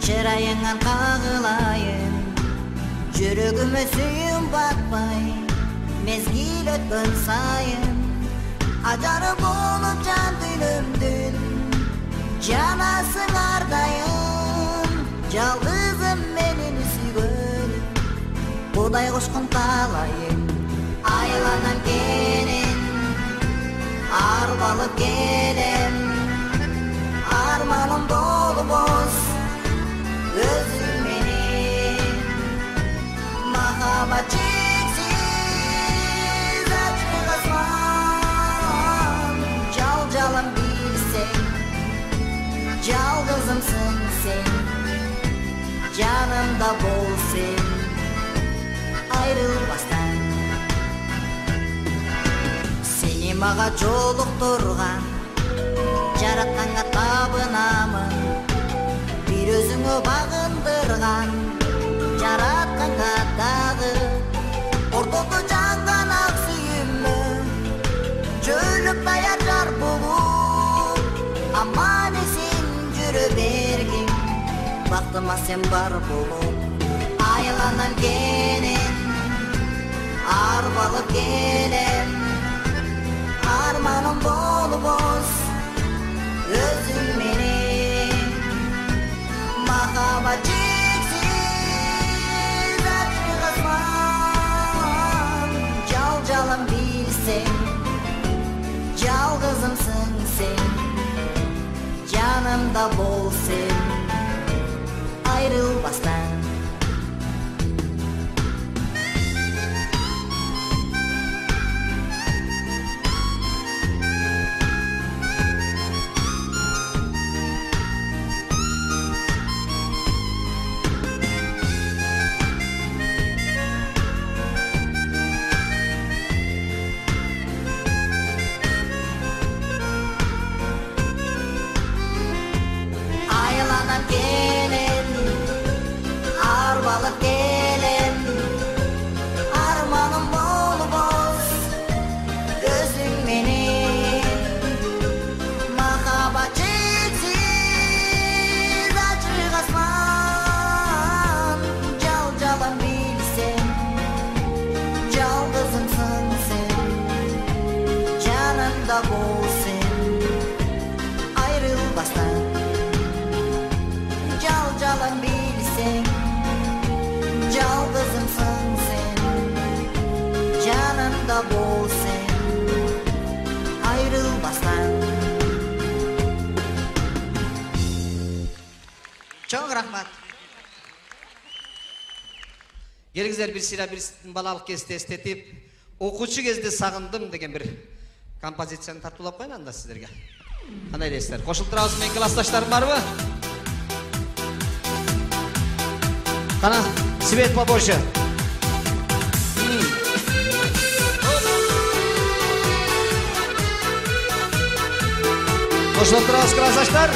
чырайыңан кагылайын. Жүрөгүмө сүйүм батпай, мезгил өткөн сайын, ажары болуп жан дүйнөмдүн, жанасың ардайым. Жалгызым менин сүйгөн, Кудай кошкон талайым. Айланам келин, арбалып келем, арманым болбос өзүң. Махаббат чексиз ачык асман, жал-жалын билсең, жалгызымсың сен, жанымда бол сен, айрылбастан. Сени мага жолуктурган, жаратканга табынамын, бир өзүңө багындырган, жаратканга дагы, ортодо жанган ак сүйүммө, жөлүп даяр жар болуп, аман эсен жүрө бергин, бактыма сен бар болуп. Айланам келин, арбалып келем, арманым болбос өзүң менен. Махаббат жалын билсең, жалгызымсың сен, жанымда бол сен, айрылбастан. кайда бол сен айрылбастан. Чоң рахмат. Келиңиздер бир сыйра бирсиздин балалык кезде эстетип, окуучу кезде сагындым деген бир композицияны тартуулап коеюн анда сиздерге. Кандай дейсиздер? Кошулуп турабызбы, менин классташтарым барбы? Кана, свет побольше. Кошулуп турабыз, классташтар.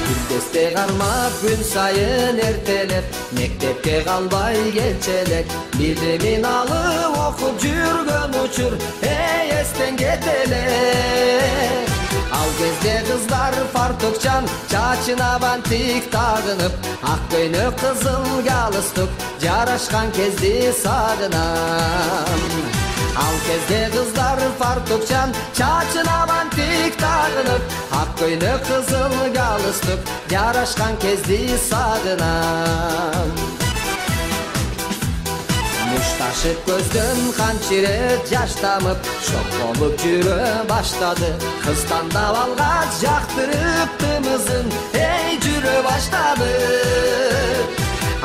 Күндесте кармап күн сайын эртелеп, мектепке калбай келчелек, билимин алып окуп жүргөн учур, эй эстен кетелек. Ал кезде кыздар фартукчан, чачына бантик тагынып, ак көйнөк кызыл галстук жарашкан кезди сагынам. Ал кезде кыздар фартукчан, чачына бантик тагынып, ак көйнөк кызыл галстук жарашкан кезди сагынам. Мушташып көздөн канчирет жаш тамып, шок болуп жүрө баштады. Кыз тандап алгач жактырып тымызын, эй жүрө баштады.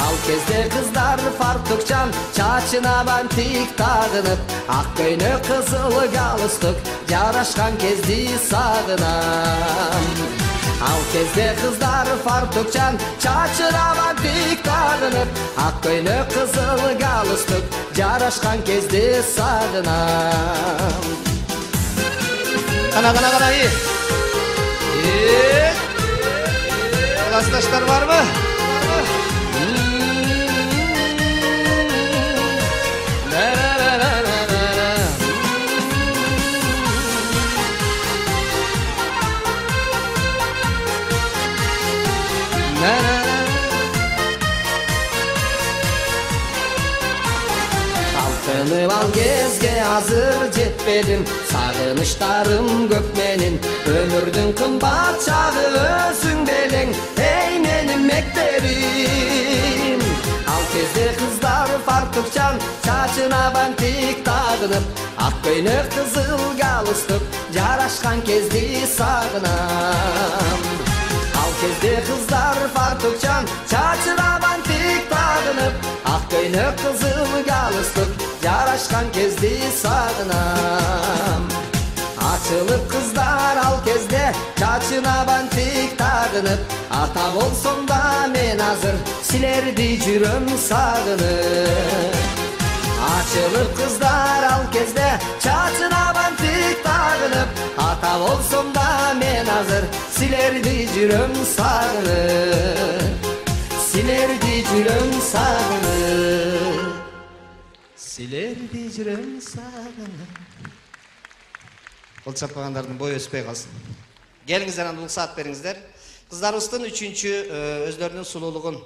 Ал кезде кыздар фартукчан, чачына бантик тагынып, ак көйнөк кызыл галстук жарашкан кезди сагынам. Ал кезде кыздар фартукчан, чачына бантик тагынып, ак көйнөк кызыл галстук жарашкан кезде сагынам. Кана, кана, кана, и. Классташтар барбы? Талпынып ал кезге азыр жетпедим, сагыныштарым көп менин, өмүрдүн кымбат чагы өзүң белең, эй менин мектебим. Ал кезде кыздар фартукчан, чачына бантик тагынып, ак көйнөк кызыл галстук жарашкан кезди сагынам. Ал кезде кыздар фартукчан, чачына бантик тагынып, ак көйнөк кызыл галстук жарашкан кезди сагынам. Ачылып кыздар ал кезде, чачына бантик тагынып, ата болсом да мен азыр силерди жүрөм сагынып. Ачылып кыздар ал кезде, чачына бантик тагынып, ата болсом да мен азыр силерди жүрөм сагынып. Силерди жүрөм сагынып. Силерди жүрөм сагынып. Кол чаппагандардын бою өспөй калсын. Келиңиздер, анда уруксаат бериңиздер. Кыздарыбыздын үчүнчү өзлөрүнүн сулуулугун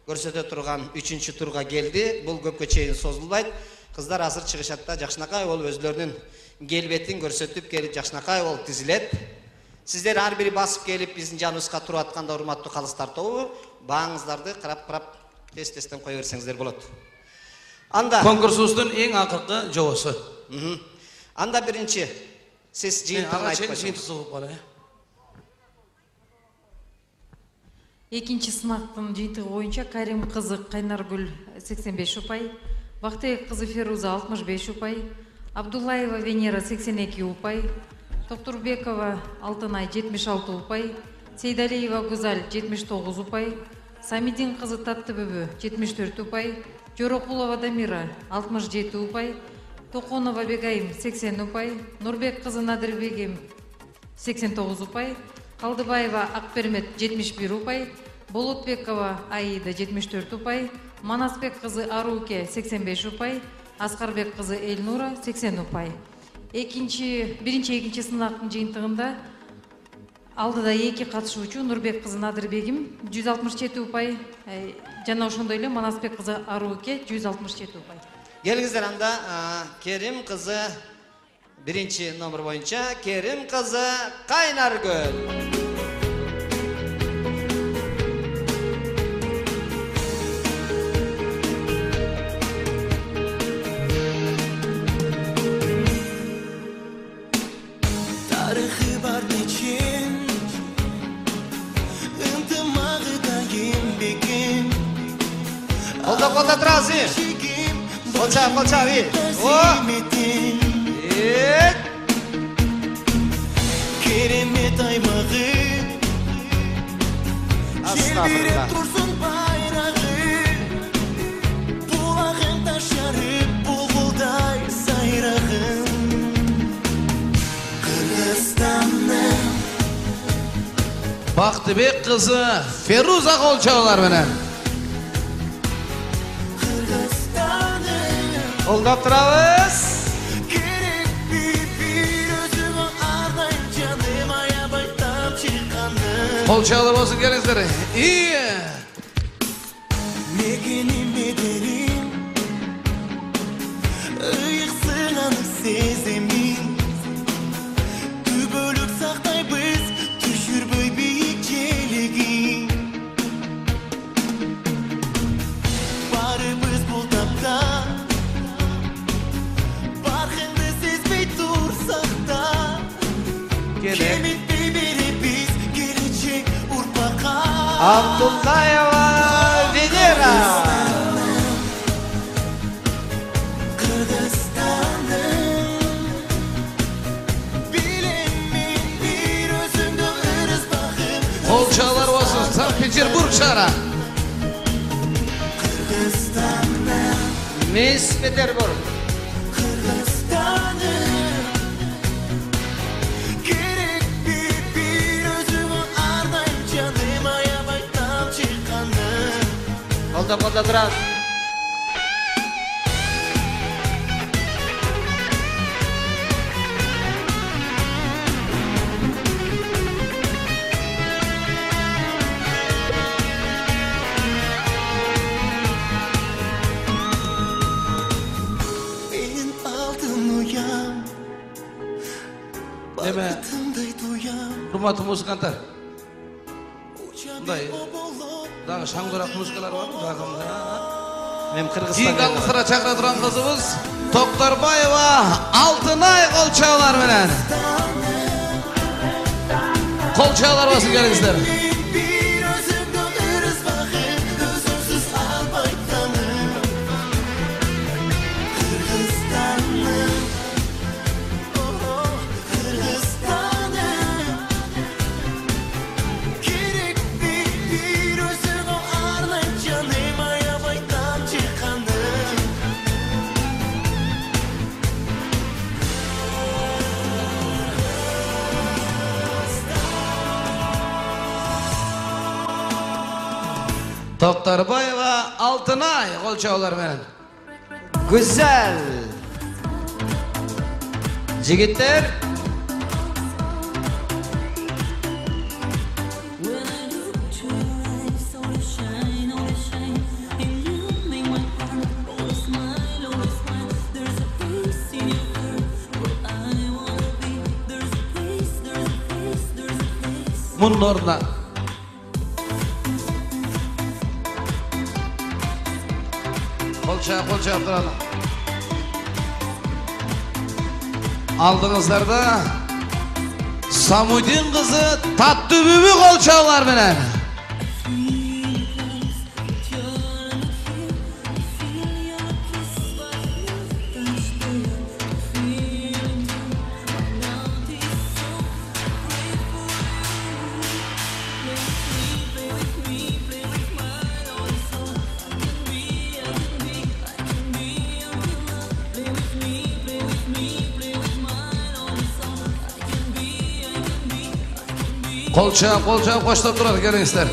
көрсөтө турган үчүнчү турга келди. Бул көпкө чейин созулбайт. Кыздар азыр чыгышат да жакшынакай болуп өзлөрүнүн келбетин көрсөтүп келип жакшынакай болуп тизилет. Сиздер ар бири басып келип биздин жаныбызга туруп атканда урматтуу калыстар тобу, бааңыздарды карап-карап тез-тезден кое берсеңиздер болот. Анда конкурсубуздун эң акыркы жобосу. Анда биринчи сиз жыйынтыгын айтып койсоңуз. Экинчи сынактын жыйынтыгы боюнча Карим кызы Кайнаргүл сексен беш упай, Бактыбек кызы Феруза алтымыш беш упай, Абдуллаева Венера сексен эки упай, Токтурбекова Алтынай жетимиш алты упай, Сейдалиева Гузаль жетимиш тогуз упай, Самидин кызы Таттыбүбү жетимиш төрт упай, Жорокулова Дамира алтымыш жети упай, Токонова Бегайым сексен упай, Нурбек кызы Надырбегим сексен тогуз упай, Калдыбаева Акпермет жетимиш бир упай, Болотбекова Аида жетимиш төрт упай, Манасбек кызы Аруке сексен беш упай, Аскарбек кызы Эльнура сексен упай. Экинчи, биринчи экинчи сынактын жыйынтыгында Алдыда эки катышуучу Нурбек кызы Надырбегим жүз алтымыш жети упай, жана ошондой эле Манасбек кызы Арууке жүз алтымыш жети упай. Келиңиздер анда Керим кызы биринчи номер боюнча Керим кызы Кайнаргөл. Kolda kolda trazı. Kolça kolça bir. O. Evet. Keremet aymağı. Estağfurullah. Dursun bayrağı. Bulağın taşarıp bulgulday sayrağın. Kırgızstan'ın. Baktыбек kızı Feruza Kolçaoğlar menen. Kolda turabız. Керек bir özümü ardayım canım ayabay tam çıkanım. Kolçaoğlar olsun gelizleri. İyi. Megenim ederim. Iyik sığanı sezemin. Tübölük saktay biz düşürböy büyük çelegi. Barımız bu tapta. Barkındı sezmey dursak da. Kemit bibiri biz gelecek urpaka. Abdullayeva Venera. Kırgızstan'ın. Bilemin bir özümde ırız bakım. Kolçaoğlar olsun Sankt Peterburg şara. Kırgızstan'ın. Miss Peterburg. Kırgızstan'ın. Gerek bir bir özümü ardayım canım ayabay tam çıkanım. Kolda kolda turaz. Benim altın uyan. Deme. Baktımday duyan. Hurmatlı muzikantar. Bunday. Daha şangırak muzikalar var mı? Мен İyi Kırgızstan'da. kalkısıra çakra duran kızımız Toktarbayeva Altınay Kolçaoğlar menen. Kolçaoğlar olsun gelizler. Bir özümde ırız bakım. Özümsüz albay tanım. Kırgızstan'ın. Oh, Kırgızstan'ın. Gerek bir bir özümü ardayım canım ayabay tam çıkanım. Toktarbayeva Altınay Kolçaoğlar menen. Güzel. Jigitler. Bunun orada. Kolça kolça duralım. Aldığınızlarda Samudin kızı Tatlı Bübü Kolçaoğlar menen. Kolça kolça koştup durar gelingizler.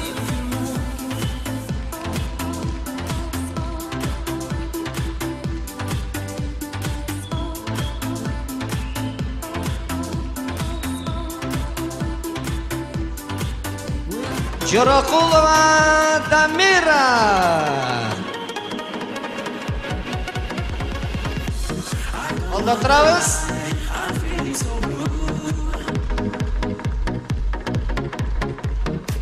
Жорокулова Дамира. Қолда тұрабыз.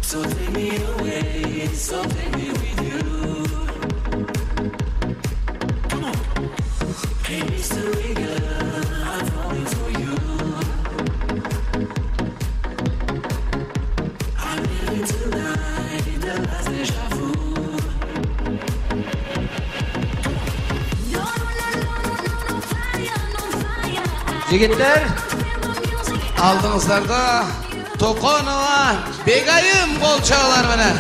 So take me away, so take me with you. Come on. Hey, mystery girl, I'm falling for you. I'm living tonight, the last déjà vu. Жігіттер, алдыңыздарда Токонова Бегайым болчалар менен.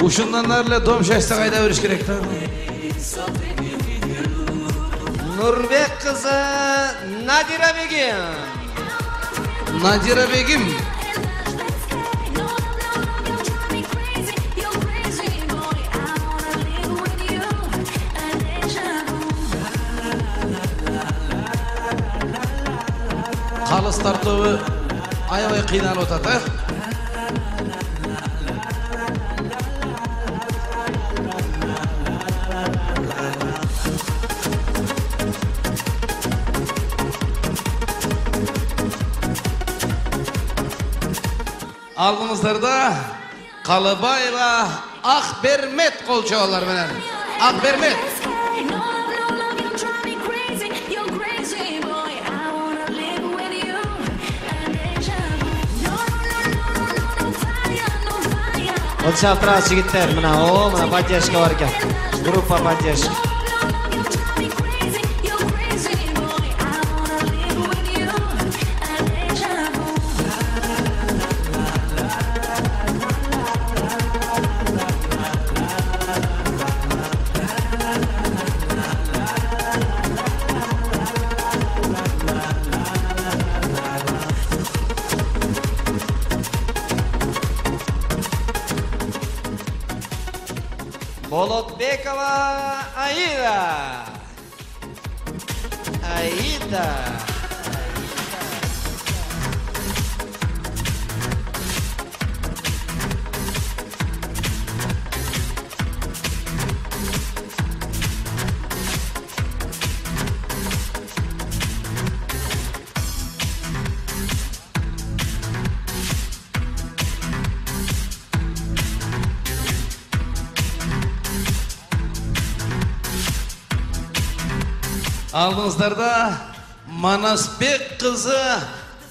Ушундан эле дом шашты кайда бериш керек да? Нурбек кызы Надира Бегим. Надира Бегим. Калыс тартуу аябай кыйналып атат, э? Алдыңыздарда Калыбаева Акбермет колчоолор менен. Акбермет. Қолшап тұрас жігіттер, мына о, мына поддержка бар екен. Группа поддержка. Болотбекова Аида. Аида. Алдыңыздарда Манасбек кызы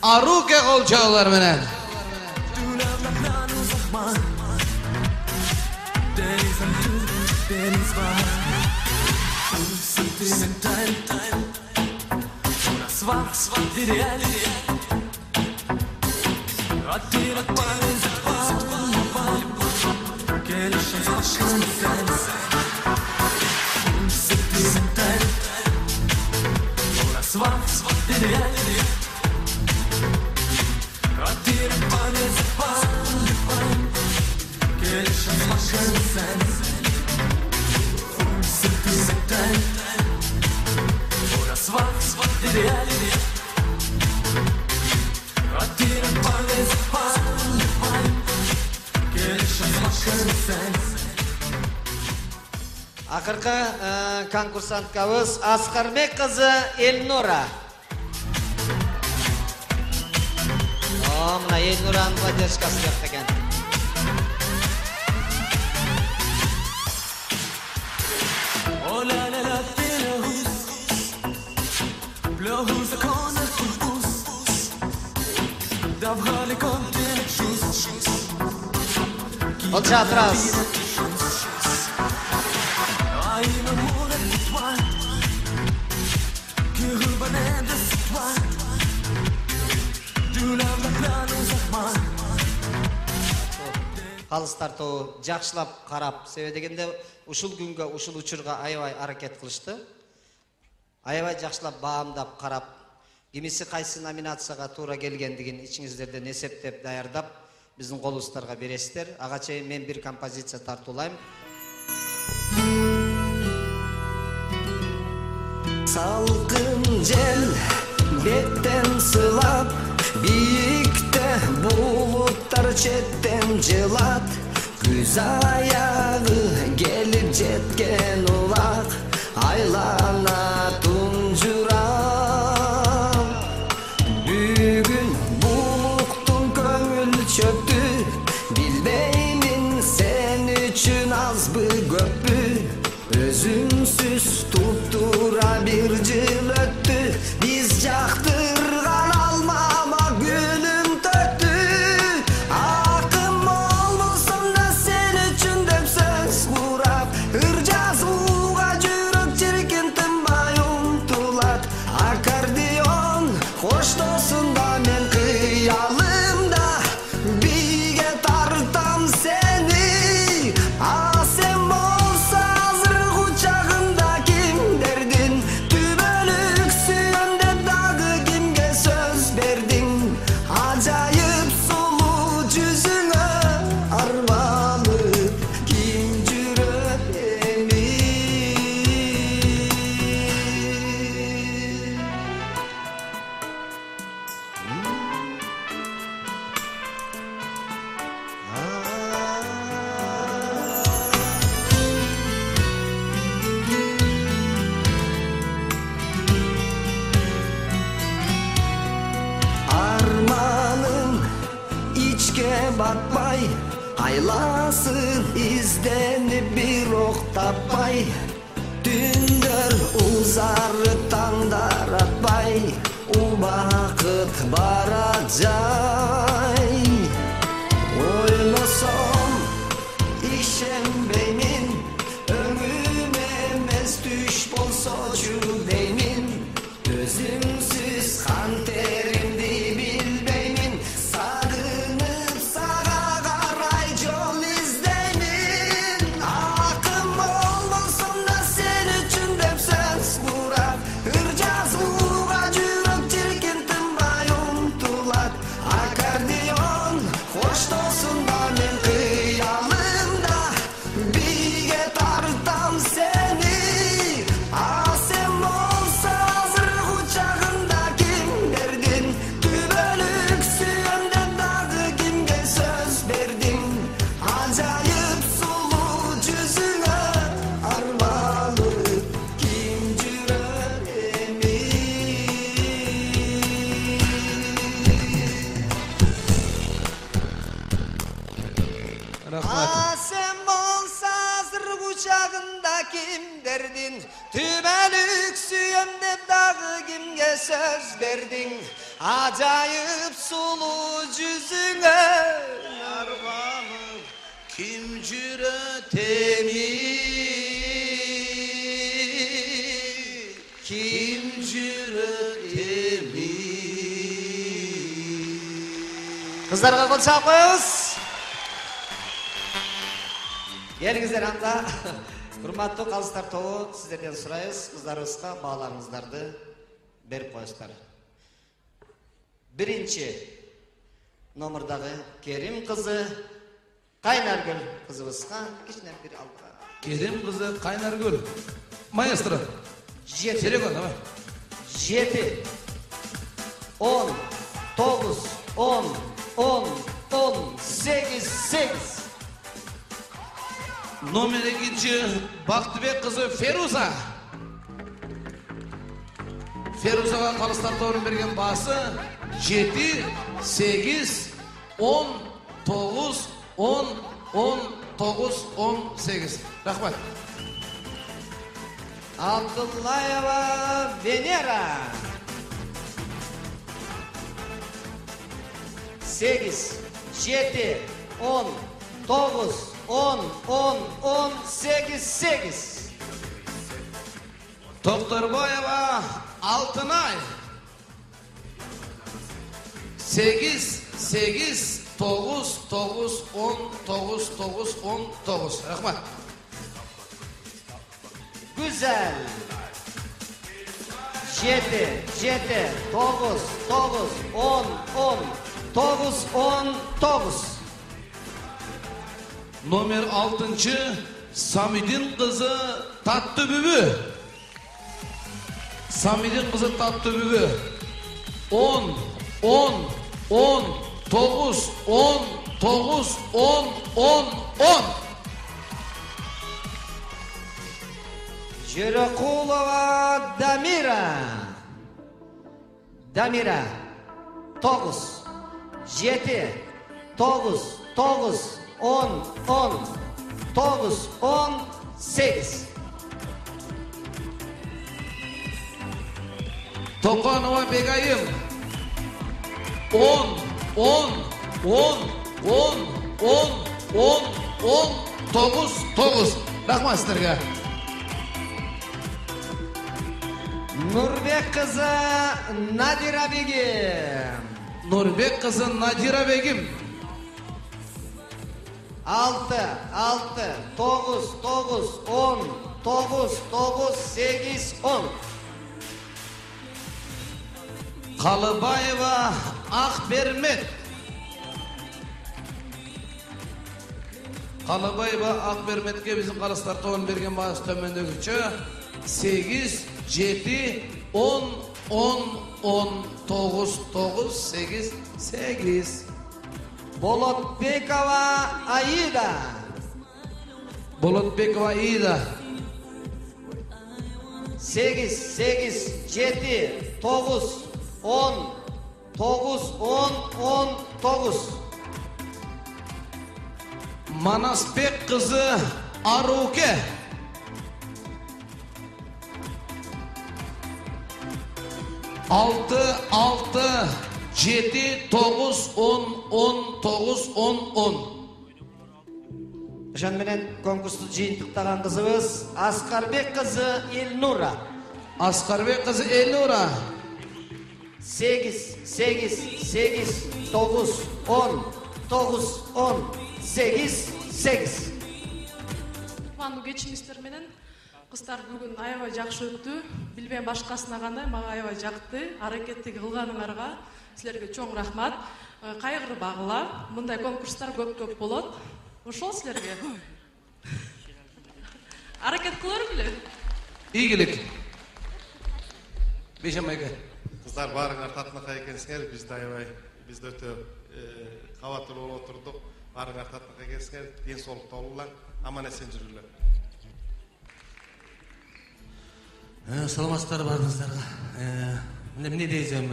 Аруке колчоолор менен. Акыркы конкурсанткабыз Аскарбек кызы Элнура. О, мына Элнуранын поддержкасы жакта экен. Қолшап тұрас. Do Калыстар тобу жакшылап карап, себеби дегенде ушул күнгө, ушул учурга аябай аракет кылышты. Аябай жакшылап баамдап карап, кимиси кайсы номинацияга туура келгендигин ичиңиздерден эсептеп даярдап, биздин колубуздарга бересиздер. Ага чейин мен бир композиция тартуулайм. Салкын жел беттен сылап, бийикте булуттар четтен жылат. Күз аягы келип жеткен улак, айлана тунжурам. Бүгүн булуктун көңүл чөптү, билбеймин сен үчүн азбы көппү. Өзүмсүз туптура бир жыл өттү, биз жактырган алмама күнүм төттү. Акым болмосом да сен үчүн деп сөз курап, ыр жазууга жүрөк чиркин тынбай умтулат. Аккордеон коштосунда мен кыялымда, бийге тартам сени. А сен болса азыр кучагында кимдердин, түбөлүк сүйөм деп дагы кимге сөз бердиң. Ажайып сулуу жүзүңө арбанып ким жүрөт эми. Armanım içke batmay, aylasın izdenip bir ok tapmay. Түндөр узары таңдар атпай, убакыт бара жай. Ойлосом ишенбеймин, өңүм эмес түш болсочу деймин. Өзүмсүз кантеримди билбеймин, сагынып сага карай жол издеймин. Акым болмосом да сен үчүн деп сөз курап, ыр жазууга жүрөк чиркин тынбай умтулат. Аккордеон коштосунда мен кыялымда, бийге тартам сени. А сен болса азыр кучагында кимдердин, түбөлүк сүйөм деп дагы кимге сөз бердиң. Ажайып сулуу жүзүңө арбанып ким жүрөт эми. Рахмат. А сен болса азыр кучагында кимдердин, түбөлүк сүйөм деп дагы кимге сөз бердиң. Ажайып сулуу жүзүңө арбанып ким жүрөт эми. Ким жүрөт эми. Кыздарга кол чаап коебуз. Келиңиздер анда. Урматтуу калыстар тобу, сиздерден сурайбыз, кыздарыбызга бааларыңыздарды берип коесуздар. Биринчи номердагы Керим кызы Кайнаргүл кызыбызга кичине бир алга. Керим кызы Кайнаргүл. Маэстро. Жети. Серегон, давай. Жети. Он. Тогуз. Он. Он. Он. Сегиз. Сегиз. Номер экинчи Бактыбек кызы Феруза. Ферузага калыстар тобунун берген баасы жети, сегиз, он, тогуз, он, он, тогуз, он, сегиз. Рахмат. Абдуллаева Венера. Сегиз, жети, он, тогуз, он, он, он, сегиз, сегиз. Токторбаева Алтынай. сегиз сегиз тогуз тогуз он тогуз тогуз он тогуз. Рахмат. Güzel. Жети, жети, тогуз, тогуз, он, он, тогуз, он, тогуз. Номер алтынчы Самидин кызы Татты Бүбү. Самидин кызы Татты Бүбү. он, он, он, тогуз, он, тогуз, он, он, он. Жирокулова Дамира. Дамира. Тогуз, жети, тогуз, тогуз, он, он, тогуз, он, сегиз. Токанова Бегайым. он, он, он, он, он, он, он, тогуз, тогуз. Рахмат сіздерге. Нурбек кызы Надира Бегим. Нурбек кызы Надира Бегим. Алты, алты, тогуз, тогуз, он, тогуз, тогуз, сегиз, он. Калыбаева Акбермет. Калыбаева Акберметке биздин Карыстар тобунун берген баасы төмөндөгүчө сегиз, жети, он, он, он, тогуз, тогуз, сегиз, сегиз. Болотбекова Аида. Болотбекова Аида. Сегиз, сегиз, жети, тогуз, он, тогуз, он, он, тогуз. Манасбек кызы Аруке. Алты, алты, жети, тогуз, он, он, тогуз, он, он. Ошон менен конкурсту жыйынтыктаган кызыбыз Аскарбек кызы Элнура. Аскарбек кызы Элнура. Сегиз, сегиз, сегиз, тогуз, он, тогуз, он, сегиз, сегиз. Кубандуу кечиңиздер менен кыздар бүгүн аябай жакшы өттү. Билбейм башкасына кандай, мага аябай жакты. Аракетти кылганыңарга силерге чоң рахмат. Кайгырбагыла. Мындай конкурстар көп-көп болот. Ошол силерге. Аракет кылыр беле? Ийгилик. Бейшемайга. Кыздар баарыңар татынакай экенсиңер, биз да аябай, биз да өтө кабаттуу болуп отурдук. Баарыңар татынакай экенсиңер, ден соолукта болуңар, аман эсен жүрүңүлөр. Саламатсыздар баарыңыздарга. Мына эмне дейсем,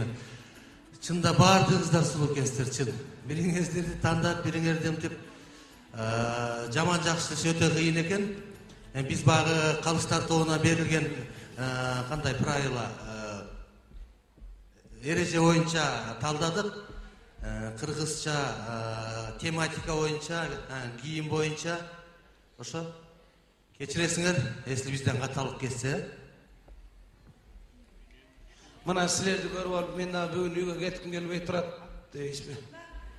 чында баардыгыңыздар сулуу экенсиздер, чын. Бириңиздерди тандап, бириңерди ынтып жаман жакшысы өтө кыйын экен. Биз баягы Калыштар тобуна берилген кандай правила эреже боюнча талдадык. Кыргызча тематика боюнча, кийим боюнча. Ошо кечиресиңер, если бизден каталык кетсе. Мына силерди көрүп алып, мен да бүгүн үйгө кетким келбей турат дейсизби?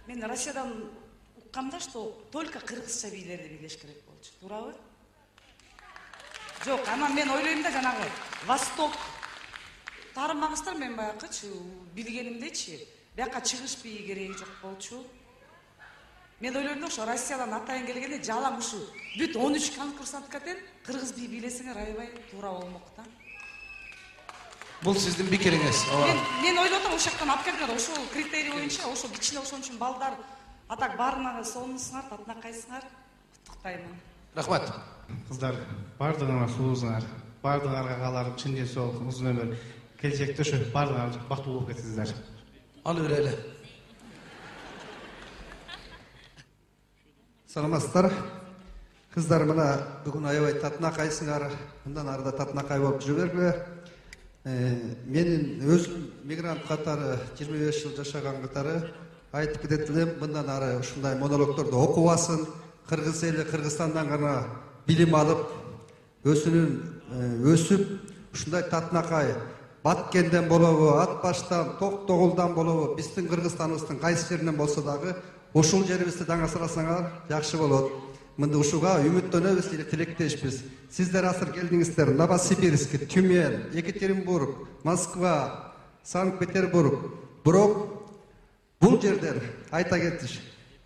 Мен Россиядан уккамда, что только кыргызча бийлерди бийлеш керек болчу. Туурабы? Жок, анан мен ойлойм да жанагы Восток таарымагыстар мен баягычы билгенимдечи, бияка чыгыш бии кереги жок болчу. Мен ойлойм да ошо Россиядан атайын келгенде жалаң ушу бүт он үч конкурсантка тең кыргыз бий бийлесеңер аябай туура болмок да. Бул сиздин пикириңиз. Мен мен ойлоп атам, ошол жактан алып келдиңер, ошол критерий боюнча, ошол ичинде ошон үчүн балдар атак баарыңар сонусуңар, татынакайсыңар. Куттуктаймын. Рахмат. Кыздар, бардыгыңар сулуусуңар, бардыгыңарга кааларым чын ден соолук, узун өмүр. Келечекте ошо бардыгыңар бактылуу болуп кетсиңер. Алы берели. Саламатсыздар. Кыздар, мына бүгүн аябай татынакайсыңар, мындан арыда татынакай болуп жүрө бергиле. Менин өзүм мигрант катары жыйырма беш жыл жашаган катары айтып кетет элем, мындан ары ушундай монологдорду окубасын, кыргыз эли Кыргызстандан гана билим алып, өзүнүн өсүп, ушундай татынакай Баткенден болобу, Ат баштан, Токтогулдан болобу, биздин Кыргызстаныбыздын кайсы жеринен болсо дагы ушул жерибизди даңасырасаңар жакшы болот. Мында ушуга үмүттөнөбүз эле тилектешпиз. Сиздер азыр келдиңиздер. Новосибирск, Тюмень, Екатеринбург, Москва, Санкт-Петербург. Бирок бул жердер айта кетиш.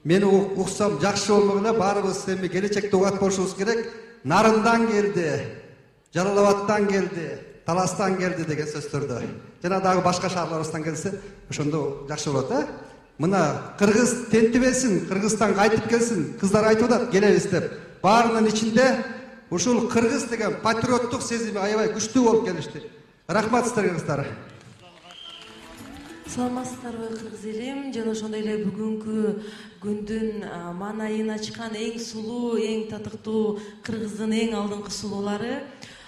Мени уксам жакшы болмок эле, баарыбыз эми келечекте угат болушубуз керек. Нарындан келди, Жалал-Абадтан келди, Таластан келди деген сөздөрдө. Жана дагы башка шаарларыбыздан келсе, ошондо жакшы болот, э? Мына Кыргыз тентибесин, Кыргызстан кайтып келсин, кыздар айтып атат, келебиз деп. Баарынын ичинде ушул кыргыз деген патриоттук сезими аябай күчтүү болуп келишти. Рахмат сиздерге кыздар. Саламатсыздарбы кыргыз элим, жана ошондой эле бүгүнкү күндүн маанайын ачкан эң сулуу, эң татыктуу кыргыздын эң алдыңкы сулуулары.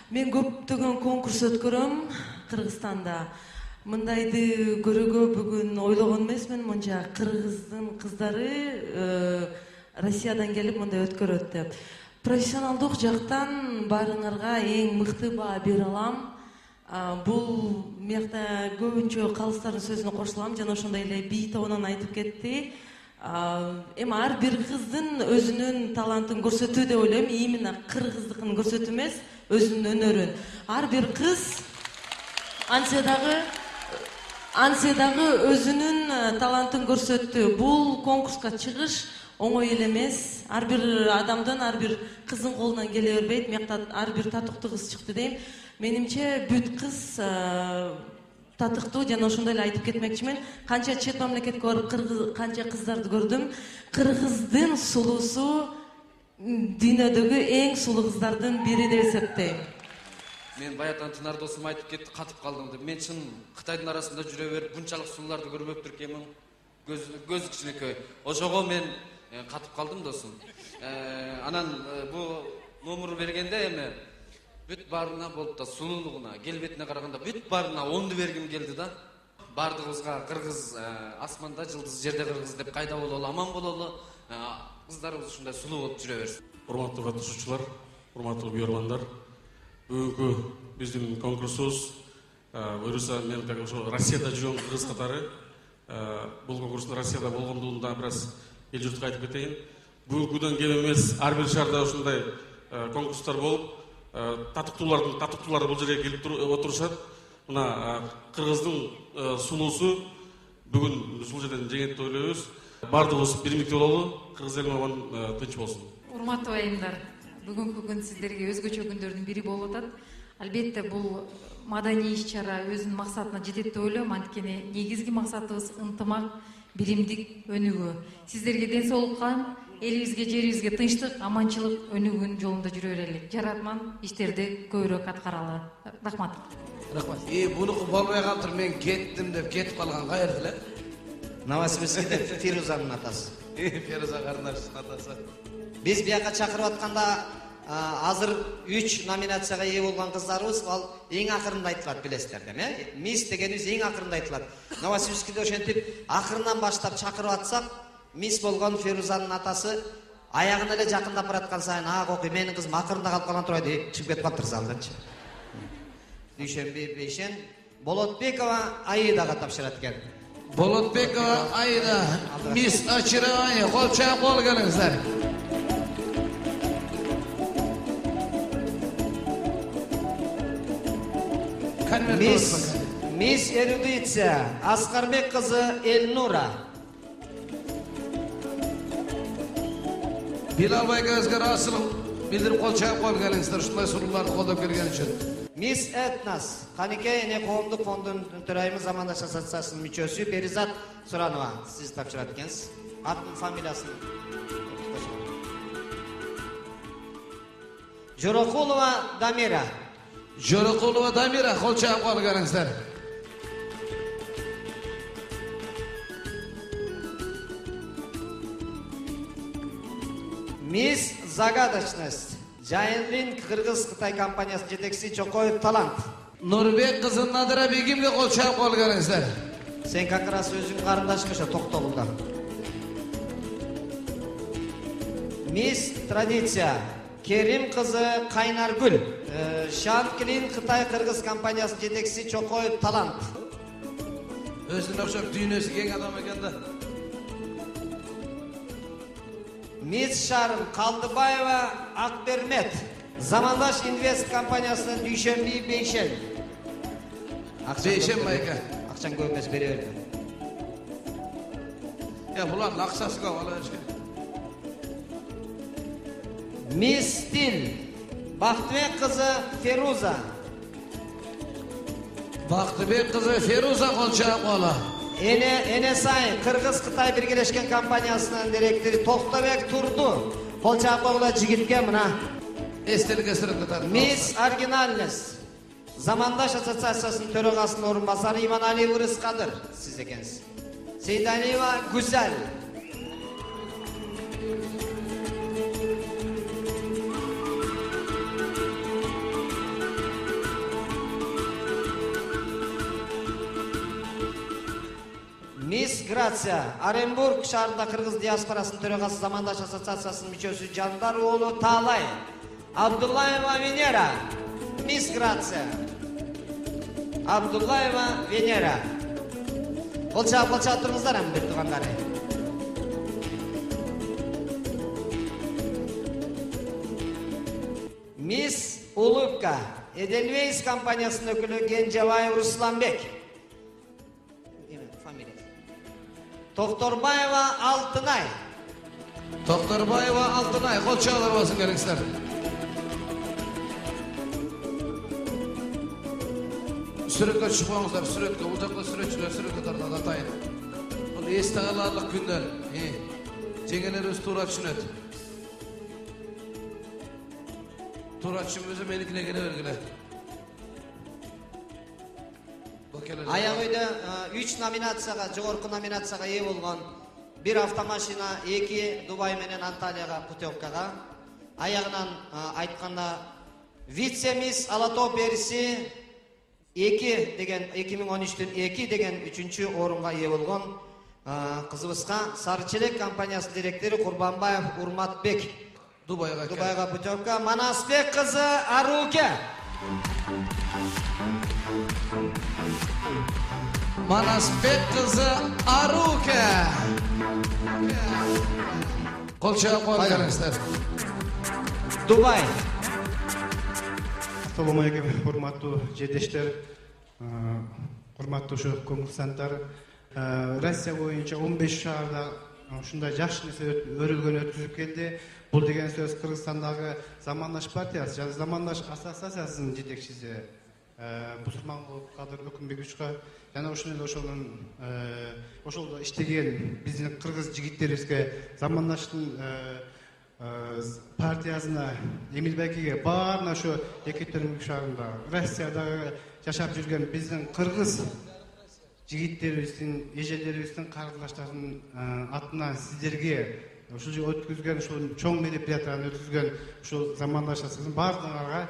Мен көптөгөн конкурс өткөрөм Кыргызстанда. Мындайды көрүүгө бүгүн ойлогон эмесмин, мынча кыргыздын кыздары Россиядан келип мындай өткөрөт деп. Профессионалдык жактан баарыңарга эң мыкты баа бере алам. Бул мекта көбүнчө калыстардын сөзүнө кошулам, жана ошондой эле бий тобунан айтып кетти. Эми ар бир кыздын өзүнүн талантын көрсөтүү деп ойлойм, именно кыргыздыкын көрсөтүү эмес, өзүнүн өнөрүн. Ар бир кыз антсе дагы антсе дагы өзүнүн талантын көрсөттү. Бул конкурска чыгыш оңой эле эмес. Ар бир адамдын, ар бир кыздын колунан келе бербейт. Мекта ар бир татыктуу кыз чыкты дейм. Менимче бүт кыз татыктуу, жана ошондой эле айтып кетмекчимин. Канча чет мамлекетке барып канча кыздарды көрдүм. Кыргыздын сулуусу дүйнөдөгү эң сулуу кыздардын бири деп эсептейм. Мен баягы Тынар досум айтып кетти, катып калдым деп. Мен чын Кытайдын арасында жүрө берип, bunчалык сулууларды көрбөптүр экенмин. Көз көз кичинекей. Ошого мен катып калдым досум. Анан бу номерду бергенде эми бүт баарына болуп да сулуулугуна, келбетине караганда бүт баарына онду бергим келди да. Бардыгыбызга кыргыз асманда жылдыз, жерде кыргыз деп кайда бололу, аман бололу. Кыздарыбыз ушундай сулуу болуп жүрө берсин. Урматтуу катышуучулар, урматтуу күйөрмандар. Бүгүнкү биздин конкурсубуз буюрса мен как ошо Россияда жүргөн кыргыз катары. Бул конкурстун Россияда болгондугун да бир аз эл журтка айтып кетейин. Бүгүнкүдөн кем эмес, ар бир шаарда ушундай конкурстар болуп, татыктуулардын татыктуулары бул жерге келип отурушат. Мына кыргыздын сулуусу бүгүн ушул жерден жеңет деп ойлойбуз. Бардыгыбыз бирмиктүү бололу, кыргыз элим аман тынч болсун. Урматтуу айымдар, бүгүнкү күн сиздерге өзгөчө күндөрдүн бири болуп атат. Албетте бул маданий иш-чара өзүнүн максатына жетет деп ойлойм. Анткени негизги максатыбыз ынтымак, биримдик өнүгүү. Сиздерге ден соолукка, элибизге, жерибизге тынчтык, аманчылык өнүгүүнүн жолунда жүрө берели. Жаратман иштерди көбүрөөк аткаралы. Рахмат. Рахмат. И бунуку болбой калыптыр, мен кеттим деп кетип калган кайерде эле? Новосибирскте Фирузанын атасы. Фируза карындашыбыздын атасы. Биз бияка чакырып атканда азыр үч номинацияга ээ болгон кыздарыбыз ал эң акырында айтылат, билесиздер да, э? Мисс дегенибиз эң акырында айтылат. Новосибирскте ошентип акырынан баштап чакырып атсак, мисс болгон Фирузанын атасы аягына эле жакындап бараткан сайын, "А, кокуй, менин кызым акырында калып калган турбайбы?" деп чыгып кетип калыптыр залданчы. Дүйшөнбү Бейшен Болотбекова Аидаға тапшырат екен. Болотбекова Аида, мисс очарование, кол чаап кол келиңиздер. Мисс Мисс эрудиция Аскарбек кызы Элнура. Билалбай көзгөр асыл билдирип кол чаап кол келиңиздер, ушундай суроолорду колдоп келген үчүн. Мисс Этнас Каникей эне коомдук фондунун төрайымы, Замандаш ассоциациясынын мүчөсү Перизат Суранова сиз тапшырат экенсиз. Атын, фамилиясын. Жорокулова Дамира. Жорокулова Дамира, кол чаап кол келиңиздер. Мисс Загадочность Жайынлин Кыргыз-Кытай компаниясынын жетекчиси Чокоев Талант. Нурбек кызы Надыра Бегимге кол чаап кол келиңиздер. Сен как раз өзүң карындашың ошо Токтогулда. Мисс Традиция Керим кызы Кайнаргүл. Шанклин Кытай Кыргыз компаниясынын жетекчиси Чокоев Талант. Өзүнө окшоп дүйнөсү кең адам экен да. Мисс Шарым Калдыбаева Акбермет. Замандаш Инвест компаниясынын Дүйшөнби Бейшен. Бейшен байка. Акчаң көп эмес, бере берди. Я булардын акчасы көп ала беришкен. Мисс Стил Бактыбек кызы Феруза. Бактыбек кызы Феруза колчоп кола. Эне Энесай Кыргыз Кытай биргелешкен компаниясынын директору Токтобек Турду. Колчоп койгула жигитке мына. Эстелик эсирип кетат. Мисс Оригинальность Замандаш ассоциациясынын төрагасынын орун басары Иманалиев Ырыскадыр. Сиз экенсиз. Сейдалиева Гүзел. Мисс Грация Оренбург шаарында Кыргыз диаспорасынын төрагасы Замандаш ассоциациясынын мүчөсү Жандар уулу Таалай. Абдуллаева Венера. Мисс Грация Абдуллаева Венера. Колчоп колчоп туруңуздар эми бир туугандары. Мисс Улыбка Эдельвейс компаниясынын өкүлү Генжабаев Русланбек. Токторбаева Алтынай. Токторбаева Алтынай колчоолор болсун керексиздер. Сүрөткө чыкпаңыздар, сүрөткө. Бул жакта сүрөтчүлөр сүрөткө тартат атайын. Бул эсте каларлык күндөр. Жеңелерибиз туура түшүнөт. Туура түшүнбөсө меникине келе бергиле. Аяк үйдө үч номинацияга, жогорку номинацияга ээ болгон бир автомашина, эки Дубай менен Анталияга путевкага. Аягынан айтканда вице-мисс Ала Тоо Периси эки деген эки миң он үчтөн эки деген үчүнчү орунга ээ болгон кызыбызга Сары Челек компаниясынын директору Курбанбаев Урматбек. Дубайга Дубайга путевка. Манасбек кызы Аруке. Манасбек кызы Аруке. Колчоп койгонсуздар. Дубай. Assalomu alaykum, hurmatli jerdeshtlar, hurmatli o'sha konkursantlar. Rossiya bo'yicha o'n besh shaharda shunday yaxshi narsa o'rilgan o'tkazib keldi. Bu degan so'z Qirg'izistondagi Zamandash partiyasi, ya'ni Zamandash assotsiatsiyasining yetakchisi Бусурманов Кадыр Өкүмбековичка жана ошол ошонун ошолдо иштеген биздин кыргыз жигиттерибизге Замандаштын партиясына Эмилбекиге баарына ошо Екатеринбург шаарында Россиядагы жашап жүргөн биздин кыргыз жигиттерибиздин, эжелерибиздин, карындаштардын атынан сиздерге ушул өткүзгөн ушул чоң мероприятияны өткүзгөн ушул Замандаш асоциациясынын баардыгыңарга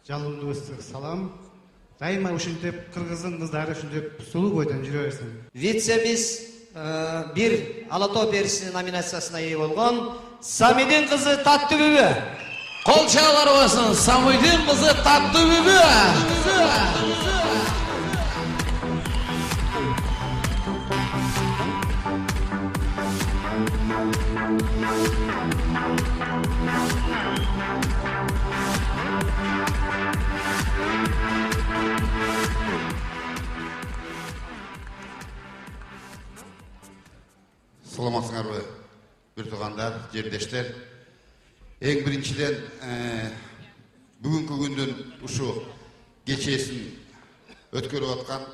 жалындуу ыстык салам. Дайыма ушинтип кыргыздын кыздары ушинтип сулуу бойдон жүрө берсин. Вице-мисс бир Ала Тоо Перисинин номинациясына ээ болгон Самидин кызы Таттуу Бүбү. Колчоолор болсун, Самидин кызы Таттуу Бүбү. Саламатсыңарбы, бир туугандар, жердештер. Эң биринчиден бүгүнкү күндүн ушу кечесин өткөрүп аткан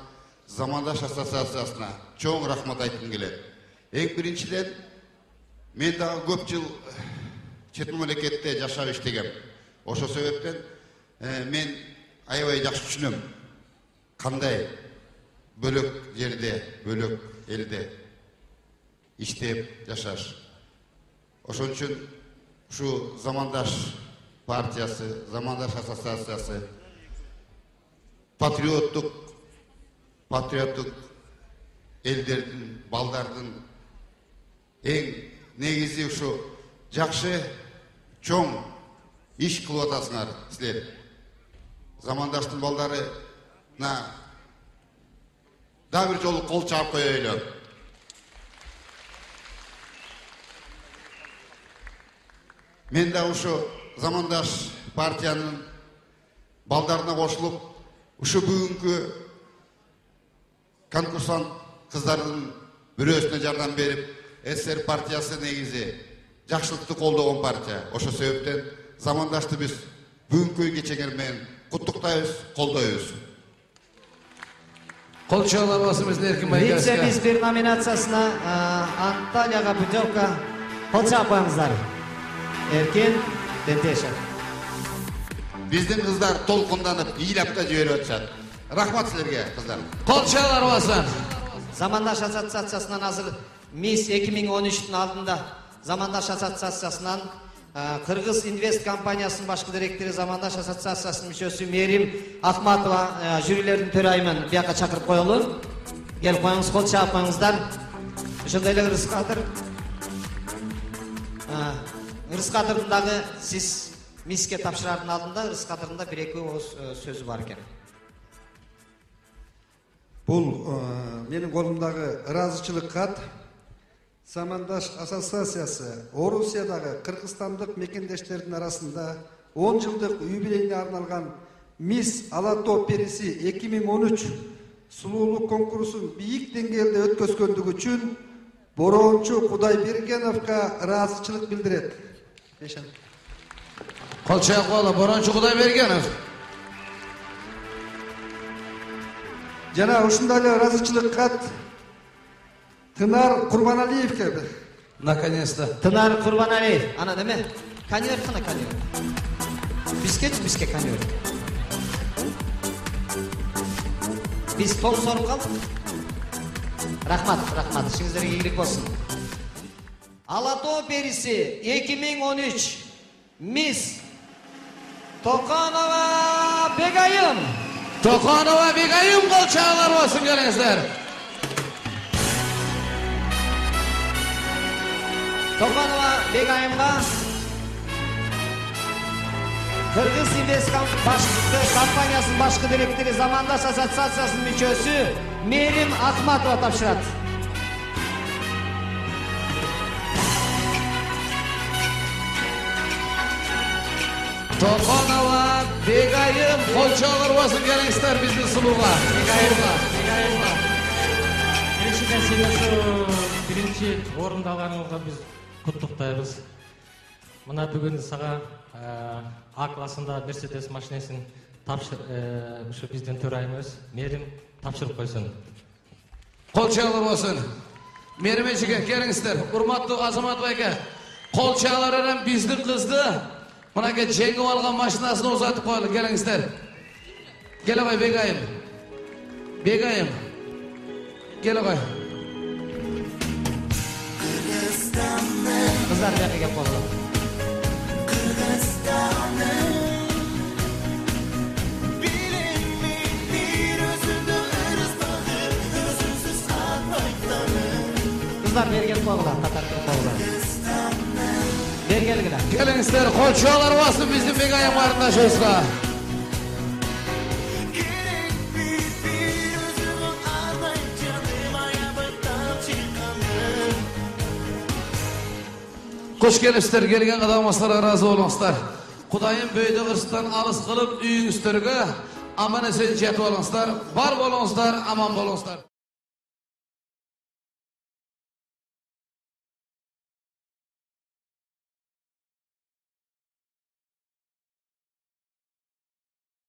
Замандаш ассоциациясына чоң рахмат айткым келет. Эң биринчиден мен дагы көп жыл чет мамлекетте жашап иштегем. Ошол себептен мен аябай жакшы түшүнөм кандай бөлөк жерде, бөлөк элде иштеп жашаш. Ошон үчүн ушу Замандаш партиясы, Замандаш ассоциациясы патриоттук патриоттук элдердин, балдардын эң негизи ушу жакшы чоң иш кылып атасыңар силер. Замандаштын балдарына да бир жолу кол чаап коелу. Мен да ушу замандаш партиянын балдарына кошулуп, ушу бүгүнкү конкурсант кыздардын бирөөсүнө жардам берип, СССР партиясы негизи жакшылыкты колдогон партия. Ошо себептен замандашты биз бүгүнкү кечеңер менен куттуктайбыз, колдойбуз. Кол чаалабасы биздин Эркин Байкасовго. Вице-миспир номинациясына Анталияга путевка кол чаап коюңуздар. Эркин Тентешев. Биздин кыздар толкунданып, ыйлап да жиберип атышат. Рахмат силерге, кыздар. Кол чаалар бассын. Замандаш ассоциациясынан азыр Мисс эки миң он үчтүн алдында Замандаш ассоциациясынан Кыргыз Инвест компаниясынын башкы директору, Замандаш ассоциациясынын мүчөсү Мерим Ахматова жюрилердин төрайымын бияка чакырып коелу. Келип коюңуз, кол чаап коюңуздар. Ошондой эле Ырыскадыр. Ырыскадырдын дагы сиз мисске тапшырардын алдында Ырыскадырдын бир эки ооз сөзү бар экен. Бул менин колумдагы ыраазычылык кат Замандаш ассоциациясы Орусиядагы кыргызстандык мекендештердин арасында он жылдык юбилейине арналган Мисс Ала Тоо периси эки миң он үч сулуулук конкурсун бийик деңгээлде өткөзгөндүгү үчүн Борончу Кудайбергеновго ыраазычылык билдирет. Кол чаап коелу, Борончу Кудайбергенов. Жана ушундай эле ыраазычылык кат Тынар Курбаналиевге. Наконец-то. Тынар Курбаналиев. Ана неме? Конвер кана конвер. Бизгечи бизге конвер. Биз тол соруп калдык. Рахмат, рахмат. Ишиңиздерге ийгилик болсун. Ала Тоо периси эки миң он үч Мисс Токанова Бегайым. Токанова Бегайым, кол чаалар болсун келиңиздер. Токанова Бегайымга Кыргыз Инвест компаниясынын башкы директору, Замандаш ассоциациясынын мүчөсү Мерим Ахматова тапшырат. Токанова Бегайым, кол чаалар болсун келиңиздер биздин сулууга. Биринчи нерсе, биринчи орунду алганыңызга биз куттуктайбыз. Мына бүгүн сага А классында Мерседес машинесин тапшыр ушу биздин төрайымыбыз Мерим тапшырып койсун. Кол чаалар болсун. Мерим эжеге келиңиздер. Урматтуу Азамат байке, кол чаалар менен биздин кызды мынакей жеңип алган машинасын узатып коелу, келиңиздер. Келе кой Бегайым. Бегайым. Келе кой. Кыздар бияка кеп калды. Kızlar bergen koygular, Katar koygular. Bergen gida. Келиңиздер, кол чаалар бассын биздин Бегайым каарындашыбызга. Кош келипсиздер, келген кадамыңыздарга ыраазы болуңуздар. Кудайым бөйдө кырсыктан алыс кылып үйүңүздөргө аман эсен жетип алыңыздар. Бар болуңуздар, аман болуңуздар.